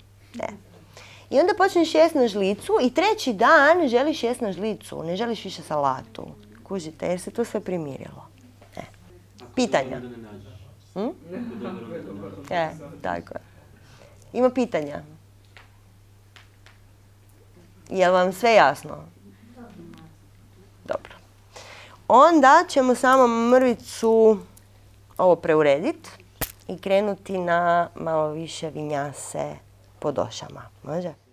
A: I onda počneš jesti na žlicu i treći dan želiš jesti na žlicu, ne želiš više salatu. Kužite, jer se to sve primirilo. Pitanja? Tako je. Ima pitanja? Je li vam sve jasno? Dobro. Onda ćemo samo mrvicu ovo preurediti i krenuti na malo više vinjase po došama. Može?